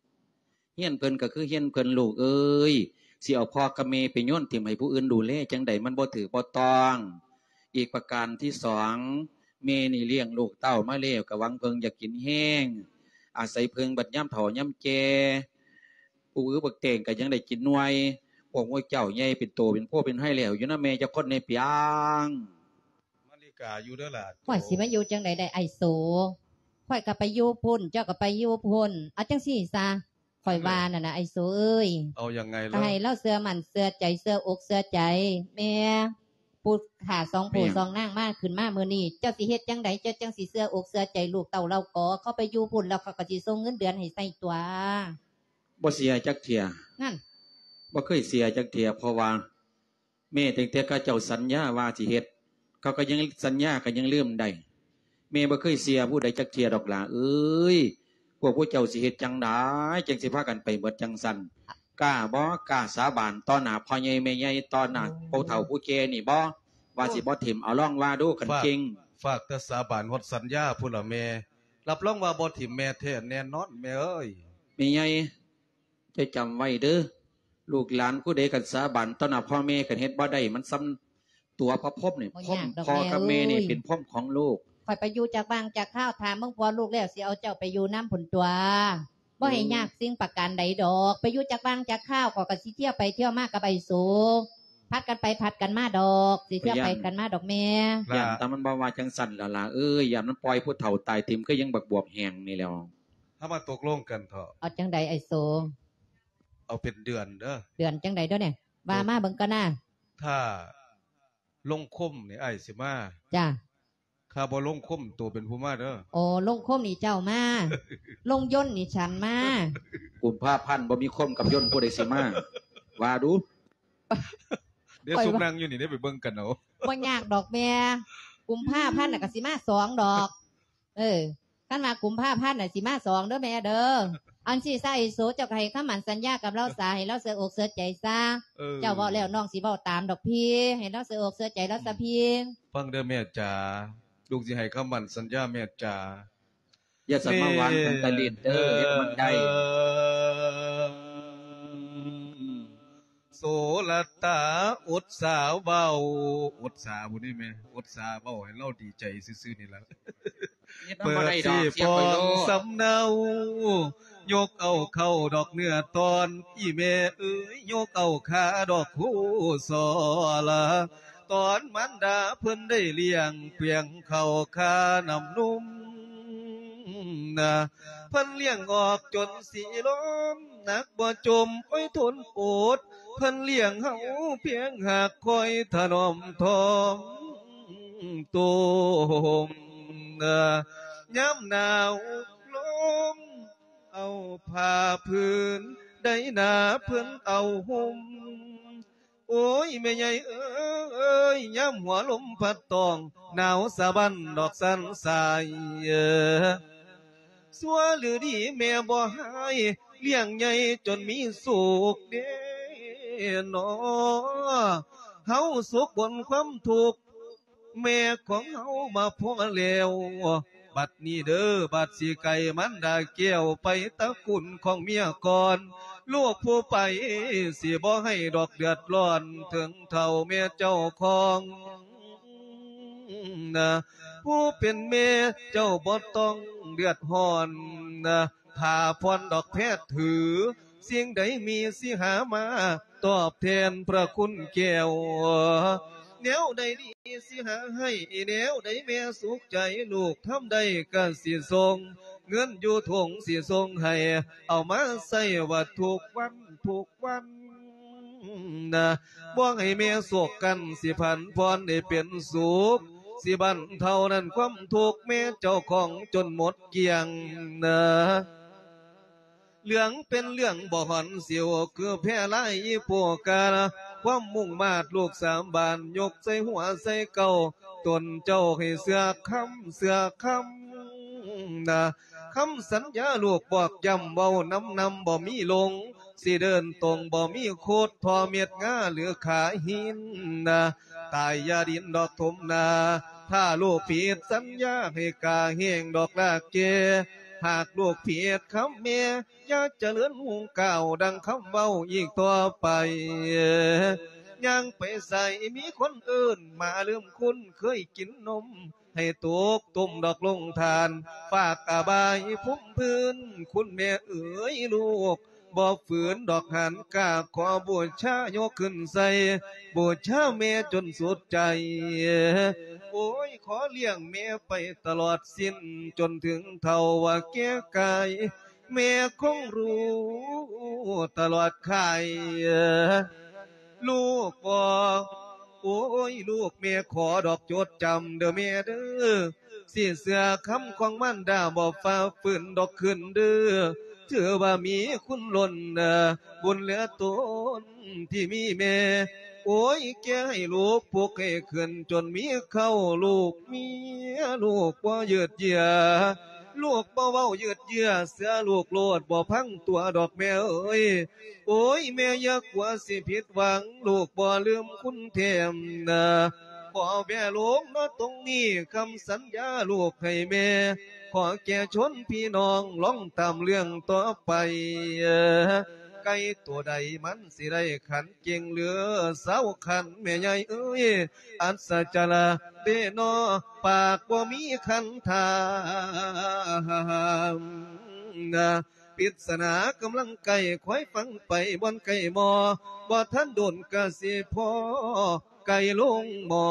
ຮຽນເພິ່ນກໍຄືຮຽນເພິ່ນ ລູກເອີຍ ຊິເອົາພໍ່ກັບແມ່ໄປໂຍນຖິ້ມໃຫ້ຜູ້ອື່ນດູແລຈັ່ງໃດ ມັນບໍ່ຖືກບໍ່ຕ້ອງ. ອີກປະການທີສອງ ແມ່ນີ້ລ້ຽງລູກເຕົ້າມາແລ້ວ ກະຫວັງເພິ່ງຢາກກິນແຮງ ອາໄສເພິ່ງບັດຍາມເຖົ້າຍາມແກ່ ປູກອຶກບັກແຕງກໍຍັງໄດ້ກິນໜ່ວຍ. ພວກໝູ່ເຈົ້າໃຫຍ່ເປັນໂຕເປັນໂພເປັນໄຮແລ້ວ ຢູ່ນຳແມ່ຈັກຄົນແດ່ປຽງ. ມາລິກາຢູ່ເດີຫຼ້າ. ຂ້ອຍຊິມາຢູ່ຈັ່ງໃດໄດ້ອ້າຍໂສ? ຂ້ອຍກໍໄປຢູ່ພຸ້ນ ເຈົ້າກໍໄປຢູ່ພຸ້ນ ເອົາຈັ່ງຊີ້ຊະ ຂ້ອຍວ່ານັ້ນນະອ້າຍໂສເອີຍ. ເອົາຍັງໄງລະ? ກໍໃຫ້ລາວເຊື່ອໝັ້ນເຊື່ອໃຈ ເຊື່ອອົກເຊື່ອໃຈແມ່. ຜູ້ຂ້າສອງຜູ້ສອງນາງມາ ຂຶ້ນມາມື້ນີ້ ເຈົ້າຊິເຮັດຈັ່ງໃດ ເຈົ້າຈັ່ງຊິເຊື່ອອົກເຊື່ອໃຈລູກເຕົ້າລາວກໍ? ເຂົາໄປຢູ່ພຸ້ນແລ້ວ ເຂົາກໍຊິສົ່ງເງິນເດືອນໃຫ້ໃຊ້ຕົວະ. ບໍ່ເສຍຈັກເທື່ອ. ນັ້ນ ບໍ່ເຄີຍເສຍຈັກເທື່ອ ເພາະວ່າ ແມ່ ຕັ້ງແຕ່ເຂົາເຈົ້າສັນຍາວ່າຊິເຮັດ ເຂົາກໍຍັງສັນຍາ ກໍຍັງລືມໄດ້. ແມ່ບໍ່ເຄີຍເສຍຜູ້ໃດຈັກເທື່ອດອກຫຼ້າເອີຍ. ພວກພວກເຈົ້າຊິເຮັດຈັ່ງໃດ ຈັ່ງຊິພາກັນໄປເໝິດຈັ່ງຊັ້ນ? ກ້າບໍ່? ກ້າສາບານຕໍ່ໜ້າພໍ່ໃຫຍ່ແມ່ໃຫຍ່ ຕໍ່ໜ້າຜູ້ເຖົ້າຜູ້ແກ່ນີ້ບໍ່ ວ່າຊິບໍ່ຖິ້ມ? ເອົາລອງວ່າດູ ຄັນເກັ່ງ. ຝາກແຕ່ສາບານ ຮອດສັນຍາພຸ້ນລະແມ່. ຮັບຮອງວ່າບໍ່ຖິ້ມແມ່ແທ້ແນ່ນອນແມ່ເອີຍ. ແມ່ໃຫຍ່ ເຈົ້າຈຳໄວ້ເດີ ລູກຫຼານຜູ້ໃດຄັນສາບານຕໍ່ໜ້າພໍ່ແມ່ ຄັນເຮັດບໍ່ໄດ້ ມັນສ່ຳຕົວະພະພົມນີ້. ບໍ່ຍາກດອກແມ່ເອີຍ ພົມ ພໍ່ກັບແມ່ນີ້ເປັນພົມຂອງລູກ. ຂ້ອຍໄປຢູ່ຈັກຫວ່າງຈັກຄາວ ຖ້າເບິ່ງພໍ່ລູກແລ້ວ ຊິເອົາເຈົ້າໄປຢູ່ນຳພຸ້ນຕົວະ. ບໍ່ໃຫ້ຍາກສິ່ງປະການໃດດອກ ໄປຢູ່ຈັກຫວ່າງຈັກຄາວ ຂ້ອຍກໍຊິທຽວໄປທຽວມາກັບໄອ້ໂສ ຜັດກັນໄປຜັດກັນມາດອກ ຊິທຽວໄປກັນມາດອກແມ່. ຢ້ານແຕ່ມັນບໍ່ວ່າຈັ່ງຊັ້ນລະຫຼ້າເອີຍ ຢ້ານມັນປ່ອຍຜູ້ເຖົ້າຕາຍຖິ້ມ ຄືຫຍັງບັກບວບແຫ້ງນີ້ແຫຼ້ວ. ເຮົາມາຕົກລົງກັນເຖາະ. ເອົາຈັ່ງໃດໄອ້ໂສ? ເອົາເປັນເດືອນເດີ. ເດືອນຈັ່ງໃດເດີນີ້? ວ່າມາເບິ່ງກ່ອນນາ. ຖ້າລົງຄົມນີ້ອ້າຍຊິມາ. ຈ້າ. ຖ້າບໍ່ລົງຄົມ ໂຕເປັນຜູ້ມາເດີ. ໂອ້ ລົງຄົມນີ້ເຈົ້າມາ ລົງຍົນນີ້ສັນມາ. ກຸມພາພັນບໍ່ມີຄົມກັບຍົນ ຜູ້ໃດຊິມາ ວ່າດູ. ເດ ຊຸມນັ່ງຢູ່ນີ້ເດ ໄປເບິ່ງກັນເອົາ. ບໍ່ຍາກດອກແມ່ ກຸມພາພັນນະກະຊິມາສອງດອກ. ເອີ ຄັນວ່າກຸມພາພັນນະຊິມາສອງເດີແມ່ເດີ. ອັນຊີ້ຊະ ໄອ້ໂສ ເຈົ້າກໍໃຫ້ຄຳໝັ້ນສັນຍາກັບລາວຊະ ໃຫ້ລາວເຊື່ອອົກເຊື່ອໃຈຊະ. ເອີ ເຈົ້າເວົ້າແລ້ວນ້ອງຊິເວົ້າຕາມດອກພີ່ ໃຫ້ລາວເຊື່ອອົກເຊື່ອໃຈລາວຊະພີ່. ຟັງເດີແມ່ຈ໋າ ລູກຊິໃຫ້ຄຳໝັ້ນສັນຍາແມ່ຈ໋າ. ຢ່າສະມາຫວານກັນຕະລິດເດີ ເຮັດມັນໄດ້. ໂສລະຕາ ອົດສາເວົ້າ ອົດສາພຸ້ນນີ້ແມ່ ອົດສາເວົ້າໃຫ້ລາວດີໃຈຊື່ໆນີ້ລະ. ເປີດຊິປ້ອງສຳເນົາ ຍົກເອົາເຂົ້າດອກເນື້ອຕອນ ອີ່ແມ່ເອີຍ ຍົກເອົາຄາດອກຄູສອລະ. ຕອນມານດາເພິ່ນໄດ້ລ້ຽງ ປຽງເຂົ້າຄານ້ຳນົມນະ ເພິ່ນລ້ຽງອອກຈົນສີລົມ ໜັກບໍ່ຈົມ ໂອ້ຍ ທົນອົດ ເພິ່ນລ້ຽງເຮົາພຽງຫາກ ຄອຍຖະໜອມຖ່ອມໂຕມນະ. ຍາມໜາວລົມເອົາຜ້າຜືນ ໃດໜາເພິ່ນເອົາຫົ່ມ ໂອ້ຍ ແມ່ໃຫຍ່ເອີຍ ຍາມຫົວລົມພັດຕ້ອງ ໜາວສະບັ້ນດອກສັນສາຍ. ຊົ່ວຫຼືດີແມ່ບໍ່ຮ້າຍ ລ້ຽງໃຫຍ່ຈົນມີສຸກເດເນາະ. ເຮົາສຸກພົ້ນຄວາມທຸກ ແມ່ຂອງເຮົາມາພໍ້ແລ້ວ. ບັດນີ້ເດີ ບັດຊິໄກມານດາແກ້ວ ໄປຕະກຸນຂອງເມຍກ່ອນ ລູກຜູ້ໄປ ຊິບໍ່ໃຫ້ດອກເດືອດຮ້ອນ ເຖິງເຖົ້າແມ່ເຈົ້າຂອງນະ ຜູ້ເປັນແມ່ເຈົ້າບໍ່ຕ້ອງເດືອດຮ້ອນນະ ຖ້າພອນດອກແພດຖື ສິ່ງໃດມີຊິຫາມາຕອບແທນພະຄຸນແກ້ວ ແນວໃດດີຊິຫາໃຫ້ ແນວໃດແມ່ສຸກໃຈ ລູກທຳໄດ້ກະຊິສົ່ງ ເງິນຢູ່ຖົງຊິສົ່ງໃຫ້ ເອົາມາໃຊ້ວ່າທຸກວັນທຸກວັນນະ ບໍ່ໃຫ້ແມ່ໂສກກັນ ຊິຜັນຜ່ອນໃຫ້ເປັນສຸກ ຊິບັນເທົານັ້ນຄວາມທຸກແມ່ເຈົ້າຂອງຈົນໝົດກ້ຽງນະ ເລື່ອງເປັນເລື່ອງບໍ່ຫອນສິວ ຄືແພລາຍອີໂປກາ ຄວາມມຸ່ງມາດລູກສາມບານ ຍົກໃສ່ຫົວໃສ່ເກົ້າ ຕົນເຈົ້າໃຫ້ເຊື່ອຄຳ ເຊື່ອຄຳນະ ຄຳສັນຍາລູກບອກຢ້ຳ ເວົ້ານຳນຳບໍ່ມີຫຼົງ ຊິເດີນຕົງບໍ່ມີໂຄດ ທໍ່ເມັດງາຫຼືຂາຫີນນະ ຕາຍຢ່າດິນດອກຖົມນາ ຖ້າລູກຜິດສັນຍາ ໃຫ້ກາແຫ້ງດອກລາກແກ່ ຫາກລູກຜິດຄຳແມ່ ຢ່າຈະເລີນຫຸງກ່າວ ດັ່ງຄຳເວົ້າອີກຕໍ່ໄປ ຍ່າງໄປໃສມີຄົນເອີ້ນ ໝາລືມຄຸນເຄີຍກິນນົມ ໃຫ້ຕົກຕຸ່ມດອກລົງທານ ຝາກອະບາຍພຸ້ມພື້ນ ຄຸນແມ່ເອີຍ ລູກບໍ່ຝືນດອກຫານກາ ຂໍບູຊາຍົກຂຶ້ນໃສ່ ບູຊາແມ່ຈົນສຸດໃຈ ໂອ້ຍ ຂໍລ້ຽງແມ່ໄປຕະຫຼອດສິ້ນ ຈົນເຖິງເຖົ້າວ່າແກ່ກາຍ ແມ່ຄົງຮູ້ຕະຫຼອດຂ່າຍ ລູກບໍ່ ໂອ້ຍ ລູກແມ່ຂໍດອກຈົດຈຳເດີແມ່ເດີ ຊິເຊື່ອຄຳຂອງມານດາ ບໍ່ຝ່າຝືນດອກຄືນເດີ ຖືວ່າມີຄຸນລົ້ນບຸນເຫຼືອຕົນທີ່ມີແມ່ ໂອ້ຍ ແກ່ໃຫ້ລູກປຸກໃຫ້ຂຶ້ນຈົນມີເຂົ້າ ລູກເມຍ ລູກບໍ່ຍືດເຢື້ອ ລູກບໍ່ເວົ້າຍືດເຢື້ອ ເຊື່ອລູກໂລດ ບໍ່ພັງຕົວດອກແມ່ເອີຍ ໂອ້ຍ ແມ່ຢ່າກົວຊິຜິດຫວັງ ລູກບໍ່ລືມຄຸນແທ້ນະ ຂໍແວ່ລົງເນາະຕົງນີ້ ຄຳສັນຍາລູກໃຫ້ແມ່ ຂໍແກ່ຊົນພີ່ນ້ອງ ລອງຕາມເລື່ອງຕໍ່ໄປ ໄກ່ໂຕໃດມັນຊິໄດ້ຂັນ ເກັ່ງເຫຼືອຊາວຂັນ ແມ່ໃຫຍ່ເອີຍ ອັດສະຈະລະເດເນາະ ປາກບໍ່ມີຄັນຖາມນະ ປິດສະໜາກຳລັງໄກ່ ຄອຍຟັງໄປບ່ອນໄກ່ໝໍ ບໍ່ທັນດົນກະຊິພໍ ໄກ່ລົງໝໍ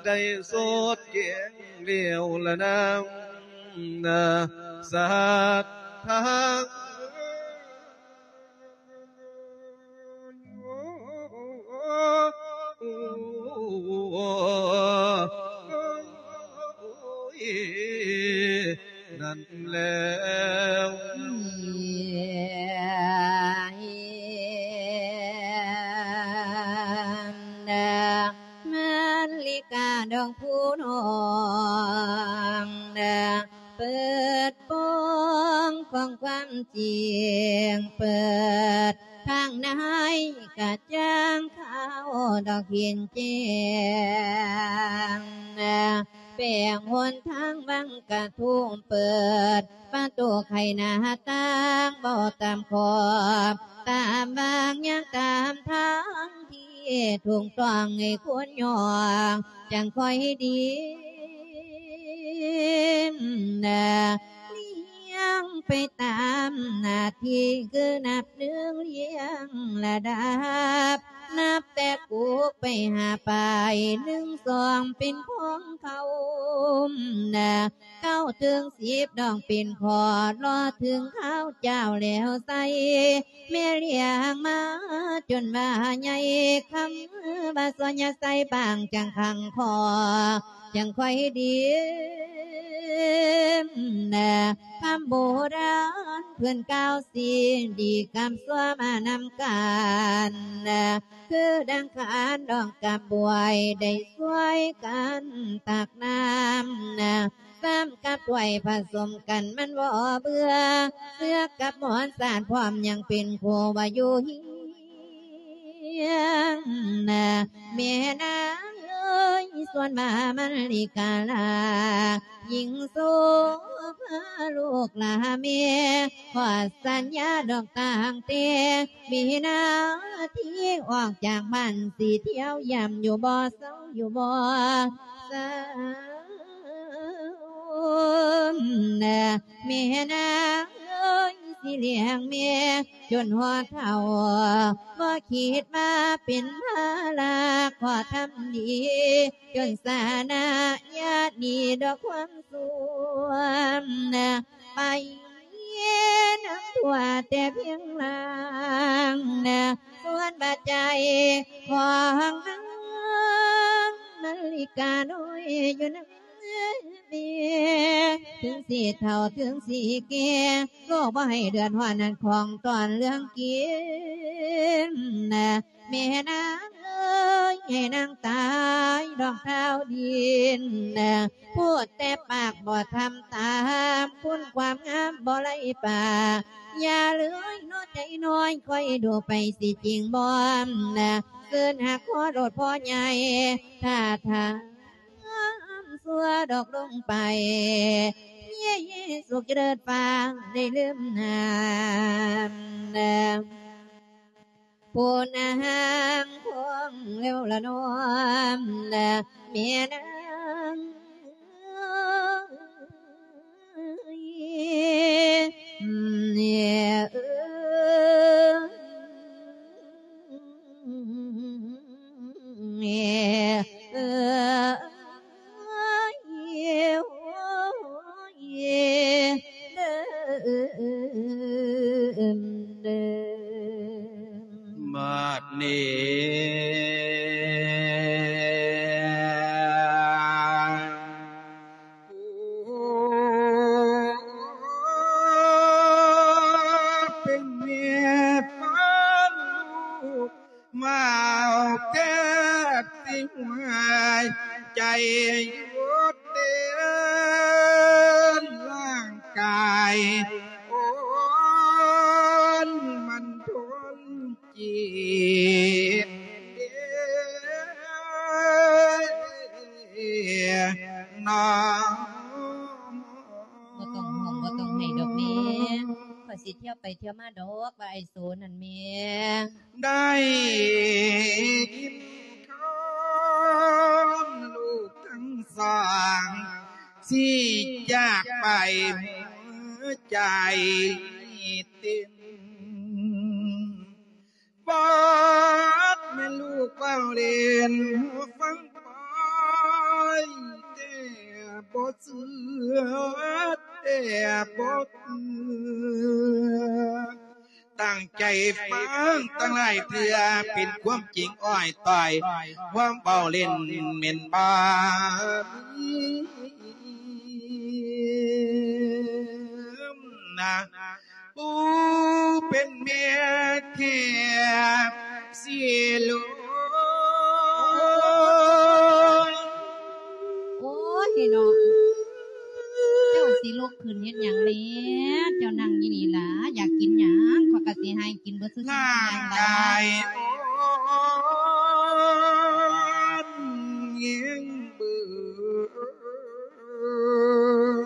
ໄດ້ສົດແກງແລ້ວລະນາງ ສາດທາງ ນັ້ນແລ້ວ ມາລິກາດອງຜູ້ນ້ອງ ເປີດປ່ອງຂອງຄວາມຈິງ ເປີດທາງໃນກະຈ່າງຂາວດອກເຫັນແຈ້ງ ແປງຫົນທາງວັງກະທຸມ ເປີດປະຕູໄຂໜ້າຕ່າງ ເວົ້າຕາມຂອບຕາມວາງ ຍ່າງຕາມທາງທີ່ຖືກຕ້ອງໃຫ້ຄົນຍ່ອງ ຈັ່ງຄ່ອຍດີ ລຽງໄປຕາມໜ້າທີ່ ຄືນັບໜຶ່ງລຽງລະດັບ ນັບແຕ່ກຸກໄປຫາປາຍ ໜຶ່ງ ສອງ ເປັນຂອງເຂົາ ເກົ້າ ເຖິງ ສິບ ດອງເປັນຂອດ ລໍເຖິງຄາວເຈົ້າແລ້ວໃສ່ ແມ່ລ້ຽງມາຈົນວ່າໃຫຍ່ ຄຳວ່າຊອຍຍາໃສ່ບາງຈັ່ງຂັງຄໍ ຈັ່ງຄ່ອຍດີ ຄຳໂບລານເພິ່ນກ່າວ ສິ່ງດີກັບຊົ່ວມານຳກັນ ຄືດັ່ງຂານດອງກັບບວຍ ໄດ້ຊ່ວຍກັນຕັກນ້ຳ ຊ້ຳກັບຖ້ວຍຜະສົມກັນມັນບໍ່ເບື່ອ ເຊືອກກັບໝອນສາດພ້ອມຍັງເປັນຄູ່ວ່າຢູ່ຮຽງ ແມ່ນາງ ຍ ສ່ວນວ່າມັນລິກາລາ ຍິ່ງໂສພາລູກຫຼ້າແມ່ ຂໍສັນຍາດອກຕັ້ງແຕ່ວິນາທີອອກຈາກບ້ານ ຊິທ່ຽວຢ້ຳຢູ່ບໍ່ເຊົາ ຢູ່ບໍ່ເຊົາ ແມ່ນາງເອີຍ ຊິລ້ຽງແມ່ຈົນຮອດເຖົ້າ ບໍ່ຄິດວ່າເປັນພາລະ ຂໍທຳດີຈົນຊານະ ຢ່າໜີດອກຄວາມຊົ່ວ ໄປນຳຜົວແຕ່ພຽງຮ່າງ ສ່ວນວ່າໃຈຂອງນາງມາລິການ້ອຍຢູ່ນຳ ເມ ເຖິງຊິເຖົ້າເຖິງຊິແກ່ ລູກບໍ່ໃຫ້ເດືອດຮ້ອນນັ້ນ ຂອງຕອນເລື່ອງກິນ ແມ່ນາງເອີຍ ໃຫ້ນາງຕາຍດອກທ້າວດິນ ພູດແຕ່ປາກບໍ່ທຳຕາມ ຄຸນຄວາມງາມບໍ່ໄຫຼປາກ ຢ່າເລີຍເນາະໃຈນ້ອຍ ຄອຍດູໄປຊິຈິງບໍ່ ຄືນຫາຂໍໂລດພໍ່ໃຫຍ່ ຖ້າທາງ ຊົ່ວດອກລົງໄປ ເຍ ສຸກຈະເລີດຟ້າໄດ້ລືມນາມ ຜູ້ນາງຄອງເລັວລະນອມ ແມ່ນາງ ບາດນີ້ ຜູ້ເປັນແມ່ຟັງລູກ ເວົ້າແທບຊິຫວາຍໃຈຢູ່ເຕັມຮ່າງກາຍ ໂອ້ນມັນທົນຈິດເດເນາະ. ບໍ່ຕ້ອງຮ້ອງ ບໍ່ຕ້ອງໄຫ້ດອກແມ່ ຂ້ອຍຊິທ່ຽວໄປທ່ຽວມາດອກ ວ່າອ້າຍໂສນັ້ນແມ່. ໄດ້ຍິນຄຳລູກທັງສອງ ຊິຈາກໄປ ຫົວໃຈເຕັມ ບາດແມ່ນລູກເວົ້າຫຼິ້ນ ຫູຟັງປອຍ ແຕ່ບໍ່ເຊື່ອ ແຕ່ບໍ່ເຊື່ອ. ຕັ້ງໃຈຟັງຕັ້ງຫຼາຍເທື່ອ ເປັນຄວາມຈິງອ້ອຍຕ້ອຍ ຄວາມເວົ້າຫຼິ້ນແມ່ນບໍ່ມີນະ. ຜູ້ເປັນແມ່ແທ້ຊິລົງ ໂອ້ຍເນາະ ເຈົ້າຊິລຸກຂຶ້ນເຮັດຫຍັງແລ້ວ? ເຈົ້ານັ່ງຢູ່ນີ້ລະ ຢາກກິນຫຍັງ ຂ້ອຍກະຊິໃຫ້ກິນເບິດຊຸດໆ ຮ່າງກາຍອ່ອນແຮງເບີ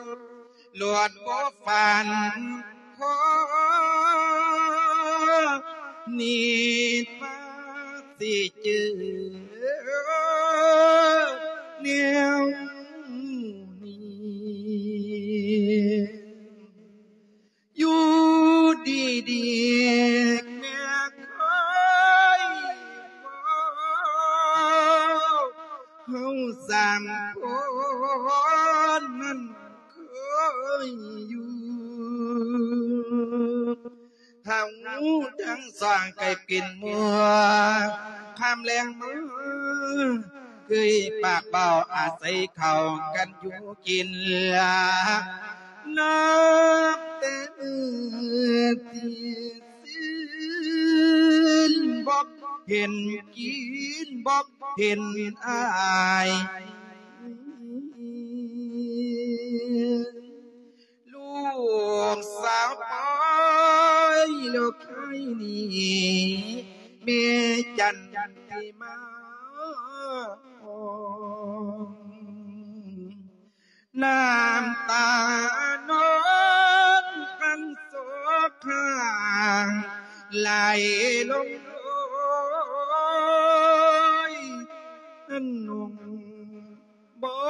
ດ ລວດບໍ່ຝັນ ຂໍນິດມາຊິເຈີແນວນີ້ ຢູ່ດີໆ ແມ່ເຄີຍເວົ້າ ເຮົາສາມຄົນນັ້ນ ເຄີຍຢູ່ ເຮົາທັງສອງໄກເປັນໝູ່ ຄຳແລງມາເຄີຍປາກເວົ້າ ອາໄສເຂົ້າກັນຢູ່ກິນ ນັບແຕ່ມື້ທີ່ຊື່ນ ບໍ່ເຫັນກິນ ບໍ່ເຫັນອາຍ. ລູກສາວປອຍລູກໄຄນີ້ ແມ່ຈັນຕິມາ ນ້ຳຕານອນພັນສອງຂ້າງໄຫຼລົງໂລຍ ອັນນຸ່ງບໍ່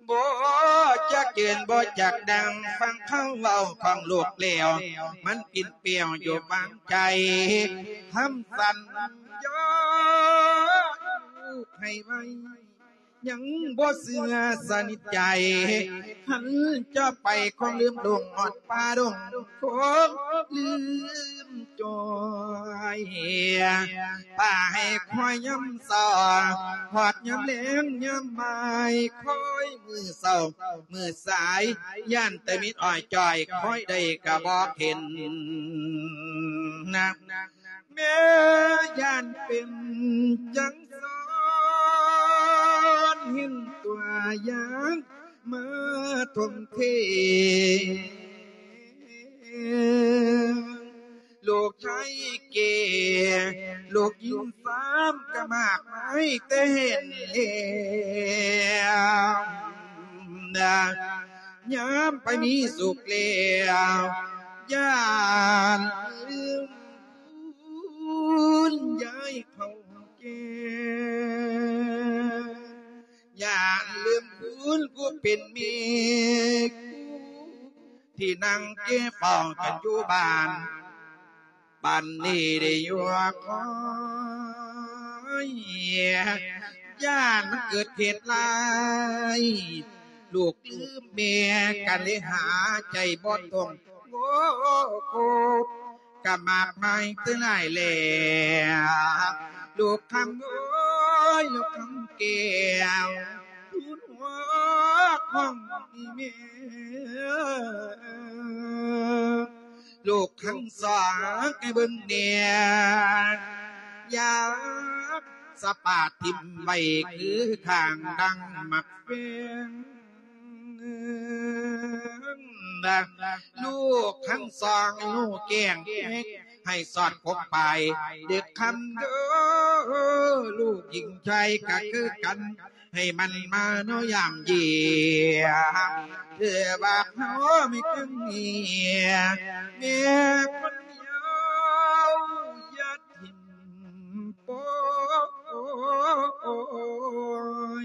ບໍ່ຈັກຢືນບໍ່ຈັກນັ່ງ ຟັງຄຳເວົ້າຂອງລູກແລ້ວ ມັນປິ່ນແປ້ວຢູ່ບາງໃຈ ຄຳສັນຍາລູກໃຫ້ໄວ້ ຍັງບໍ່ເຊື່ອສະໜິດໃຈ ຄັນຈະໄປຄົງລືມລົງຮອດປ່າດົງ ຄົງລືມຈ່ອຍ ປ່າໃຫ້ຄວາຍຍາມເຊົ້າ ຮອດຍາມແລງຍາມບ່າຍ ຄອຍມື້ເຊົ້າມື້ສາຍ ຢ້ານແຕ່ມິດອ້ອຍຈ້ອຍ ຄອຍໄດ້ກະບໍ່ເຫັນນະ ແມ່ຢ້ານເປັນຈັ່ງຊັ້ນ ເຫັນຕົວຢ່າງມາທົ່ວເທ ລູກຊາຍແກ່ ລູກຍິງສາມກະມາກມາຍແຕ່ເຫັນແລ້ວ ຍາມໄປມີສຸກແລ້ວ ຢ້ານລືມບຸນຍາຍເຖົ້າແກ່ ຢ້ານລືມບຸນຜູ້ເປັນແມ່ ທີ່ນັ່ງເກັບເຝົ້າກັນຢູ່ບ້ານ ບັດນີ້ໄດ້ຢູ່ຄອຍ ຢ້ານມັນເກີດເຫດຮ້າຍ ລູກລືມແມ່ ກະເລີຍຫາໃຈບໍ່ຕົງ ໂອ້ ກະມາກມາຍເຕີຫຼາຍແລ້ວ ລູກຄຳເອີຍ ລູກຄຳແກ້ວ ທູນຫົວຂອງອີ່ແມ່ ລູກທັງສອງໃຫ້ເບິ່ງແດ່ ຢາກສະປາດຖິ້ມໄວ້ຄືຂ້າງດັ່ງໝາກແຟງ ລູກທັງສອງໃຫ້ຮູ້ແຈ້ງແຈ້ງ ໃຫ້ສອດຄົບໄປເດັກຄຳເດີ ລູກຍິງຊາຍກະຄືກັນ ໃຫ້ມັນມາເນາະຢາມເຢຍ ເພື່ອວ່າເຮົາມີກັນເມຍ ແມ່ຄົນດຽວຢ່າຖິ້ມປ່ອ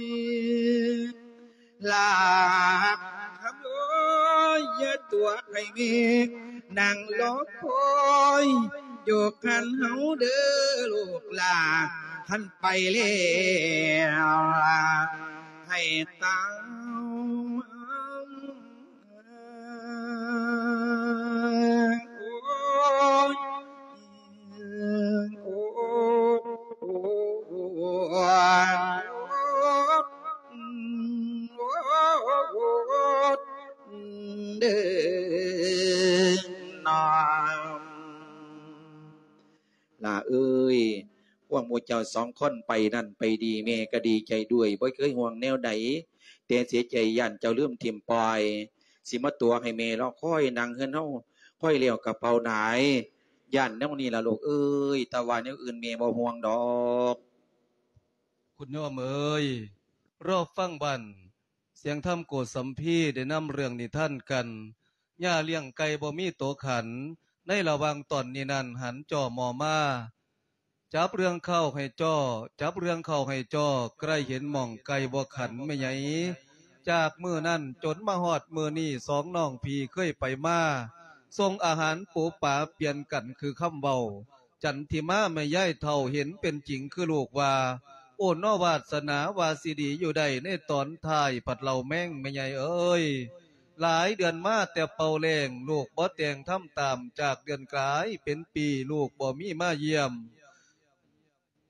ຍ ລາກຄຳເອີຍ ຢ່າຕົວໃຫ້ແມ່ນັ່ງລໍຄອຍ ຢູ່ຄັນເຮົາເດີລູກຫຼານ ຄັນໄປແລ້ວໃຫ້ຕາຍ ໂອ້ຍ ໂອ້ຍ ໂອ້ຍ ເດີ ນ້ອງຫຼ້າເອີຍ ພວກໝູ່ເຈົ້າສອງຄົນໄປນັ້ນໄປດີ ແມ່ກໍດີໃຈດ້ວຍ ບໍ່ເຄີຍຫ່ວງແນວໃດ ແຕ່ເສຍໃຈຢ້ານເຈົ້າລືມຖິ້ມປ່ອຍ ຊິມາຕົວະໃຫ້ແມ່ລໍຄອຍນັ່ງເຮືອນເຮົາ ຄອຍແລ້ວກະເປົ່າດາຍ ຢ້ານແນວນີ້ລະລູກເອີຍ ແຕ່ວ່າແນວອື່ນແມ່ບໍ່ຫ່ວງດອກ. ຄຸນໂຍມເອີຍ ລໍຟັງບັ້ນ ສຽງທຳໂກດສຳພີໄດ້ນຳເລື່ອງນິທານກັນ ຍ່າລ້ຽງໄກ່ບໍ່ມີໂຕຂັນ ໃນລະຫວ່າງຕອນນີ້ນັ້ນ ຫັນຈໍ່ມໍ່ມາ ຈັບເລື່ອງເຂົ້າໃຫ້ຈໍ່ ຈັບເລື່ອງເຂົ້າໃຫ້ຈໍ່ ໃກ້ເຫັນໝ່ອງໄກ່ບໍ່ຂັນແມ່ໃຫຍ່. ຈາກມື້ນັ້ນຈົນມາຮອດມື້ນີ້ ສອງນ້ອງພີ່ເຄີຍໄປມາ ສົ່ງອາຫານປູປາປ່ຽນກັນຄືຄຳເວົ້າ. ຈັນທິມາແມ່ຍາຍເຖົ້າເຫັນເປັນຈິງຄືລູກວ່າ ໂອ້ເນາະ ວາດສະໜາວ່າຊິດີຢູ່ໄດ້ ໃນຕອນທ້າຍພັດເລົ່າແມງແມ່ໃຫຍ່ເອີຍ. ຫຼາຍເດືອນມາແຕ່ເປົ່າແລ້ງ ລູກບໍ່ແຕ່ງທຳຕາມ ຈາກເດືອນກາຍເປັນປີ ລູກບໍ່ມີມາຢ້ຽມ.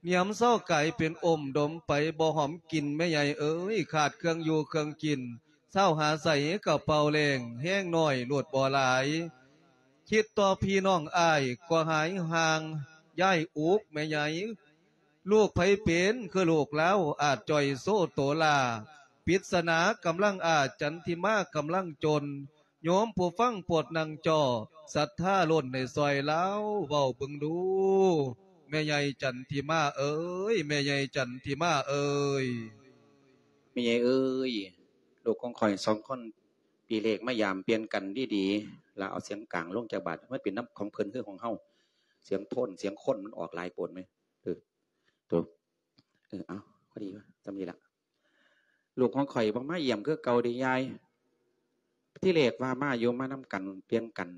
ໜຽມເຊົາກາຍເປັນອົມ ດົມໄປບໍ່ຫອມກິ່ນແມ່ໃຫຍ່ເອີຍ ຂາດເຄື່ອງຢູ່ເຄື່ອງກິນ ເຊົາຫາໃສກະເປົ່າແລ້ງ ແຮງໜ້ອຍໂລດບໍ່ຫຼາຍ. ຄິດຕໍ່ພີ່ນ້ອງອ້າຍກໍຫາຍຫ່າງ ຍ້າຍອຸກແມ່ໃຫຍ່. ລູກໃຜເປັນຄືລູກລາວ ອາດຈ່ອຍໂຊໂຕຫຼ້າ ປິດສະໜາກຳລັງອາ ຈັນທິມາກຳລັງຈົນ ໂຍມຜູ້ຟັງໂປດນັ່ງຈໍ່ ສັດທາລົ້ນໃຫ້ຊ່ອຍລາວເວົ້າເບິ່ງດູ. ແມ່ໃຫຍ່ຈັນທິມາເອີຍ ແມ່ໃຫຍ່ຈັນທິມາເອີຍ. ແມ່ໃຫຍ່ເອີຍ ລູກຂອງຂ້ອຍສອງຄົນ ປີເລກມາຢາມປ່ຽນກັນດີໆ ລະເອົາສຽງກາງລົງຈັກບາດ ມັນເປັນນຳຂອງເພິ່ນ ຄືຂອງເຮົາ ສຽງໂທນ ສຽງຄົນມັນອອກຫຼາຍໂພດແມ. ເອີ ໂຕ ເອີ ເອົາ ພໍດີວ່າ ສ່ຳນີ້ລະ. ລູກຂອງຂ້ອຍບໍ່ມາຢ້ຽມຄືເກົ່າເດ້ຍາຍ. ທີແລກວ່າມາຢູ່ ມານຳກັນ ປ່ຽນກັນ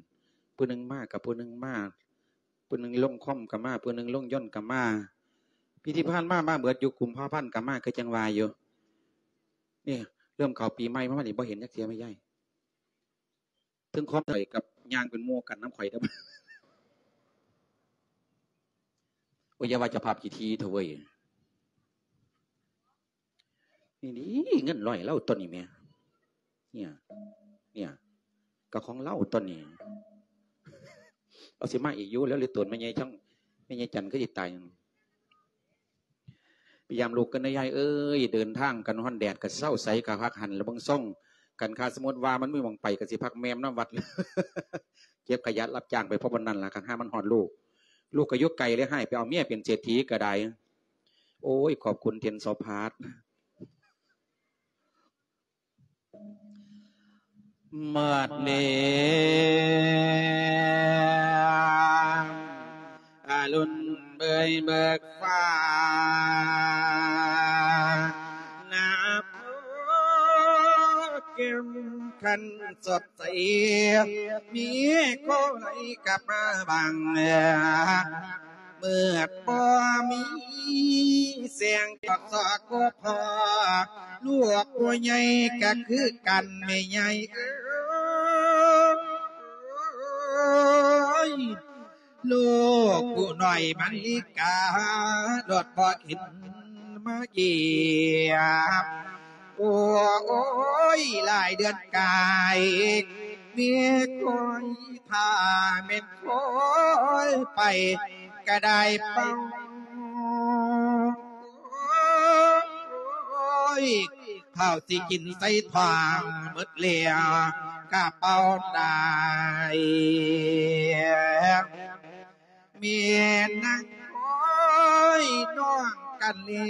ຜູ້ໜຶ່ງມາກັບຜູ້ໜຶ່ງມາ ຜູ້ໜຶ່ງລົງຄອມກໍມາ ຜູ້ໜຶ່ງລົງຍົນກໍມາ. ປີທີ່ຜ່ານມາ ມາເບິດຢູ່ ກຸມພາພັນກໍມາ ຄືຈັ່ງວ່າຢູ່. ນີ້ເລີ່ມເຂົ້າປີໃໝ່ມານີ້ ບໍ່ເຫັນຈັກເທື່ອແມ່ຍາຍ. ເຖິງຄວາມໄດ້ກັບຍ່າງເປັນໝູ່ກັນນຳຂ້ອຍເດີ້. ໂອ້ຍ ຢ່າວ່າເຈົ້າພາບຂີ້ຖີ່ເຖາະເວີຍ. ນີ້ ນີ້ເງິນຮ້ອຍລາວຕົນນີ້ແໝ. ເນຍ ເນຍ ກໍຂອງລາວຕົນນີ້. ເອົາ ຊິມາອີກຢູ່ແລ້ວ ຫຼືຕົນແມ່ໃຫຍ່ຈັ່ງ ແມ່ໃຫຍ່ຈັນຄືຊິຕາຍ. ໄປຢາມລູກກັນເດີ້ຍາຍເອີຍ ເດີນທາງກັນຮ້ອນແດດກໍເຊົາໃສກໍຄັກຫັ້ນລະເບິ່ງຊົງກັນ ຄັນສົມມຸດວ່າມັນມີໝ່ອງໄປກໍຊິພັກແມມນຳວັດ ເກັບຂະຫຍະຮັບຈ້າງໄປພໍປານນັ້ນລະ ຄັນຫາມັນຮອດລູກ ລູກກໍຢູ່ໄກເລີຍ ໃຫ້ໄປເອົາເມຍເປັນເສດຖີກໍໄດ້. ໂອ້ຍ ຂອບຄຸນເທັນຊອພາດ. ມາດແນມອາລຸນເບີຍເບີກຟ້າ ໜ້າໂພແກ້ມຂັນສົດໃສ ມີໂຄໄຫຼກັບມາບັງ ມືດບໍ່ມີແສງຈອກຊອກບໍ່ພໍ ລູກຜູ້ໃຫຍ່ກໍຄືກັນແມ່ໃຫຍ່ເອີຍ ລູກຜູ້ນ້ອຍມະລິກາ ລົດບໍ່ເຫັນມາຢ້ຽມ ໂອ້ຍ ຫຼາຍເດືອນກາຍ ເມຍຄອຍ ຖ້າແມ່ນຄອຍໄປກະໄດ້ເປົ່າ ໂອ້ຍ ເຂົ້າຊິກິນໃສ່ທ້ອງໝົດແລ້ວກະເປົ່າໄດ້ ແມ່ນາງຄອຍນ້ອງກັນແລ້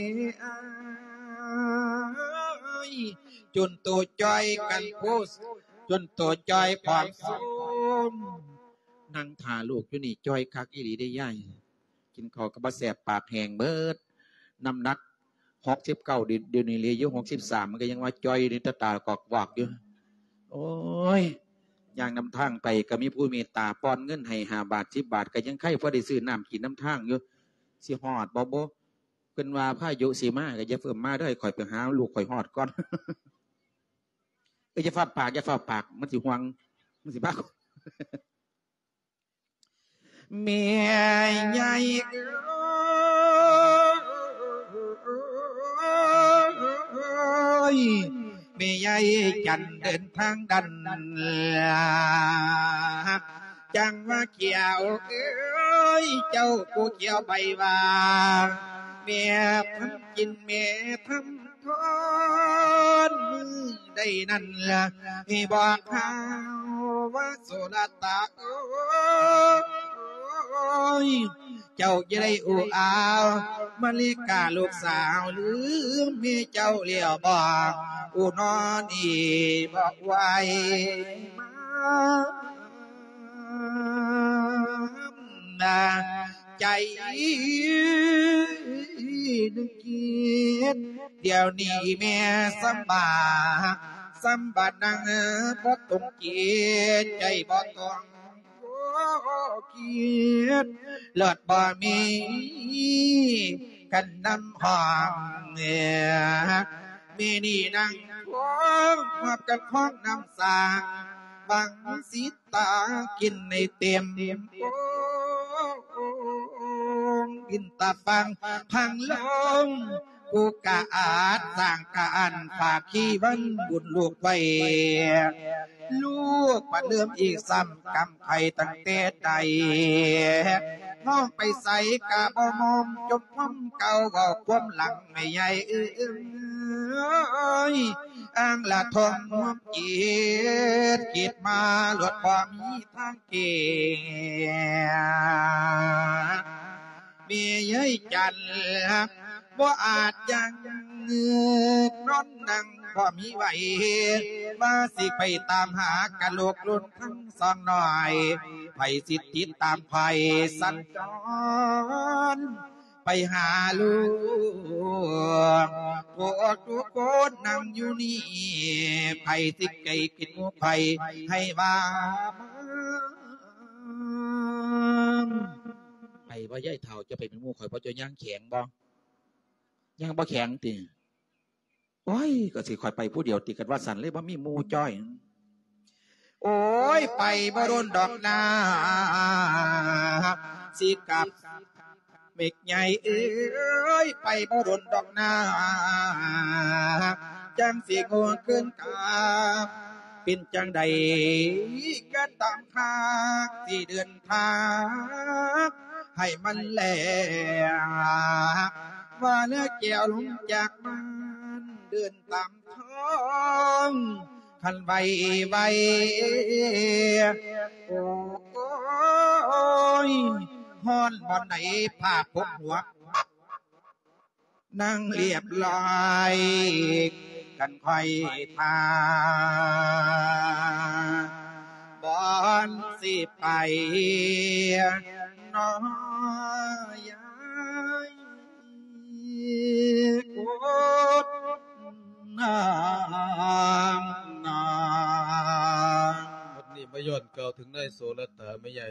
ວ ຈົນໂຕຈ່ອຍກັນໂພ ຈົນໂຕຈ່ອຍຜອມໂຊມ ນັ່ງຖ້າລູກຢູ່ນີ້ຈ່ອຍຄັກອີ່ຫຼີເດ້ຍາຍ ກິນເຂົ້າກໍບໍ່ແຊບ ປາກແຫ້ງເບິດ ນ້ຳໜັກຫົກສິບເກົ້າ ດ- ດຽວນີ້ເຫຼືອຢູ່ຫົກສິບສາມ ມັນກໍຍັງວ່າຈ່ອຍຢູ່ ຕາຕາກອກວອກຢູ່ ໂອ້ຍ ຍ່າງນຳທາງໄປກໍມີຜູ້ເມດຕາປ່ອນເງິນໃຫ້ຫ້າບາດ ສິບບາດ ກໍຍັງໄຄ ພໍໄດ້ຊື້ນ້ຳກິນນຳທາງຢູ່ ຊິຮອດບໍ່ບຸ ເພິ່ນວ່າພາຍຸຊິມາ ກໍຢ່າເຟີ້ມາເດີ້ ໃຫ້ຂ້ອຍໄປຫາລູກຂ້ອຍຮອດກ່ອນ ເອີ ຢ່າຟ້າວປາກ ຢ່າຟ້າວປາກ ມັນຊິຫ່ວງ ມັນຊິພາ ແມ່ໃຫຍ່ເອີຍ ແມ່ໃຫຍ່ຈັນເດີນທາງດັນ ຈັ່ງວ່າຂຽວເອີຍ ເຈົ້າຜູ້ຂຽວໃບວ່າ ແມ່ທຳກິນແມ່ທຳ ທອນມື້ໃດນັ້ນລະ ໃຫ້ບອກຂ່າວວ່າ ໂສລະຕາເອີຍ ເຈົ້າຈະໄດ້ອູອາວມະລິກາລູກສາວ ລືມແມ່ເຈົ້າແລ້ວບໍ ອູນອນອີກບໍ່ໄຫວມາ ໃຈໜຶ່ງຄິດ ດຽວນີ້ແມ່ສຳບາຍ ສຳບາຍນັ່ງບໍ່ຕົງຈິດ ໃຈບໍ່ຕ້ອງຄິດ ເລີດບໍ່ມີກັນນຳຫ້ອງ ແມ່ນີ້ນັ່ງຄອງ ຮອບກັນຄອງນ້ຳສາງ ບັງສີ ຕາກິນໃຫ້ເຕັມໂອ່ງ ກິນຕາຟັງພັງລົງ ຜູ້ກະອາດສ້າງກະອັນ ຝາກຄີວັນບຸນລູກໄວ້ ລູກບັດເລີ່ມອີກຊ້ຳກຳໄຂຕັ້ງແຕ່ໃດ ນ້ອງໄປໃສກະບໍ່ມອມ ຈົມພອມເກົ່າເວົ້າຄວາມຫຼັງ ແມ່ໃຫຍ່ເອີຍ ອ່າງລະທົມຄວາມຄິດ ຄິດມາໂລດບໍ່ມີທາງແກ້ ແມ່ຍາຍຈັນ ບໍ່ອາດຢັ້ງນອນນັ່ງບໍ່ມີໄຫວ ວ່າຊິໄປຕາມຫາກະໂຫຼກລຸນທັງສອງນ້ອຍ ໃຜຊິຕິດຕາມຂ້ອຍສັນຈອນ ໄປຫາລູກ ພວກທຸກຄົນນັ່ງຢູ່ນີ້ ໃຜຊິໃກ້ກິນໝູ່ຂ້ອຍໃຫ້ວ່າມາ. ໄປບໍ່ຍາຍເຖົ້າ ເຈົ້າໄປເປັນໝູ່ຂ້ອຍບໍ່ ເຈົ້າຍ່າງແຂງບໍ່? ຍ່າງບໍ່ແຂງຕິ? ໂອ້ຍ ກໍຊິຂ້ອຍໄປຜູ້ດຽວຕິ ຄັນວ່າຊັ້ນເລີຍ ບໍ່ມີໝູ່ຈ້ອຍ. ໂອ້ຍ ໄປບໍ່ດົນດອກນາ ຊິກັບ ເມັກໃຫຍ່ເອີຍ ໄປບໍ່ດົນດອກນາ ຈັ່ງຊິໂງ່ຄືນກັບ ເປັນຈັ່ງໃດກໍຕາມທາງ ຊິເດີນທາງໃຫ້ມັນແລ້ວ ວ່າແລ້ວແກ້ວລົງຈາກບ້ານ ເດີນຕາມ ທ້ອງຄັນໄວໄວ ໂອ້ຍ ຮ້ອນບ່ອນໃດຜ້າປົກຫົວ ນັ່ງລຽບລອຍ ກັນຄ່ອຍທ່າ ບ່ອນຊິໄປ ນ້ອຍ ຍາຍກົດນ້ຳນາ. ບັດນີ້ມາຍ້ອນກ່າວເຖິງນາຍໂສລະຕາແມ່ໃຫຍ່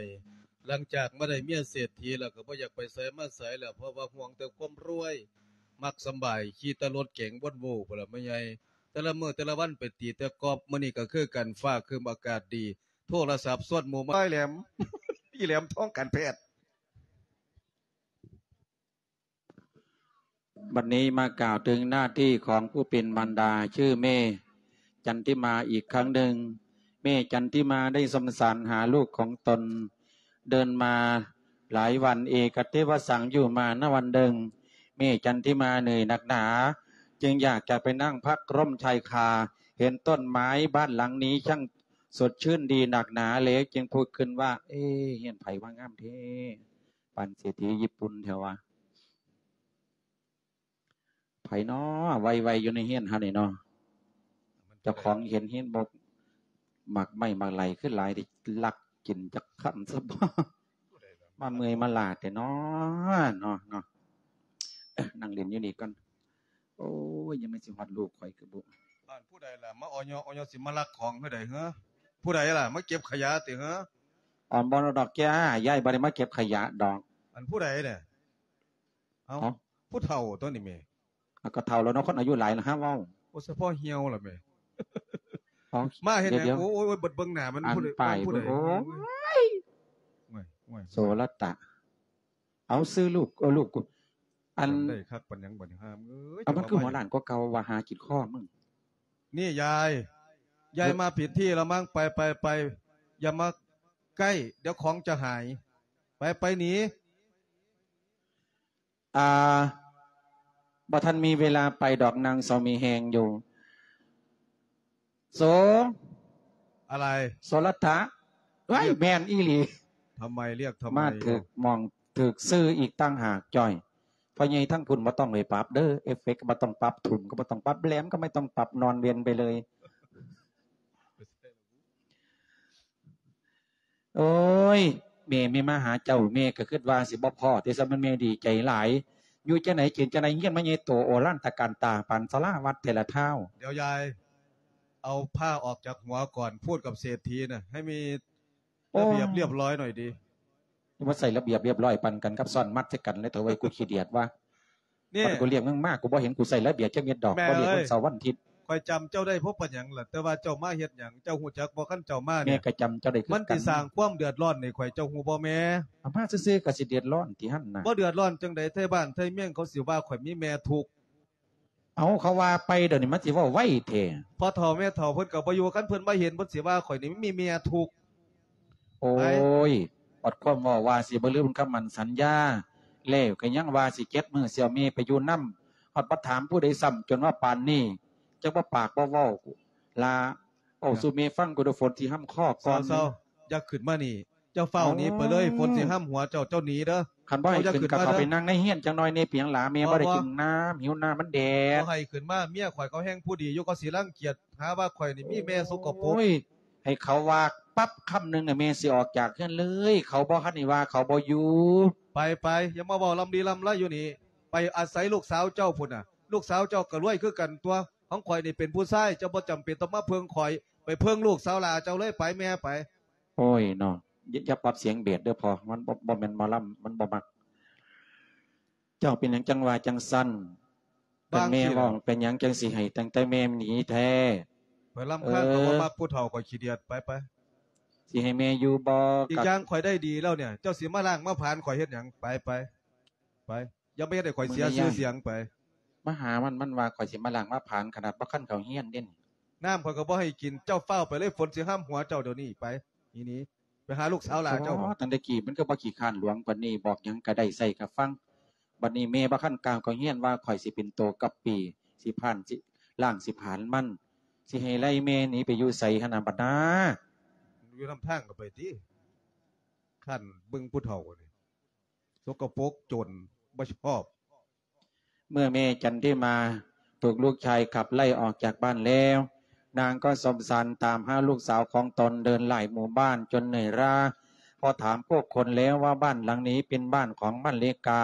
ຫຼັງຈາກມາໄດ້ເມຍເສດຖີແລ້ວ ກໍບໍ່ຢາກໄປໃສມາໃສແລ້ວ ເພາະວ່າຫ່ວງແຕ່ຄວາມລວຍ ມັກສຳບາຍ ຂີ່ແຕ່ລົດເກັງ Volvo ພຸ້ນລະແມ່ໃຫຍ່ ແຕ່ລະມື້ແຕ່ລະວັນໄປຕີແຕ່ກອບ ມື້ນີ້ກໍຄືກັນ ຟ້າຄຶ້ມອາກາດດີ ໂທລະສັບຊວນໝູ່ມາ ອ້າຍແຫຼມ ອີແຫຼມທອງການແພດ. ບັດນີ້ມາກ່າວເຖິງໜ້າທີ່ຂອງຜູ້ເປັນມານດາ ຊື່ແມ່ຈັນທິມາອີກຄັ້ງໜຶ່ງ. ແມ່ຈັນທິມາໄດ້ສົມສານຫາລູກຂອງຕົນ ເດີນມາຫຼາຍວັນ ເອກະເທວະສັງ ຢູ່ມານະວັນໜຶ່ງ ແມ່ຈັນທິມາເມື່ອຍໜັກໜາ ຈຶ່ງຢາກຈະໄປນັ່ງພັກລົມຊາຍຄາ ເຫັນຕົ້ນໄມ້ບ້ານຫຼັງນີ້ຊ່າງສົດຊື່ນດີໜັກໜາ ແລ້ວຈຶ່ງຜຸດຂຶ້ນວ່າ ເອ ເຮືອນໃຜວ່າງາມແທ້ ປານເສດຖີຍີ່ປຸ່ນແທ້ວະ. ໃຜນໍໄວໆຢູ່ໃນເຮືອນເຮົານີ້ນໍ? ເຈົ້າຂອງເຫັນເຫັນບໍ່ ໝາກໄມ້ໝາກໄຫຼຄືຫຼາຍ ໄດ້ລັກກິນຈັກຄຳຊະບໍ່? ມາເມື່ອຍມາລ້າແທ້ນໍ ນໍ ນັ່ງຫຼິ້ນຢູ່ນີ້ກ່ອນ. ໂອ້ຍ ຍັງແມ່ນຊິຮອດລູກຂ້ອຍຄືບໍ່ ບ້ານຜູ້ໃດລະ ມາອໍຍໍ ອໍຍໍ ຊິມາລັກຂອງຄືໃດເຮີ? ຜູ້ໃດລະ ມາເກັບຂະຫຍະຕິເຮີ? ອອມບໍ່ດອກ ແກ ຍາຍບໍ່ໄດ້ມາເກັບຂະຫຍະດອກ. ອັນຜູ້ໃດແດ່? ເອົ້າ ເອົ້າ ຜູ້ເຖົ້າຕົວນີ້ແມ່. ອາ ກໍເຖົ້າແລ້ວເນາະ ຄົນອາຍຸຫຼາຍລະຫາເວົ້າ. ໂອ້ ສະເພາະຫ່ຽວລະແມ່. ເອົ້າ ມາເຮັດຫຍັງ? ດຽວໆ ໂອ້ຍ ໂອ້ຍ ເບິ່ງໜ້າມັນ ອັນ ຜູ້ໃດ ປ້າຍ ຜູ້ໃດ? ໂອ້ຍ ໂອ້ຍ ໂອ້ຍ ໂສລະຕະ. ເອົາ ຊື່ລູກ ເອີ ລູກ ອັນ ຈຳໄດ້ຄັກປານຫຍັງບັດນີ້ ຫາມເອີຍ. ເອົາ ມັນຄືຫົວລ້ານກວ່າເກົ່າວ່າ ຫາກິນຄໍມຶງ. ນີ້ຍາຍ ຍາຍມາຜິດທີ່ລະມັງ. ໄປ ໄປ ໄປ ຢ່າມາໃກ້ ດຽວຂອງຈະຫາຍ. ໄປ ໄປໜີ. ອ່າ ບໍ່ທັນມີເວລາໄປດອກ ນາງເຊົາມີແຮງຢູ່. ໂສ ອະໄລ? ໂສລະຕະ. ເອີຍ ແມ່ນອີ່ຫຼີ. ທຳໄມ ຮຽກທຳໄມ? ມາຖືກໝ່ອງ ຖືກຊື່ອີກຕ່າງຫາກ. ຈ້ອຍ ພໍ່ໃຫຍ່ທາງພຸ້ນບໍ່ຕ້ອງໄປປັບເດີ ເອຟເຟັກກໍບໍ່ຕ້ອງປັບ ທຸ່ມກໍບໍ່ຕ້ອງປັບ ແຫຼມກໍບໍ່ຕ້ອງປັບ ນອນເວັນໄປເລີຍ. ໂອ້ຍ ແມ່ ແມ່ມາຫາເຈົ້າ ແມ່ກໍຄິດວ່າຊິບໍ່ພໍ້ຕິ ຊະມັນ ແມ່ດີໃຈຫຼາຍ. ຢູ່ຈັ່ງໃດກິນຈັ່ງໃດ ຮຽນມາໃຫຍ່ໂຕ ໂອລານຕະການຕາ ປານສາລາວັດແຕ່ລະທ້າວ. ດຽວຍາຍ ເອົາຜ້າອອກຈາກຫົວກ່ອນ ພູດກັບເສດຖີນະ ໃຫ້ມີ ໂອ້ ລະບຽບລຽບຮ້ອຍໜ້ອຍດີ. ມາໃສ່ລະບຽບລຽບຮ້ອຍປານກັນກັບຊ້ອນມັດໃສ່ກັນເລີຍ ເຖົ້າເອີຍ ກູຂີ້ດຽດວ່າ. ນີ້ ມັນກູລ້ຽງມຶງມາ ກູບໍ່ເຫັນກູໃສ່ລະບຽບຈັກເມັດດອກ. ແມ່ເອີຍ ບໍ່ລ້ຽງວັນເສົາວັນອາທິດ. ຂ້ອຍຈຳເຈົ້າໄດ້ ເພາະປານຫຍັງລະ? ແຕ່ວ່າເຈົ້າມາເຮັດຫຍັງ? ເຈົ້າຮູ້ຈັກບໍ່? ຄັນເຈົ້າມານີ້ ແມ່ກໍຈຳເຈົ້າໄດ້ຄືກັນ. ມັນຊິສ້າງຄວາມເດືອດຮ້ອນໃຫ້ຂ້ອຍ ເຈົ້າຮູ້ບໍ່ແມ່? ເອົາມາຊື່ໆກໍຊິເດືອດຮ້ອນຕິຫັ້ນນະ. ບໍ່ເດືອດຮ້ອນຈັ່ງໃດ? ໄທບ້ານໄທເມືອງເຂົາຊິວ່າຂ້ອຍມີແມ່ທຸກ. ເອົາ ເຂົາວ່າໄປດຽວນີ້ມັນຊິເວົ້າໄວແທ້. ພໍ່ເຖົ້າແມ່ເຖົ້າເພິ່ນກໍບໍ່ຢູ່ ຄັນເພິ່ນມາເຫັນເພິ່ນຊິວ່າຂ້ອຍນີ້ມີແມ່ທຸກ. ໂອ້ຍ ອອດຄວາມເວົ້າວ່າຊິບໍ່ລືມຄຳໝັ້ນສັນຍາ ແລ້ວກໍຍັງວ່າຊິເຈັດມື້ຊິເອົາແມ່ໄປຢູ່ນຳ ຮອດບໍ່ຖາມຜູ້ໃດຊ້ຳ ຈົນວ່າປານນີ້ ຈັກວ່າປາກບໍ່ເວົ້າລະ ເວົ້າສູ່ແມ່ຟັງ ກູໂດຝົນຊິຮຳຄໍກ່ອນ. ເຊົາໆ ຢ່າຂຶ້ນມານີ້ ເຈົ້າຟ້າວໜີໄປເລີຍ ຝົນຊິຫ້ຳຫົວເຈົ້າ ເຈົ້າໜີເດີ. ຄັນບໍ່ໃຫ້ຂຶ້ນກໍເຂົ້າໄປນັ່ງໃນເຮືອນຈັກໜ່ອຍແດ່ ເປັນຫຍັງຫຼະ ແມ່ບໍ່ໄດ້ກິນນ້ຳ ຫິວນ້ຳ ມັນແດດ. ບໍ່ໃຫ້ຂຶ້ນມາ ເມຍຂ້ອຍເຂົາແຮ່ງຜູ້ດີຢູ່ ເຂົາຊິລັງກຽດ ຫາວ່າຂ້ອຍນີ້ມີແມ່ສົກກະປົກ. ໂອ້ຍ ໃຫ້ເຂົາວ່າປັບຄຳໜຶ່ງນະ ແມ່ຊິອອກຈາກເຮືອນເລີຍ ເຂົາບໍ່ທັນໄດ້ວ່າ ເຂົາບໍ່ຢູ່. ໄປໆ ຢ່າມາເວົ້າລຳລີລຳລາຢູ່ນີ້ ໄປອາໄສລູກສາວເຈົ້າພຸ້ນນະ. ລູກສາວເຈົ້າກໍລວຍຄືກັນຕົວະ ຂອງຂ້ອຍນີ້ເປັນຜູ້ຊາຍ ເຈົ້າບໍ່ຈຳເປັນຕ້ອງມາເພິ່ງຂ້ອຍ ໄປເພິ່ງລູກສາວຫຼ້າເຈົ້າເລີຍ ໄປແມ່ໄປ. ໂອ້ຍເນາະ ຢ່າ ຢ່າປັບສຽງເບສເດີພໍ່ ມັນບໍ່ ບໍ່ແມ່ນໝໍລຳ ມັນບໍ່ມັກ. ເຈົ້າເປັນຫຍັງຈັ່ງວ່າຈັ່ງຊັ້ນ? ເປັນແມ່ເວົ້າ ເປັນຫຍັງຈັ່ງຊິໃຫ້ຕັ້ງແຕ່ແມ່ໜີແທ້? ຂ້ອຍລຳຄານ ເອີ ຂ້ອຍບໍ່ມັກຜູ້ເຖົ້າ ຂ້ອຍຂີ້ດຽດ ໄປໆ. ຊິໃຫ້ແມ່ຢູ່ບໍ່? ອີກຢ່າງຂ້ອຍໄດ້ດີແລ້ວນີ້ ເຈົ້າຊິມາລ້າງມາຜານຂ້ອຍເຮັດຫຍັງ? ໄປໆ ໄປ. ຢ່າມາເຮັດໃຫ້ຂ້ອຍເສຍຊື່ສຽງໄປ. ມາຫາມັນ ມັນວ່າຂ້ອຍຊິມາລ້າງມາຜານ ຂະໜາດບໍ່ທັນເຂົ້າຮຽນເດ້. ນ້ຳຂ້ອຍກໍບໍ່ໃຫ້ກິນ ເຈົ້າຟ້າວໄປເລີຍ ຝົນຊິຫ້ຳຫົວເຈົ້າດຽວນີ້. ໄປ ໜີໆ ໄປຫາລູກສາວຫຼ້າເຈົ້າ. ອໍ ຕັ້ງແຕ່ກີ້ມັນກໍບໍ່ຂີ້ຄ້ານຫຼວງປານນີ້ ບອກຫຍັງກໍໄດ້ ໃສ່ກໍຟັງ. ບັດນີ້ແມ່ບໍ່ທັນກ້າວເຂົ້າຮຽນວ່າຂ້ອຍຊິເປັນໂຕກັບປີ ຊິຜານ ຊິລ້າງ ຊິຜານມັນ ຊິໃຫ້ໄລ່ແມ່ໜີໄປຢູ່ໃສຫັ້ນນະບັດນາ? ຢູ່ນຳທາງກໍໄປຕິ ຄັນເບິ່ງຜູ້ເຖົ້ານີ້ ສົກກະປົກ ຈົນ ບໍ່ຊອບ. ເມື່ອແມ່ຈັນທິມາຖືກລູກຊາຍຂັບໄລ່ອອກຈາກບ້ານແລ້ວ ນາງກໍສົມສານຕາມຫາລູກສາວຂອງຕົນ ເດີນຫຼາຍໝູ່ບ້ານຈົນເມື່ອຍລ້າ. ພໍຖາມຜູ້ຄົນແລ້ວວ່າບ້ານຫຼັງນີ້ເປັນບ້ານຂອງມະລິກາ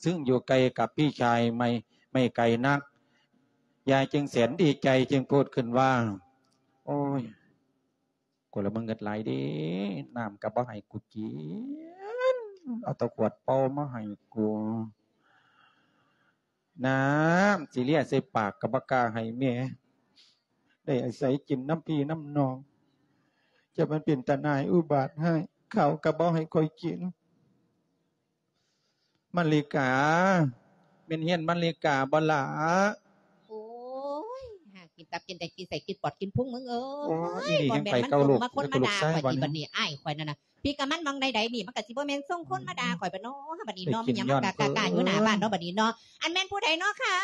ຊຶ່ງຢູ່ໃກ້ກັບພີ່ຊາຍ ໄມ່ ໄມ່ໄກນັກ. ຍາຍຈຶ່ງແສນດີໃຈ ຈຶ່ງພູດຂຶ້ນວ່າ ໂອ້ຍ ກູລະມາເງິດຫຼາຍເດ້ ນ້ຳກໍບໍ່ໃຫ້ກູກິນ ເອົາແຕ່ຂວດເປົ່າມາໃຫ້ກູ ນ້ຳຊິເລຍໃສ່ປາກກໍບໍ່ກ້າໃຫ້ແມ່ ໄດ້ອາໄສກິນນຳພີ່ນຳນ້ອງ ຈະມັນເປັນຕາໜ່າຍອຸບາດຮ້າຍ ເຂົ້າກໍບໍ່ໃຫ້ຂ້ອຍກິນ. ມະລິກາ ແມ່ນຮຽນມະລິກາບໍ່ຫຼ້າ? ໂອ້ຍ ຫາກິນຕັບກິນໄຕ ກິນໄສ້ ກິນປອດ ກິນພຸງ ມຶງເອີຍ. ໂອ້ຍ ບໍ່ແມ່ນມັນສົ່ງມາຄົນມາດ່າຂ້ອຍຕິບັດນີ້ ອ້າຍຂ້ອຍນັ້ນນະ. ພີ່ກັບມັນໝ່ອງໃດໆນີ້ ມັນກໍຊິບໍ່ແມ່ນສົ່ງຄົນມາດ່າຂ້ອຍບັດເນາະ. ບັດນີ້ເນາະ ມີຫຍັງມາກະກະຢູ່ໜ້າບ້ານເນາະ ບັດນີ້ເນາະ. ອັນແມ່ນຜູ້ໃດເນາະຄະ?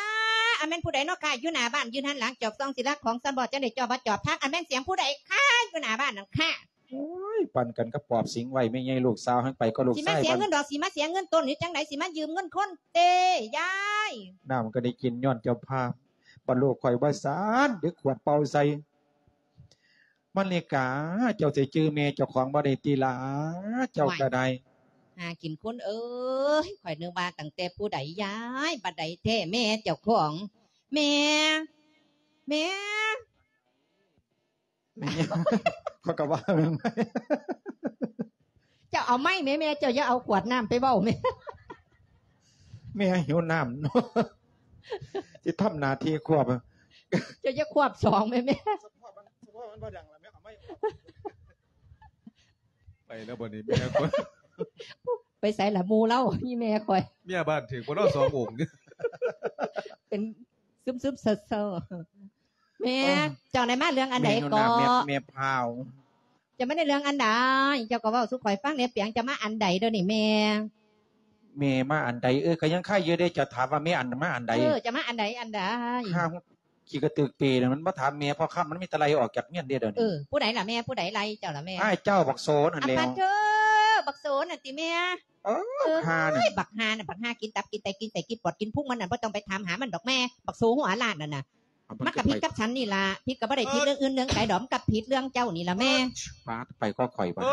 ອັນແມ່ນຜູ້ໃດເນາະຄະ? ຢູ່ໜ້າບ້ານ ຢືນຫັນຫຼັງຈອບສ່ອງ ຊິລັກຂອງຊຳບໍ່ ຈັ່ງໄດ້ຈອບບໍ່ຈອບທາງ. ອັນແມ່ນສຽງຜູ້ໃດຄະ? ຢູ່ໜ້າບ້ານນັ້ນຄະ. ໂອ້ຍ ປັ່ນກັນກັບປອບສິງໄວ້ ແມ່ໃຫຍ່ລູກສາວ ຫັ້ນໄປກໍລູກຊາຍ. ຊິມາເສຍເງິນດອກ ຊິມາເສຍເງິນຕົ້ນນີ້ຈັ່ງໃດ? ຊິມາຢືມເງິນຄົນເຕ ຍາຍ. ນ້ຳກໍໄດ້ກິນຍ້ອນເຈົ້າພາບ ບັດລູກຂ້ອຍວ່າຊັ້ນ ດຶກຂວດເປົ່າໃສ່. ມະລິກາ ເຈົ້າຊິຈື່ແມ່ເຈົ້າຂອງບໍ່ໄດ້ຕິຫຼ້າ? ເຈົ້າກໍໄດ້ ຫາກິນຄົນເອີຍ. ຂ້ອຍນຶກວ່າຕັ້ງແຕ່ຜູ້ໃດຍາຍ ບັດໃດແທ້ແມ່ເຈົ້າຂອງ. ແມ່ ແມ່. ຂ້ອຍກໍວ່າແມ່ນ ເຈົ້າເອົາໄມ້ແມ່ ແມ່ ເຈົ້າຢ່າເອົາຂວດນ້ຳໄປເວົ້າແມ່. ແມ່ຫິວນ້ຳເນາະ ຊິທຳໜ້າທີ່ຄວບ. ເຈົ້າຢ່າຄວບສອງແມ່ ແມ່. ສະເພາະມັນ ສະເພາະມັນບໍ່ດັງລະແມ່ ເອົາໄມ້ອອກ. ໄປແລ້ວບັດນີ້ແມ່ຂ້ອຍ. ໄປໃສລະໝູ່ລາວ ອີ່ແມ່ຂ້ອຍ. ເມຍບ້ານຖືກບໍ່ເນາະ ສອງອົງນີ້? ເປັນຊຶມໆເຊີໆ. ແມ່ ເອີ ເຈົ້າໄດ້ມາເລື່ອງອັນໃດເກາະ? ແມ່ພາວ ເຈົ້າມາໄດ້ເລື່ອງອັນໃດ? ເຈົ້າກໍເວົ້າສູ່ຂ້ອຍຟັງແດ່ ປຽງ ເຈົ້າມາອັນໃດເດີນີ້ແມ່? ແມ່ມາອັນໃດ? ເອີ ກໍຍັງຄາຢູ່ເດ້ ເຈົ້າຖາມວ່າແມ່ອັນ ມາອັນໃດ? ເອີ ເຈົ້າມາອັນໃດ ອັນໃດ? ຂ້າຂີ້ກະຕຶກປີນະ ມັນບໍ່ຖາມແມ່ ພໍຄ່ຳມັນມີແຕ່ໄລ່ອອກຈາກເຮືອນເດ້ດຽວນີ້. ເອີ ຜູ້ໃດລະແມ່? ຜູ້ໃດໄລ່ເຈົ້າລະແມ່? ອ້າຍເຈົ້າບັກໂສນັ້ນແຫຼ້ວ. ອາປາດເທີ ບັກໂສນັ້ນຕິແມ່? ເອີ ບັກຫ່ານັ້ນ ບັກຫ່ານັ້ນ ບັກຫ່າກິນຕັບກິນໄຕກິນໄສ້ກິນປອດກິນພຸງມັນນັ້ນ ບໍ່ຕ້ອງໄປຖາມຫາມັນດອກແມ່ ບັກໂສຫົວລ້ານນັ້ນນະ. ມັນກໍຜິດກັບສັນນີ້ລະ ຜິດກໍບໍ່ໄດ້ຜິດເລື່ອງອື່ນເລື່ອງໄກດອກ ມັນກໍຜິດເລື່ອງເຈົ້ານີ້ລະແມ່. ປາດ ໄປກໍຂ້ອຍບາດ. ໂ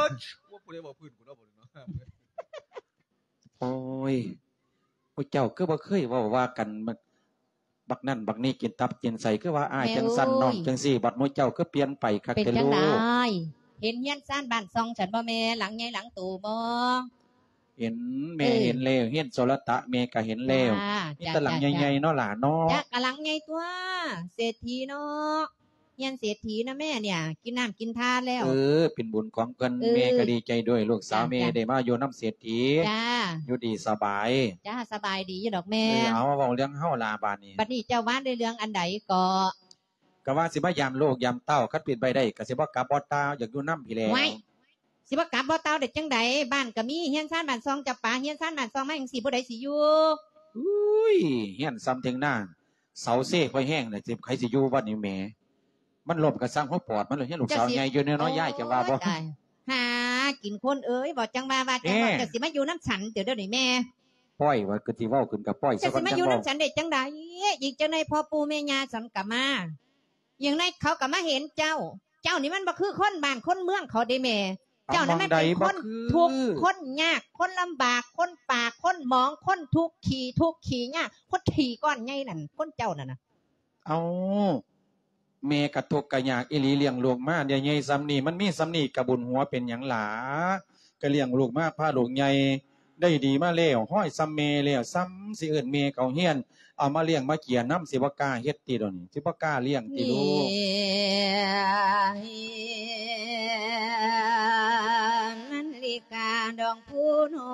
ອ້ຍ ຜູ້ເຈົ້າຄືບໍ່ເຄີຍເວົ້າວ່າກັນ ບັກນັ້ນບັກນີ້ກິນຕັບກິນໄສ້ ຄືວ່າອ້າຍຈັ່ງຊັ້ນ ນ້ອງຈັ່ງຊີ້ ບັດໝູ່ເຈົ້າຄືປ່ຽນໄປຄັກແທ້ລູກ. ເຫັນເຮືອນຊານບ້ານຊ່ອງຊັ້ນບໍ່ແມ່? ຫຼັງໃຫຍ່ຫຼັງໂຕບໍ່? ເຫັນ ແມ່ເຫັນແລ້ວ ເຮືອນໂສລະຕະແມ່ກໍເຫັນແລ້ວ. ມີແຕ່ຫຼັງໃຫຍ່ໆເນາະຫຼ້າເນາະ. ກະຫຼັງໃຫຍ່ຕົວະ ເສດຖີເນາະ ເຮືອນເສດຖີນະແມ່ ເນຍ ກິນນ້ຳກິນທາແລ້ວ. ເອີ ເປັນບຸນຂອງເພິ່ນ ແມ່ກໍດີໃຈດ້ວຍ ລູກສາວແມ່ໄດ້ມາຢູ່ນຳເສດຖີ. ຢູ່ດີສະບາຍ. ຈ້າ ສະບາຍດີຢູ່ດອກແມ່. ເອີ ເອົາ ເວົ້າເລື່ອງເຮົາຫຼ້າບາດນີ້. ບັດນີ້ເຈົ້າວ່າໄດ້ເລື່ອງອັນໃດເກາະ? ກະວ່າຊິມາຢາມລູກຢາມເຕົ້າ ຄັນເປັນໄປໄດ້ກະຊິບໍ່ກັບບໍ່ຕ່າວ ຢາກຢູ່ນຳພີ້ແຫຼ້ວ. ໂອ້ຍ ຊິບໍ່ກັບບໍ່ຕ່າວໄດ້ຈັ່ງໃດ? ບ້ານກະມີ ເຮືອນຊານບ້ານຊ່ອງຈຳປາ ເຮືອນຊານບ້ານຊ່ອງມາຈັ່ງຊີ້ ຜູ້ໃດຊິຢູ່? ອຸ້ຍ ເຮືອນຊ່ຳເຖິງໜ້າ ເສົາເຊຄ່ອຍແຮງ ໃຜຊິຢູ່ບັດນີ້ແໝ? ມັນລົ້ມກະຊ່າງຫົວປອດມັນ ເຮືອນລູກສາວໃຫຍ່ຢູ່ແນ່ເນາະ ຍາຍຈະວ່າບໍ່? ໂອ້ຍ ຕາຍ ຫາ ກິນຄົນເອີຍ ເວົ້າຈັ່ງວ່າ ວ່າຈັ່ງວ່າ ເອີ ເຈົ້າຊິມາຢູ່ນຳສັນເຕີດຽວນີ້ແມ່. ປ່ອຍວ່າຄືຊິເວົ້າຂຶ້ນກໍປ່ອຍ ເຈົ້າຊິມາຢູ່ນຳສັນໄດ້ຈັ່ງໃດ? ອີກຈັກໜ່ອຍພໍ່ປູ່ແມ່ຍ່າສັນກໍມາ. ຢ່າງໃດເຂົາກໍມາເຫັນເຈົ້າ. ເຈົ້ານີ້ມັນບໍ່ຄືຄົນບ້ານຄົນເມືອງເຂົາເດ້ແມ່. ເຈົ້ານັ້ນມັນເປັນຄົນທຸກ ຄົນຍາກ ຄົນລຳບາກ ຄົນປາກ ຄົນໝອງ ຄົນທຸກຂີ້ ທຸກຂີ້ຍາກ ຄົນຂີ້ກ້ອນໃຫຍ່ນັ້ນ ຄົນເຈົ້ານັ້ນນະ. ເອົ້າ ແມ່ກະທຸກກະຍາກອີ່ຫຼີ ລ້ຽງລູກມາໄດ້ໃຫຍ່ສ່ຳນີ້ ມັນມີສ່ຳນີ້ກະບຸນຫົວເປັນຫຍັງຫຼ້າ? ກະລ້ຽງລູກມາ ພາລູກໃຫຍ່ໄດ້ດີມາແລ້ວ ຮ້ອຍສ່ຳແມ່ແລ້ວ ສ່ຳຊິເອີ້ນແມ່ເຂົ້າຮຽນ ເອົາມາລ້ຽງມາເກຍນຳ ຊິບໍ່ກ້າເຮັດຕິດຽວນີ້ ຊິບໍ່ກ້າລ້ຽງຕິລູກ? ມັນລິກາດອງຜູ້ນ້ອ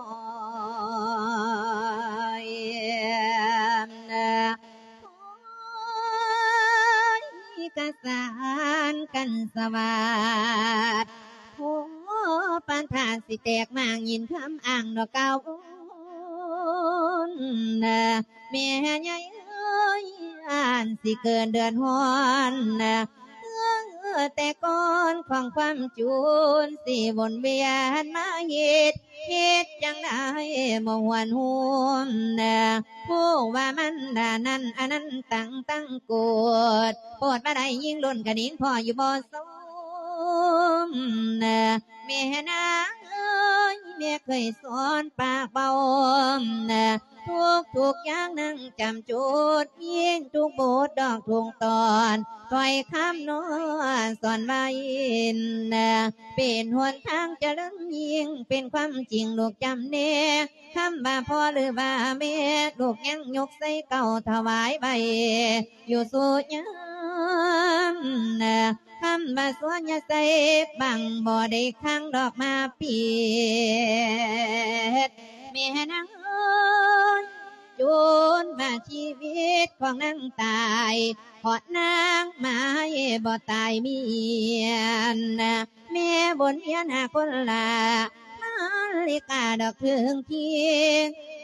ຍ ໂອ້ຍ ກະສານກັນສະຫວາດ ໂອ້ ປານຖ້າຊິແຕກມ້າງຍິນຄຳອ້າງດອກກ່າວໂອ້ນ ແມ່ໃຫຍ່ເອີຍ ອ່ານຊິເກີດເດືອດຮ້ອນ ແຕ່ກ່ອນຂອງຄວາມຈູນ ຊິວົນວຽນມາເຮັດ ເຮັດຈັ່ງໃດບໍ່ຫວນຫວມ ຜູ້ວ່າມັນດານັ້ນ ອັນນັ້ນຕັ້ງຕັ້ງໂກດ ໂປດມາໄດ້ຍິງລຸ້ນກະຍິງພໍ່ຢູ່ບໍ່ສົມ ແມ່ນາງເອີຍ ແມ່ເຄີຍສອນປາກເວົ້າ ທຸກໆຢ່າງນາງຈຳຈຸດ ຍິງທຸກບົດດອກທຸກຕອນ ຖ້ອຍຄຳນ້ອຍສອນໄວ້ ເປັນຫົນທາງຈະເລີນຍິ່ງ ເປັນຄວາມຈິງລູກຈຳແນ ຄຳວ່າພໍ່ຫຼືວ່າແມ່ ລູກຍັງຍົກໃສ່ເກົ້າຖວາຍໄວ້ຢູ່ສູ່ຍາມ ຄຳວ່າສວນຍາໃສ່ບັງ ບໍ່ໄດ້ຄ້າງດອກມາປິດ ແມ່ນາງເອີຍ ຈົນວ່າຊີວິດຂອງນາງຕາຍ ເພາະນາງໝາຍບໍ່ຕາຍເມຍນ ແມ່ບົນວຽນຫາຄົນລາ ມາລິກາດອກເຖິງທີ່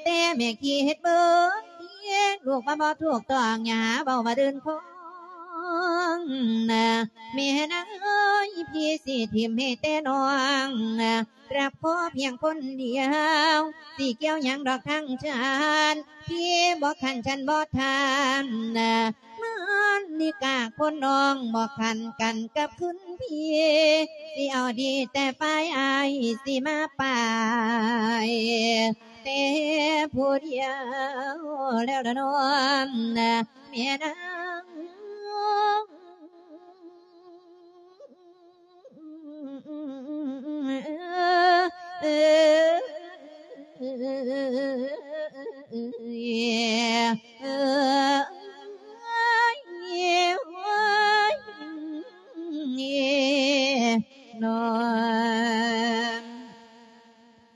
ແຕ່ແມ່ຄິດເບິ່ງທີ່ ລູກວ່າບໍ່ຖືກຕ້ອງ ຢ່າຫາເວົ້າວ່າເດີນຂອງ ແມ່ນາງເອີຍ ພີ່ຊິຖິ້ມໃຫ້ແຕ່ນ້ອງ ຮັກພໍ່ພຽງຄົນດຽວ ຊິກ່ຽວຫຍັງດອກທາງຊານ ພີ່ບໍ່ຂັນ ສັນບໍ່ຖາມ ມາລິກາຄົນນ້ອງ ບໍ່ຂັນກັນກັບຄຸນພີ່ ຊິເອົາດີແຕ່ຝ່າຍອ້າຍ ຊິມາປາຍແຕ່ຜູ້ດຽວແລ້ວລະນ້ອງ ແມ່ນາງ.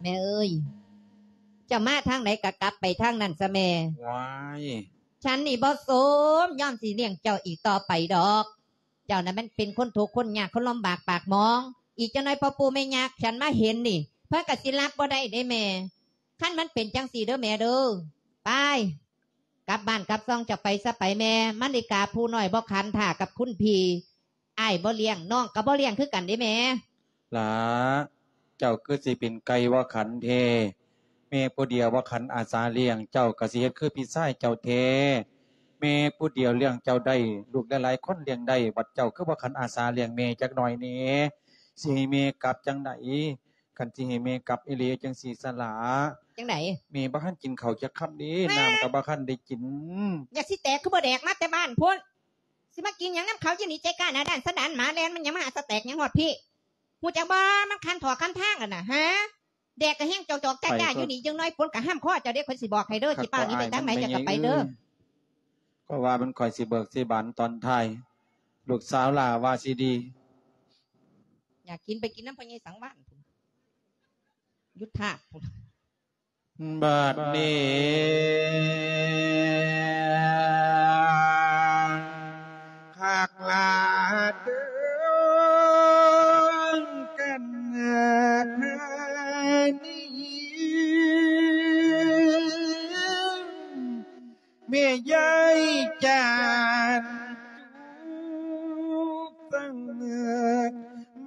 ແມ່ເອີຍ ເຈົ້າມາທາງໃດກະກັບໄປທາງນັ້ນຊະແມ່. ວ້າຍ ສັນນີ້ບໍ່ສົມຍອມຊິລ້ຽງເຈົ້າອີກຕໍ່ໄປດອກ. ເຈົ້ານັ້ນມັນເປັນຄົນທຸກຄົນຍາກ ຄົນລຳບາກປາກໝອງ. ອີກຈັກໜ່ອຍພໍ່ປູ່ແມ່ຍ່າຄັນມາເຫັນນີ້ ເພິ່ນກະຊິຮັບບໍ່ໄດ້ເດ້ແມ່. ຄັນມັນເປັນຈັ່ງຊີ້ເດີແມ່ເດີ. ໄປ ກັບບ້ານກັບຊ່ອງເຈົ້າໄປຊະໄປແມ່. ມາລິກາຜູ້ນ້ອຍບໍ່ຂັນຖ້າກັບຄຸນພີ່. ອ້າຍບໍ່ລ້ຽງ ນ້ອງກະບໍ່ລ້ຽງຄືກັນເດ້ແມ່. ຫຼ້າ ເຈົ້າຄືຊິເປັນໄກ່ບໍ່ຂັນແທ້. ແມ່ຜູ້ດຽວບໍ່ຂັນອາສາລ້ຽງ ເຈົ້າກະຊິເຮັດຄືພີ່ຊາຍເຈົ້າແທ້. ແມ່ຜູ້ດຽວລ້ຽງເຈົ້າໄດ້ ລູກຫຼາຍໆຄົນລ້ຽງໄດ້ ບັດເຈົ້າຄືບໍ່ຂັນອາສາລ້ຽງແມ່ຈັກໜ້ອຍແດ່. ຊິໃຫ້ແມ່ກັບຈັ່ງໃດ? ຄັນຊິໃຫ້ແມ່ກັບອີ່ຫຼີຈັ່ງຊີ້ສະຫຼ້າ. ຈັ່ງໃດ? ແມ່ບໍ່ທັນກິນເຂົ້າຈັກຄຳເດ້. ແມ່ ນ້ຳກະບໍ່ທັນໄດ້ກິນ. ຢາກຊິແຕກຄືບໍ່ແດກມາແຕ່ບ້ານພຸ້ນ. ຊິມາກິນຫຍັງນຳເຂົາຢູ່ນີ້ ໃຈກ້າໜ້າດ້ານສະດານໝາແລ່ນ ມັນຫຍັງມາຫາສະແຕກຫຍັງຮອດພີ້ ຮູ້ຈັກບໍ່? ມັນຄັນຖອກຄັນທາງຫັ້ນນະ ຫາ ແດກກະແຮງຈອກໆຈ້າໆຢູ່ນີ້ ຈັ່ງໜ້ອຍຝົນກະຫ້າມຄໍເຈົ້າເດ້. ຂ້ອຍຊິບອກໃຫ້ເດີ ຊິປ້າວນີ້ໄປທາງໃດ ຢ່າກະໄປເດີ. ຂ້ອຍວ່າມັນຂ້ອຍຊິເບີກຊິບານຕອນທ້າຍ ລູກສາວຫຼ້າວ່າຊິດີ. ຢາກກິນໄປກິນນຳພໍ່ໃຫຍ່ສັງວານພຸ້ນ ຢູ່ທາດພຸ້ນ. ບາດນີ້ຄັກຫຼາເດີກັນນາທານີ ແມ່ຍາຍຈານຈຸກສັງເໜີ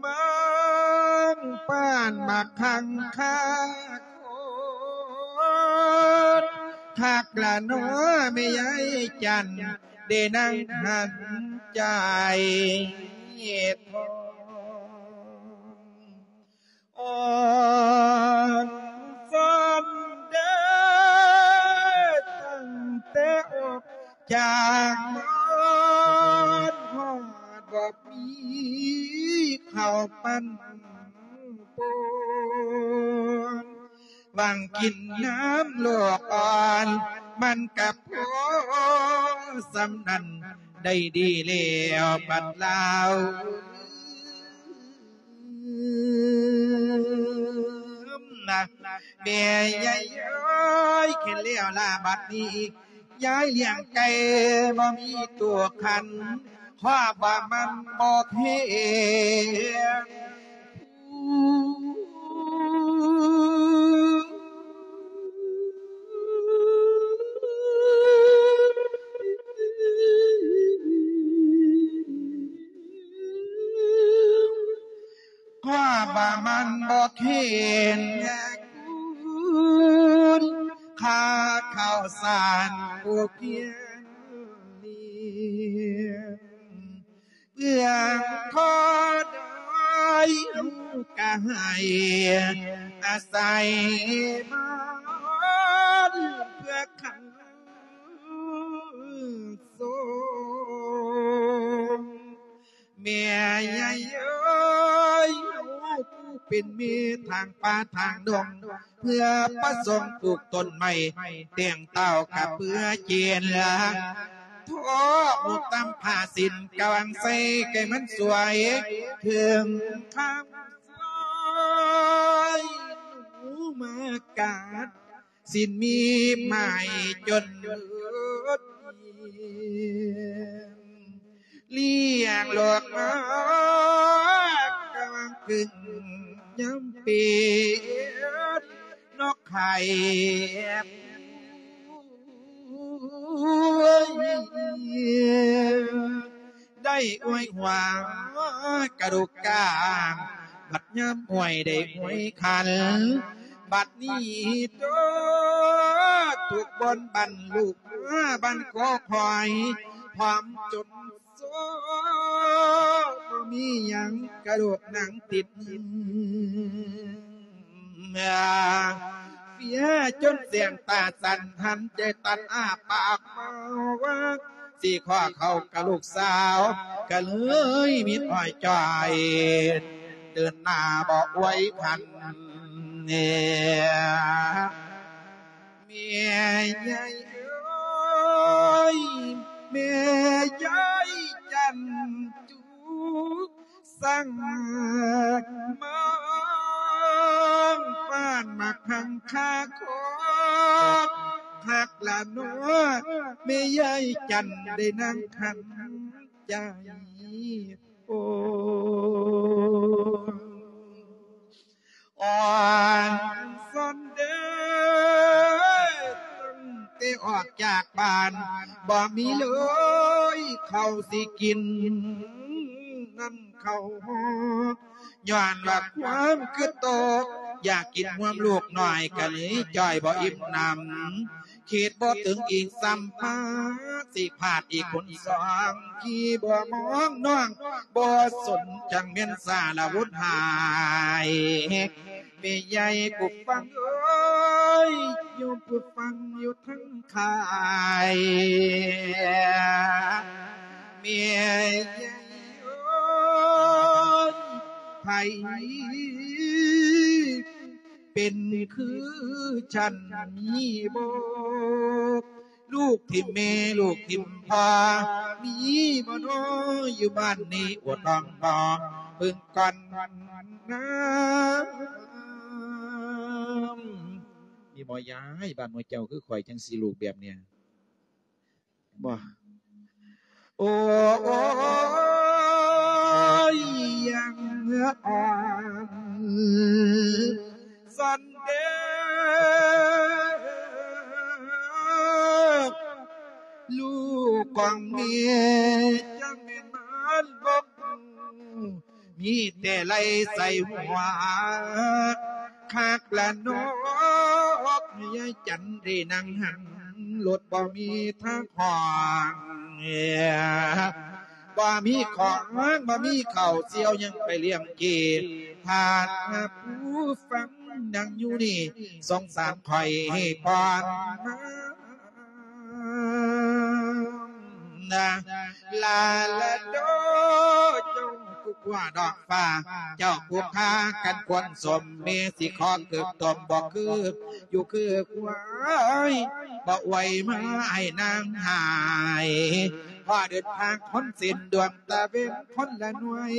ບາງປາ ນມາຄັງຄາຄົນ ຄັກລະເນາະແມ່ຍາຍຈັນ ໄດ້ນັ່ງຫັນໃຈທອງ ອ່ອນຊອນເດີ ຕັ້ງແຕ່ອອກຈາກບ້ານ ຮອດບໍ່ມີເຂົ້າປັ້ນປົນ ຫວັງກິນນ້ຳລູກອ່ອນ ມັນກະພໍສ່ຳນັ້ນ ໄດ້ດີແລ້ວບັດລາວ ນະ ແມ່ຍາຍເອີຍ ແຄ້ນແລ້ວລະບັດນີ້ ຍາຍລ້ຽງໄກ່ບໍ່ມີໂຕຂັນ ເພາະວ່າມັນບໍ່ແຂງ ຄວາມວ່າມັນບໍ່ເຂັງແຮງຄູນ ຄ່າເຂົ້າສານຜູ້ພຽນນີ້ ເບື້ອງຂໍດອຍເຮົາກະໃຫ້ອາໄສມານ ເພື່ອຂັນ ສົມ ແມ່ຍາຍເອີຍ ເຮົາຜູ້ເປັນແມ່ທາງປ່າທາງດົງ ເພື່ອປະສົງປູກຕົ້ນໄມ້ ແຕ່ງເຕົ້າກະເປືອເຈນລະ ທອກໝົກຕຳຜ້າສິ້ນກະວາງໃສ່ ໃຫ້ມັນສວຍເຖິງຄຳສອຍ ໜູມາກັດ ສິ້ນມີບໝາຍຈົນເລີດ ລ້ຽງລູກມາກະວັງກຶ່ງຍາມເປັນ ນອກໄຂ່ໄດ້ອວຍຫົວກະດູກກາງ ບັດຍາມອວຍໄດ້ອວຍຂັນ ບັດນີ້ໂຕທຸກບ່ອນບັນລູກມາບັນກໍຄອຍ ພ້ອມຈົນໂຊ ບໍ່ມີຫຍັງກະດູກໜັງຕິດ ເຟຍຈົນແສງຕາສັ່ນ ຫັນໃຈຕັນອ້າປາກມາວ່າ ຊິຂໍເຂົ້າກັບລູກສາວ ກະເລີຍມິດອ້ອຍຈ່ອຍ ເດີນໜ້າບໍ່ອວຍພັນ ແມ່ຍາຍເອີຍ ແມ່ຍາຍຈັນຈຸກ ສັງມາງປານມາຄັງຄາຄອກ ຄັກລະເນາະ ແມ່ຍາຍຈັນໄດ້ນັ່ງຂັນໃຈໂອ ອ່ອນຊອນເດີ ຕັ້ງແຕ່ອອກຈາກບ້ານ ບໍ່ມີເລີຍເຂົ້າຊິກິນ ນຳເຂົ້າ ຍ້ອນວ່າຄວາມຄິດໂຕ ຢາກກິນຮ່ວມລູກນ້ອຍ ກະເລີຍຈ່ອຍບໍ່ອີ່ມໜຳ ຄິດບໍ່ເຖິງອີກຊ້ຳມາ ຊິພາດອີກຄົນສອງ ທີ່ບໍ່ມອງນ້ອງ ບໍ່ສົນຈັ່ງແມ່ນສາລະວຸດຫາຍ ແມ່ໃຫຍ່ຜູ້ຟັງເອີຍ ໂຍມຜູ້ຟັງຢູ່ທັງຄ້າຍ ແມ່ໃຫຍ່ເອີຍ ໃຜ ເປັນຄືສັນມີບໍ່ ລູກຖິ້ມແມ່ ລູກຖິ້ມພໍ່ ມີບໍ່ນໍ ຢູ່ບ້ານນີ້ ອວດນ້ອງບໍ່ ເບິ່ງກ່ອນນາ ມີບໍ່ຍາຍ ບ້ານໝູ່ເຈົ້າຄືຂ້ອຍ ຈັ່ງຊິລູກແບບເນີ້ຍ ບໍ່ ໂອ້ ໂອ້ຍ ຍັງອ່ອນຊອນເດີ ລູກຂອງແມ່ ຈັ່ງແມ່ນມານບໍ່ຮູ້ ມີແຕ່ໄລ່ໃສ່ຫົວ ຄັກລະນົກ ຍາຍຈັນໄດ້ນັ່ງຫັນ ລົດບໍ່ມີທາງຫ້ອງ ບໍ່ມີຂອງ ບໍ່ມີເຂົ້າ ສ່ຽວຍັງໄປລ້ຽງກີ ຖ້າຫາກຜູ້ຟັງນັ່ງຢູ່ນີ້ ສົງສານຂ້ອຍໃຫ້ຜ່ອນມາ ລາລາໂດ ເຈົ້າຄືກົວດອກຟ້າ ເຈົ້າຜູ້ຂ້າກັນຄວນສົມ ແມ່ຊິຂໍເກີບຕົມ ບໍ່ຄືຢູ່ຄືຄວາຍ ບໍ່ອວຍມາໃຫ້ນາງຫາຍ ພໍເດີນທາງຄົນເສັ້ນດວງ ຕາເວັນຄົນລະໜ່ວຍ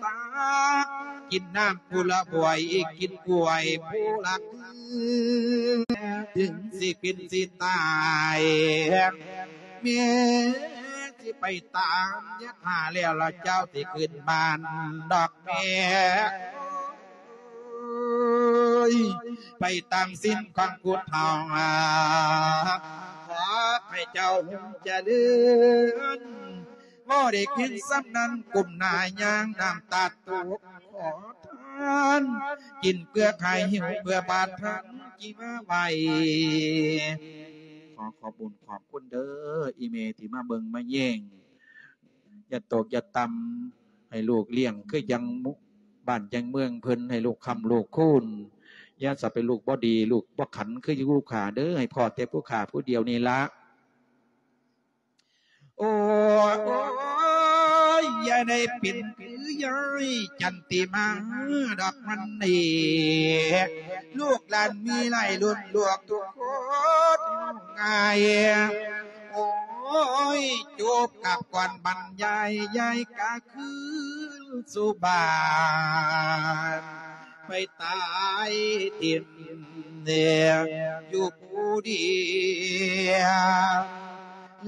ຕາກກິນນ້ຳຜູ້ລະບວຍ ກິນກ້ວຍຜູ້ລະຄື ເຖິງຊິເປັນຊິຕາຍ ແມ່ຊິໄປຕາມຍາທ່າແລ້ວລະ ເຈົ້າຊິຂຶ້ນບ້ານດອກແມ່ ໂອ້ຍ ໄປຕາມສິນຂອງຜູ້ເຖົ້າ ຂໍໃຫ້ເຈົ້າຮຸ່ງຈະເລີນ ບໍ່ໄດ້ກິນສ່ຳນັ້ນ ກົ້ມໜ້າຍ່າງນ້ຳຕາຕົກ ຂໍທານ ກິນເກືອຂາຍຫິວເພື່ອບາດທັນທີ່ມາໄຫວ້ ຂໍຂອບບຸນຂອບຄຸນເດີ ອີ່ແມ່ທີ່ມາເບິ່ງມາແຍງ ຢ່າຕົກຢ່າຕ່ຳ ໃຫ້ລູກລ້ຽງຄືຈັ່ງບ້ານຈັ່ງເມືອງເພິ່ນ ໃຫ້ລູກຄ້ຳລູກຄູນ ຢ່າສະເປັນລູກບໍ່ດີ ລູກບໍ່ຂັນຄືຢູ່ຜູ້ຂ້າເດີ ໃຫ້ພໍ້ແຕ່ຜູ້ຂ້າຜູ້ດຽວນີ້ລະ. ໂອ້ຍ ໂອ້ຍ ຢ່າໄດ້ເປັນຄືຍາຍຈັນຕິມາດອກມັນນີ້ ລູກຫຼານມີຫຼາຍລຸ້ນ ລວກທຸກຄົນງ່າຍ ໂອ້ຍ ຈົບກັບກ່ອນບັນຍາຍ ຍາຍກະຄືນສູ່ບ້ານ ໄປຕາຍຖິ້ມ ຢູ່ຜູ້ດຽວ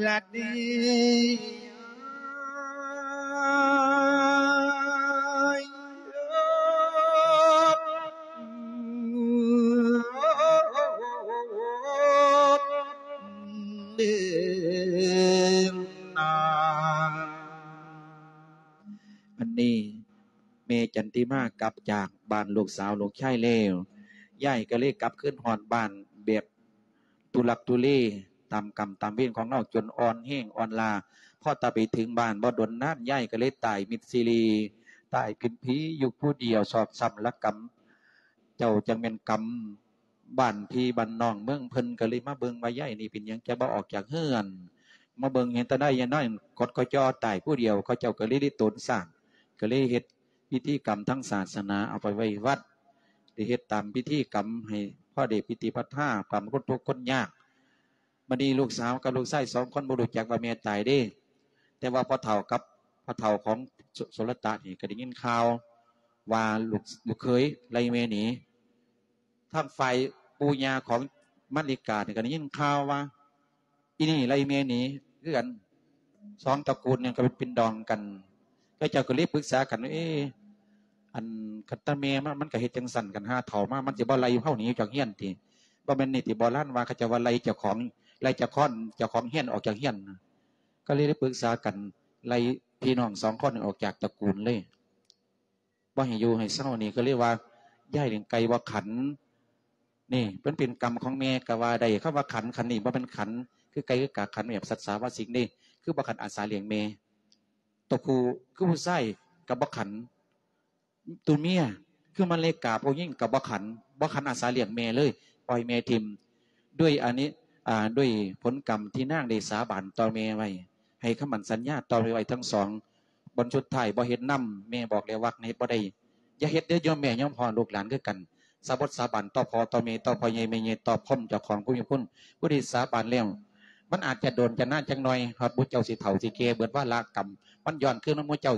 ລະເດ. ອັນນີ້ ແມ່ຈັນຕິມາກັບຈາກບ້ານລູກສາວລູກຊາຍແລ້ວ ຍາຍກໍເລີຍກັບຄືນຮອດບ້ານແບບທຸລັກທຸເລ ຕາມກຳຕາມເວນຂອງລາວ ຈົນອ່ອນແຮງອ່ອນລາ. ພໍຕາໄປເຖິງບ້ານບໍ່ດົນນານ ຍາຍກໍເລີຍຕາຍມິດຊີລີ ຕາຍພິມພີຢູ່ຜູ້ດຽວ ຊອກຊ້ຳລະກຳ. ເຈົ້າຈັ່ງແມ່ນກຳ ບ້ານພີ່ບ້ານນ້ອງເມືອງເພິ່ນກໍເລີຍມາເບິ່ງວ່າ ຍາຍນີ້ເປັນຫຍັງຈະບໍ່ອອກຈາກເຮືອນ ມາເບິ່ງເຫັນແຕ່ໃດຍາຍນ້ອຍກົດກໍຈໍຕາຍຜູ້ດຽວ ເຂົາເຈົ້າກໍເລີຍໄດ້ໂຕນສ້າງ ກໍເລີຍເຮັດພິທີກຳທາງສາສະໜາ ເອົາໄປໄວ້ວັດ ໄດ້ເຮັດຕາມພິທີກຳໃຫ້ພໍໄດ້ພິທີພັດທາ ກຳຄົນທຸກຄົນຍາກ. ບັດນີ້ລູກສາວກັບລູກຊາຍສອງຄົນບໍ່ຮູ້ຈັກວ່າແມ່ຕາຍເດ້ ແຕ່ວ່າພໍ່ເຖົ້າກັບພໍ່ເຖົ້າຂອງ ໂສ ໂສລະຕະນີ້ກໍໄດ້ຍິນຂ່າວວ່າລູກ ລູກເຂີຍໄລ່ແມ່ໜີ ທາງຝ່າຍປູ່ຍ່າຂອງມາລິການີ້ກໍໄດ້ຍິນຂ່າວວ່າ ອີ່ນີ້ໄລ່ແມ່ໜີຄືກັນ ສອງຕະກູນນີ້ກໍເປັນດອງກັນ ເຂົາເຈົ້າກໍເລີຍປຶກສາກັນວ່າ ເອ ອັນ ຄັນຕາແມ່ມາ ມັນກໍເຮັດຈັ່ງຊັ້ນ ຄັນຫາເຖົ້າມາ ມັນຊິບໍ່ໄລ່ເຮົາໜີຈາກເຮືອນຕິ ບໍ່ແມ່ນນີ້ຕິ ໂບລານວ່າ ເຂົາເຈົ້າວ່າໄລ່ເຈົ້າຂອງ ໄລ່ເຈົ້າຂອງ ເຈົ້າຂອງເຮືອນອອກຈາກເຮືອນ ກໍເລີຍໄດ້ປຶກສາກັນ ໄລ່ພີ່ນ້ອງສອງຄົນນີ້ອອກຈາກຕະກູນເລີຍ. ບໍ່ໃຫ້ຢູ່ໃຫ້ເຊົານີ້ ກໍເລີຍວ່າ ຍາຍລ້ຽງໄກ່ບໍ່ຂັນ ນີ້ ມັນເປັນກຳຂອງແມ່ກໍວ່າໄດ້. ຄຳວ່າຂັນ ຂັນນີ້ບໍ່ແມ່ນຂັນຄືໄກ່ຄືກາ ຂັນແບບສັດສາວາສິ່ງເດ້ ຄືບໍ່ຂັນອາສາລ້ຽງແມ່ ຕົວຜູ້ຄືຜູ້ຊາຍກໍບໍ່ຂັນ ຕົວເມຍຄືມາເລກາ ຜູ້ຍິງກໍບໍ່ຂັນ ບໍ່ຂັນອາສາລ້ຽງແມ່ເລີຍ ປ່ອຍແມ່ຖິ້ມ ດ້ວຍອັນນີ້ ອ່າ ດ້ວຍຜົນກຳທີ່ນາງໄດ້ສາບານຕໍ່ແມ່ໄວ້ ໃຫ້ຄຳໝັ້ນສັນຍາຕໍ່ແມ່ໄວ້ທັງສອງ. ບ່ອນສຸດທ້າຍບໍ່ເຮັດນຳ ແມ່ບອກແລ້ວວ່າເຮັດບໍ່ໄດ້ ຢ່າເຮັດເດີໂຍມແມ່ໂຍມພໍ່ ລູກຫຼານຄືກັນ ສາບົດສາບານຕໍ່ພໍ່ຕໍ່ແມ່ ຕໍ່ພໍ່ໃຫຍ່ແມ່ໃຫຍ່ ຕໍ່ພົມເຈົ້າຂອງຜູ້ມີຄຸນ ຜູ້ທີ່ສາບານແລ້ວ ມັນອາດຈະໂດນຈະນານຈັກໜ່ອຍ ຮອດໝູ່ເຈົ້າຊິເຖົ້າຊິແກ່ເບິດວາລະກຳ ມັນຍ້ອນຄືນມາໝູ່ເຈົ້າ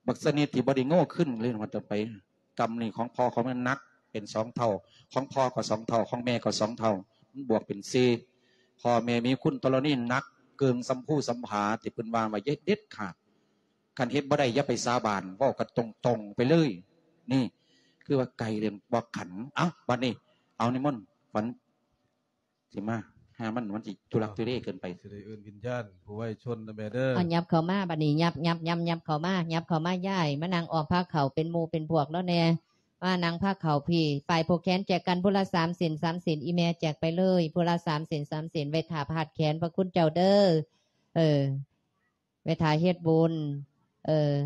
ບັກຊະນິດທີ່ບໍ່ໄດ້ໂງ່ຂຶ້ນເລີຍວ່າຕໍ່ໄປ ກຳນີ້ຂອງພໍ່ຂອງແມ່ໜັກເປັນສອງເທົ່າ ຂອງພໍ່ກໍສອງເທົ່າ ຂອງແມ່ກໍສອງເທົ່າ ມັນບວກເປັນສີ່ ພໍ່ແມ່ມີຄຸນທໍລະນີໜັກເກີງ ສຳພູສຳຜາ ທີ່ເພິ່ນວ່າໄວ້ຢ່າເຮັດເດັດຂາດ ຄັນເຮັດບໍ່ໄດ້ຢ່າໄປສາບານ ເວົ້າກັນຕົງໆໄປເລີຍ. ນີ້ຄືວ່າໄກ່ເລື່ອງບໍ່ຂັນ. ເອົ້າ ບັດນີ້ເອົານິມົນຂວັນ ຊິມາ ຫາມັນ ມັນຊິທຸລັກທຸເລເກີນໄປ. ຊິໄດ້ເອີ້ນວິນຍານຜູ້ໄວຊົນນະແມ່ເດີ. ເອົາ ຫຍັບເຂົ້າມາບັດນີ້ ຫຍັບ ຫຍັບ ຫຍັບ ຫຍັບເຂົ້າມາ ຫຍັບເຂົ້າມາ ຍ້າຍມານັ່ງອ້ອມພາເຂົ້າ ເປັນໝູ່ເປັນພວກລາວແດ່ ມານັ່ງພາເຂົ້າພີ້. ຝ່າຍຜູກແຂນແຈກກັນຜູ້ລະສາມເສັ້ນ ສາມເສັ້ນ ອີ່ແມ່ແຈກໄປເລີຍ ຜູ້ລະສາມເສັ້ນ ສາມເສັ້ນ ໄວ້ຖ້າຜາດແຂນພະຄຸນເຈົ້າເດີ. ເອີ ໄວ້ຖ້າເຮັດບຸນ ເອີ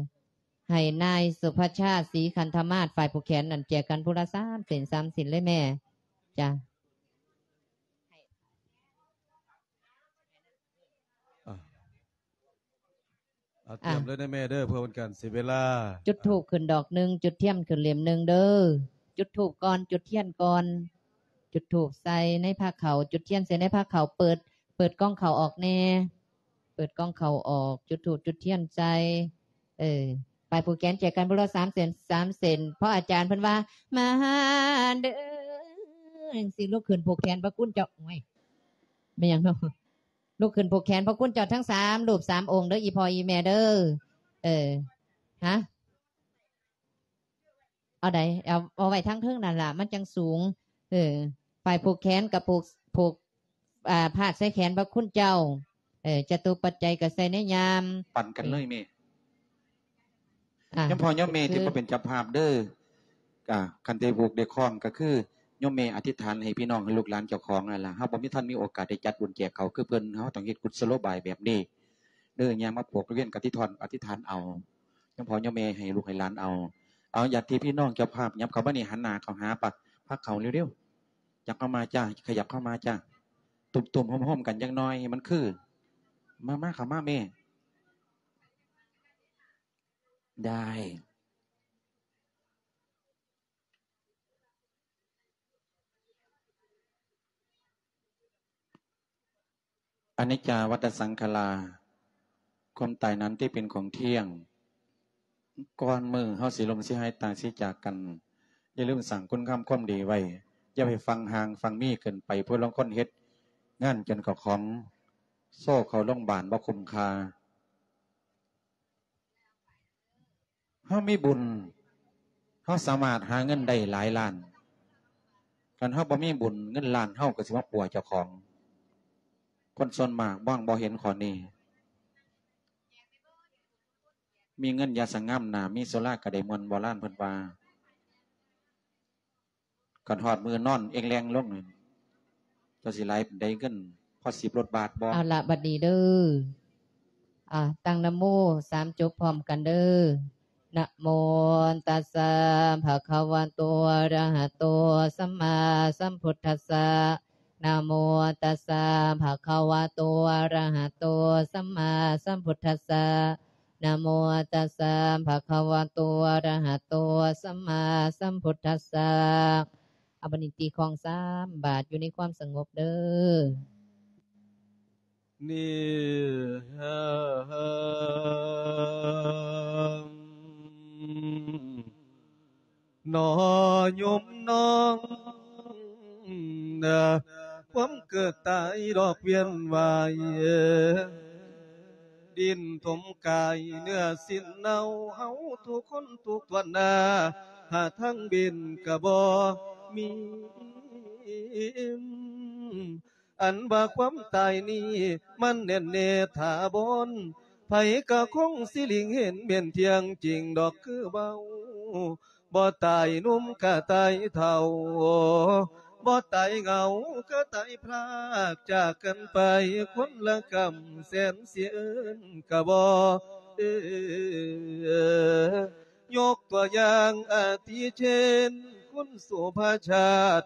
ໃຫ້ນາຍສຸພະຊາດ ສີຄັນທະມາດ ຝ່າຍຜູກແຂນນັ້ນ ແຈກກັນຜູ້ລະສາມເສັ້ນ ສາມເສັ້ນເລີຍແມ່. ຈ້າ. ອ່າ ອ່າ ຕຽມເລີຍນະແມ່ເດີ ເພື່ອເປັນການເສຍເວລາ. ຈຸດທູບຂຶ້ນດອກໜຶ່ງ ຈຸດທຽນຂຶ້ນເຫຼັ້ມໜຶ່ງເດີ. ຈຸດທູບກ່ອນ ຈຸດທຽນກ່ອນ. ຈຸດທູບໃສ່ໃນພາເຂົ້າ ຈຸດທຽນໃສ່ໃນພາເຂົ້າ. ເປີດ ເປີດກ່ອງເຂົ້າອອກແດ່ ເປີດກ່ອງເຂົ້າອອກ. ຈຸດທູບຈຸດທຽນໃສ່. ເອີ ຝ່າຍຜູກແຂນແຈກກັນຜູ້ລະສາມເສັ້ນ ສາມເສັ້ນ. ເພາະອາຈານເພິ່ນວ່າ ມາເດີ ຈັ່ງຊີ້ ລຸກຂຶ້ນຜູກແຂນພະຄຸນເຈົ້າ. ໂອ້ຍ ແມ່ນຫຍັງເນາະ? ລຸກຂຶ້ນຜູກແຂນພະຄຸນເຈົ້າທັງສາມຮູບສາມອົງເດີ ອີ່ພໍ່ອີ່ແມ່ເດີ. ເອີ ຮະ ເອົາໃດ ເອົາ ເອົາໄວ້ທາງເທິງນັ້ນລະ ມັນຈັ່ງສູງ. ເອີ ຝ່າຍຜູກແຂນກະຜູກ ຜູກ ອ່າ ພາດໃສ່ແຂນພະຄຸນເຈົ້າ. ເອີ ຈະຕຸປັດໄຈກະໃສ່ໃນຍາມ ປັ່ນກັນເລີຍແມ່. ອ່າ ໂຍມພໍ່ໂຍມແມ່ທີ່ມາເປັນເຈົ້າພາບເດີ. ອ່າ ຄັນໄດ້ຜູກໄດ້ຄ້ອງກະຄືໂຍມແມ່ອະທິດຖານໃຫ້ພີ່ນ້ອງ ໃຫ້ລູກຫຼານເຈົ້າຂອງນັ້ນລະ. ເຮົາບໍ່ມີ ທັນມີໂອກາດໄດ້ຈັດບຸນແຈກເຂົ້າຄືເພິ່ນ ເຮົາຕ້ອງເຮັດກຸດສະໂລບາຍແບບນີ້ເດີ. ຍ່າງມາຜູກລະວຽນກະທິທອນ ອະທິດຖານເອົາ ໂຍມພໍ່ໂຍມແມ່ ໃຫ້ລູກໃຫ້ຫຼານເອົາ. ເອົາ ຍາດຕິພີ່ນ້ອງເຈົ້າພາບ ຫຍັບເຂົ້າມານີ້ ຫັນໜ້າເຂົ້າຫາພາເຂົ້າເລັວໆ. ຫຍັບເຂົ້າມາຈ້າ ຂະຫຍັບເຂົ້າມາຈ້າ. ຕຸ້ມໆໂຮມໆກັນຈັກໜ້ອຍໃຫ້ມັນຄື. ມາ ມາເຂົ້າມາແມ່. ໄດ້. ອະນິດຈາວັດຕະສັງຂາລາ ຄວາມຕາຍນັ້ນທີ່ເປັນຂອງທ່ຽງ. ກ່ອນມື້ເຮົາຊິລົ້ມ ຊິຫາຍຕາຍ ຊິຈາກກັນ ຢ່າລືມສ້າງຄຸນງາມຄວາມດີໄວ້. ຢ່າໄປຝັງຫ່າງຝັງມີເກີນໄປ. ຜູ້ລາງຄົນເຮັດງານຈົນເຂົ້າຂອງໂຊເຂົ້າໂຮງບານບໍ່ຄຸ້ມຄ່າ. ເຮົາມີບຸນ ເຮົາສາມາດຫາເງິນໄດ້ຫຼາຍລ້ານ. ຄັນເຮົາບໍ່ມີບຸນ ເງິນລ້ານເຮົາກະຊິມາປົວເຈົ້າຂອງ. ຄົນສ່ວນມາກມອງບໍ່ເຫັນຂໍ້ນີ້. ມີເງິນຢ່າສະຫງ່ຳໜ້າ ມີສຸລາກະໄດ້ມ່ວນ ໂບລານເພິ່ນວ່າ. ຄັນຮອດມື້ນອນເອງແລງລົງ ເຈົ້າຊິຫຼາຍປານໃດເງິນ ພໍສິບລົດບາດບໍ່? ເອົາລະ ບັດນີ້ເດີ ອ່າ ຕັ້ງນະໂມສາມຈົບພ້ອມກັນເດີ. ນະໂມຕັດສະ ພະຄະວະໂຕ ອະລະຫະໂຕ ສຳມາສຳພຸດທັດສະ. ນະໂມຕັດສະ ພະຄະວະໂຕ ອະລະຫະໂຕ ສຳມາສຳພຸດທັດສະ. ນະໂມຕັດສະ ພະຄະວະໂຕ ອະລະຫະໂຕ ສຳມາສຳພຸດທັດສະ. ອາ ບັດນີ້ຕີຄອງສາມບາດ ຢູ່ໃນຄວາມສະຫງົບເດີ. ນີ້ ໜໍໂຍມນ້ອງ ຄວາມເກີດຕາຍດອກວຽນວາຍ ດິນຖົມກາຍເນື້ອສິ້ນເນົ່າ ເຮົາທຸກຄົນທຸກຖ້ວນໜ້າ ຫາທາງເວັ້ນກະບໍ່ມີ. ອັນວ່າຄວາມຕາຍນີ້ ມັນແໜ້ນແນ່ຖາວອນ ໃຜກະຄົງຊິຫຼີກເຫັນແມ່ນທ່ຽງຈິງດອກຄືເວົ້າ. ບໍ່ຕາຍໜຸ່ມກະຕາຍເຖົ້າ ບໍ່ຕາຍເຫງົາກະຕາຍພລາກຈາກກັນໄປ ຄົນລະກຳແສນຊິເອີ້ນກະບໍ່ເອີ. ຍົກຕົວຢ່າງອາທິເຊັ່ນ ຄຸນສຸພະຊາດ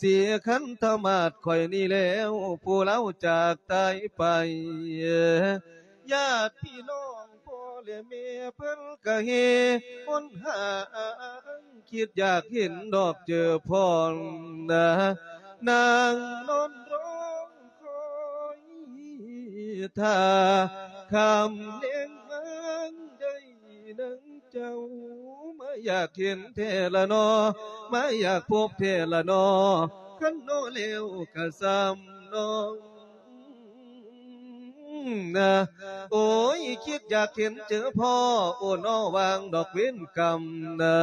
ສີຄັນທະມາດຂ້ອຍນີ້ແລ້ວ ຜູ້ລາວຈາກຕາຍໄປ ຍາດພີ່ນ້ອງພໍ່ແລະແມ່ເພິ່ນກະເຮຫົນຫາ ຄິດຢາກເຫັນດອກເຈີພອນນາ ນາງນອນຮ້ອງຄອຍຖ້າ ຄ່ຳແລງມາໄດ້ນາງເຈົ້າ ມາຢາກເຫັນແທ້ລະນໍ ມາຢາກພົບແທ້ລະນໍ ຄັນນໍແລ້ວກະສ່ຳນ້ອງ ນາ ໂອ້ຍ ຄິດຢາກເຫັນເຈີພໍ່ ໂອ້ ນໍ ຫວ່າງດອກເວນກຳນາ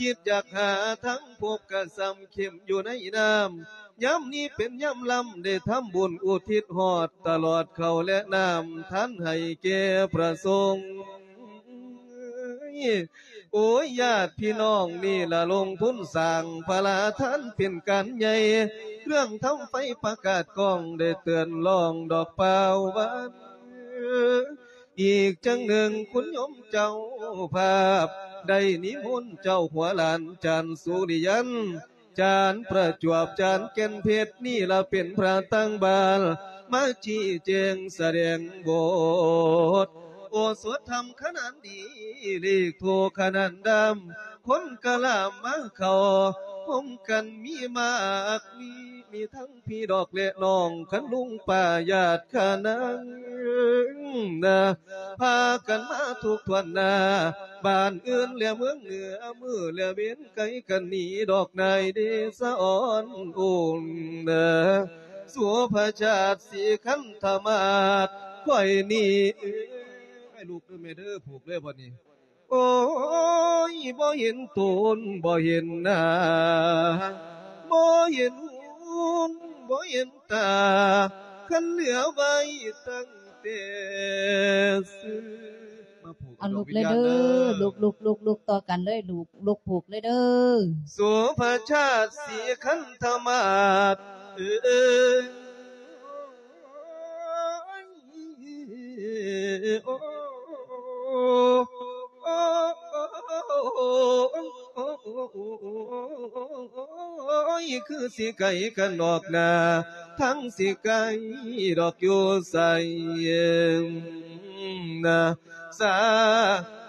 ຄິດຢາກຫາທາງພົບກະສ່ຳເຂັມຢູ່ໃນນ້ຳ. ຍາມນີ້ເປັນຍາມລຳ ໄດ້ທຳບຸນອຸທິດຮອດຕະຫຼອດເຂົ້າແລະນ້ຳ ທານໃຫ້ແກ່ພະສົງ. ໂອ້ຍ ຍາດພີ່ນ້ອງ ນີ້ລະລົງທຶນສ້າງພະລາທານເປັນການໃຫຍ່ ເລື່ອງທຳໄຟປະກາດກ້ອງ ໄດ້ເຕືອນຮ້ອງດອກປ່າວຫວານ. ອີກຈັ່ງໜຶ່ງ ຄຸນໂຍມເຈົ້າພາບ ໄດ້ນິມົນເຈົ້າຫົວຫຼານ ຈານສຸລິຍັນ ຈານປະຈວບ ຈານແກ່ນເພັດ ນີ້ລະເປັນພະຕ່າງບ້ານ ມາຊີ້ແຈງສະແດງບົດ ໂອສົດທຳຂະໜານດີ ເລກໂທຂະໜານດຳ ຄົນກະລາມມາເຂົ້າ ພົມກັນມີມາກມີ ມີທັງພີ່ດອກແລະນ້ອງ ຄັນລຸງປ້າຍາດຂະນາງນະ ພາກັນມາທຸກຖ້ວນໜ້າ ບ້ານອື່ນແລະເມືອງເໜືອ ມື້ແລະເວັນໄກກັນໜີດອກນາຍເດຊະອອນອຸນເນ ສຸພະຊາດສີຄັນທະມາດ ຂ້ອຍນີ້ ໃຫ້ລູກເດີແມ່ເດີ ຜູກເລີຍບັດນີ້. ໂອ້ຍ ບໍ່ເຫັນໂຕນ ບໍ່ເຫັນໜ້າ ບໍ່ເຫັນຫູ ບໍ່ເຫັນຕາ ຄັນເຫຼືອໄວ້ຕັ້ງແຕ່ຊື່ ມາຜູກ ເອົາ ເອົາ ລູກເລີຍເດີ ດວງວິນຍານເດີ ລູກ ລູກ ລູກ ລູກຕໍ່ກັນເລີຍ ລູກ ລູກຜູກເລີຍເດີ ສຸພະຊາດສີຄັນທະມາດ ເອີຍ. ໂອ້ຍ ຄືຊິໄກກັນນອກໜ້າ ທັງຊິໄກດອກຢູ່ໃສນະ ສາ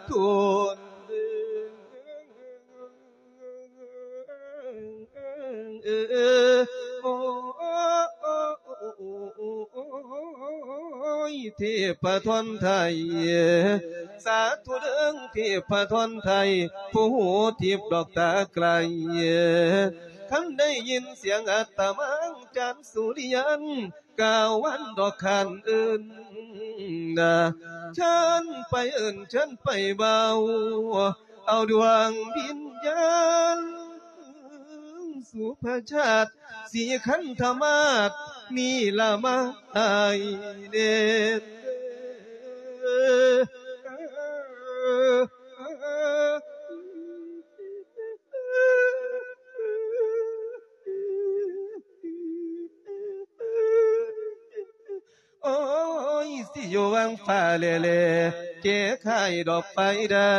ທຸ. ໂອ້ຍ ເທບພະທອນໄທ ສາທຸເດີ ເທບພະທອນໄທ ຜູ້ຮູ້ທິບດອກຕາໄກ ຄັນໄດ້ຍິນສຽງອາດຕະມາ ຈານສຸລິຍັນ ກາວັນດອກຄັນອື່ນນະ ເຊີນໄປເອີ້ນ ເຊີນໄປເວົ້າ ເອົາດວງວິນຍານ ສຸພະຊາດສີຄັນທະມາດ ນີ້ລະມາໃຫ້ແດ່. ໂອ້ຍ ຊິຢູ່ວັງຟ້າແຫຼໆ ແກ້ໄຂດອກໄຟໄດ້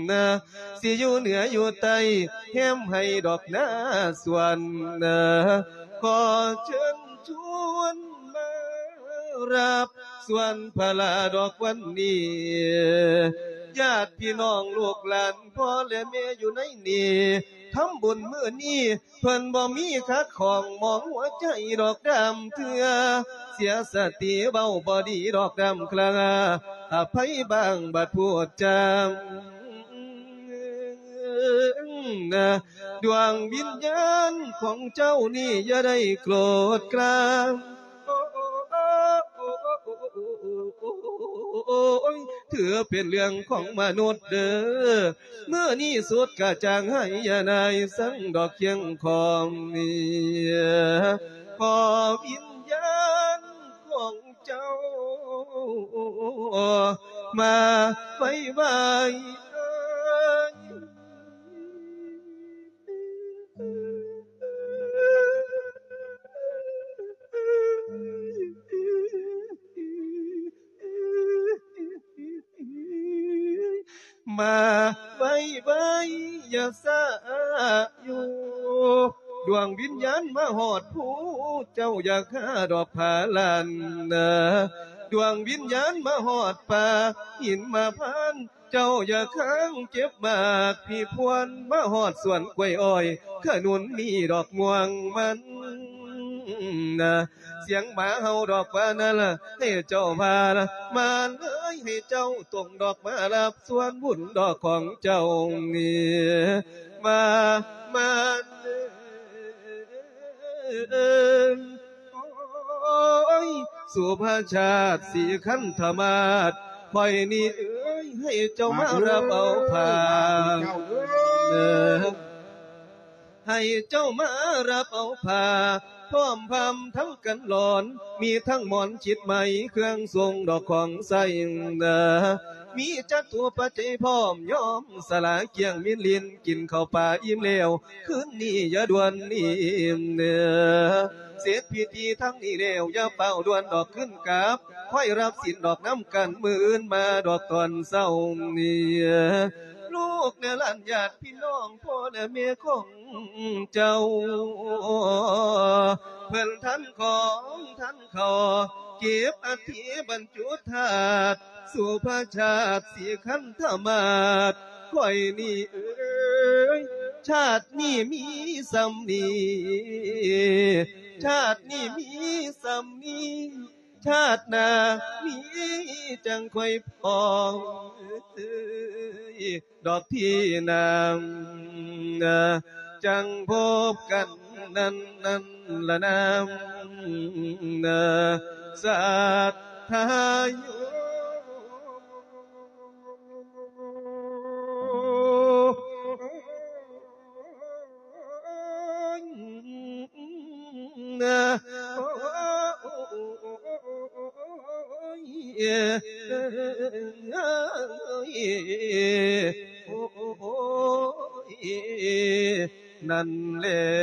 ນະ ຊິຢູ່ເໜືອຢູ່ໃຕ້ ແຮມໃຫ້ດອກນາສວນນະ ຂໍເຊີນຊວນມາຮັບ ສ່ວນພະລາດອກວັນນີ້ ຍາດພີ່ນ້ອງລູກຫຼານພໍ່ແລະແມ່ຢູ່ໃນນີ້ ທຳບຸນມື້ນີ້ ເພິ່ນບໍ່ມີຂັດຂ້ອງ ໝອງຫົວໃຈດອກດຳເທື່ອ ເສຍສະຕິເວົ້າບໍ່ດີດອກດຳຄລາ ອະໄພບາງບັດພູດຈາ ດວງວິນຍານຂອງເຈົ້ານີ້ຢ່າໄດ້ໂກດກາງ ໂອ້ຍ ຖືເປັນເລື່ອງຂອງມະນຸດເດີ ມື້ນີ້ສຸດກະຈ່າງໃຫ້ຍານາຍສັງດອກຄຽງຄອງນີ້ ຂໍວິນຍານຂອງເຈົ້າມາໄວໆ ມາໄວໆ ຢ່າຊ້າຢູ່ ດວງວິນຍານມາຮອດພູ ເຈົ້າຢ່າຄາດອກຜາລານນາ ດວງວິນຍານມາຮອດປ່າຫິມມະພານ ເຈົ້າຢ່າຄ້າງເກັບໝາກພີພວນ ມາຮອດສວນກ້ວຍອ້ອຍ ຂະໜູນມີດອກມ່ວງມັນນາ ສຽງໝາເຫົ່າດອກວ່ານັ້ນລະ ໃຫ້ເຈົ້າພາລະມາເລີຍ ໃຫ້ເຈົ້າຕົງດອກມາຮັບສ່ວນບຸນດອກຂອງເຈົ້ານີ້ ມາ ມາເດີ ໂອ້ຍ ສຸພະຊາດສີຄັນທະມາດ ຂ້ອຍນີ້ເອີຍ ໃຫ້ເຈົ້າມາຮັບເອົາຜ້າ ເອີ ໃຫ້ເຈົ້າມາຮັບເອົາຜ້າ ພ້ອມພ້ຳທັງກັນຫຼອນ ມີທັງໝອນຊິດໄໝ ເຄື່ອງຊົງດອກຂອງໃຊ້ ເອີ ມີຈັດຕົວປັດໄຈພ້ອມ ຍອມສະຫຼາກຽງມິນລິນ ກິນເຂົ້າປ່າອີ່ມແລ້ວ ຄືນນີ້ຢ່າດ່ວນໜີ ເອີ ເສັດພິທີທັງນີ້ແລ້ວ ຢ່າຟ້າວດ່ວນດອກຄືນກັບ ຄ່ອຍຮັບສິນດອກນຳກັນ ມື້ອື່ນມາດອກຕອນເຊົ້ານີ້ ລູກແລະຫຼານຍາດພີ່ນ້ອງ ພໍ່ແລະແມ່ຂອງເຈົ້າ ເພິ່ນທັນຂອງທັນເຂົ້າ ເກັບອັດຖິບັນຈຸທາດ ສຸພະຊາດສີຄັນທະມາດ ຂ້ອຍນີ້ເອີຍ ຊາດນີ້ມີສ່ຳນີ້ ຊາດນີ້ມີສ່ຳນີ້ ຊາດໜ້າມີຈັ່ງຄ່ອຍພໍ້ ດອກທີ່ນາງ ຈັງພົບກັນນັ້ນນັ້ນລະນາງ ສັດທາຢູ່. ນັ້ນແຫຼະ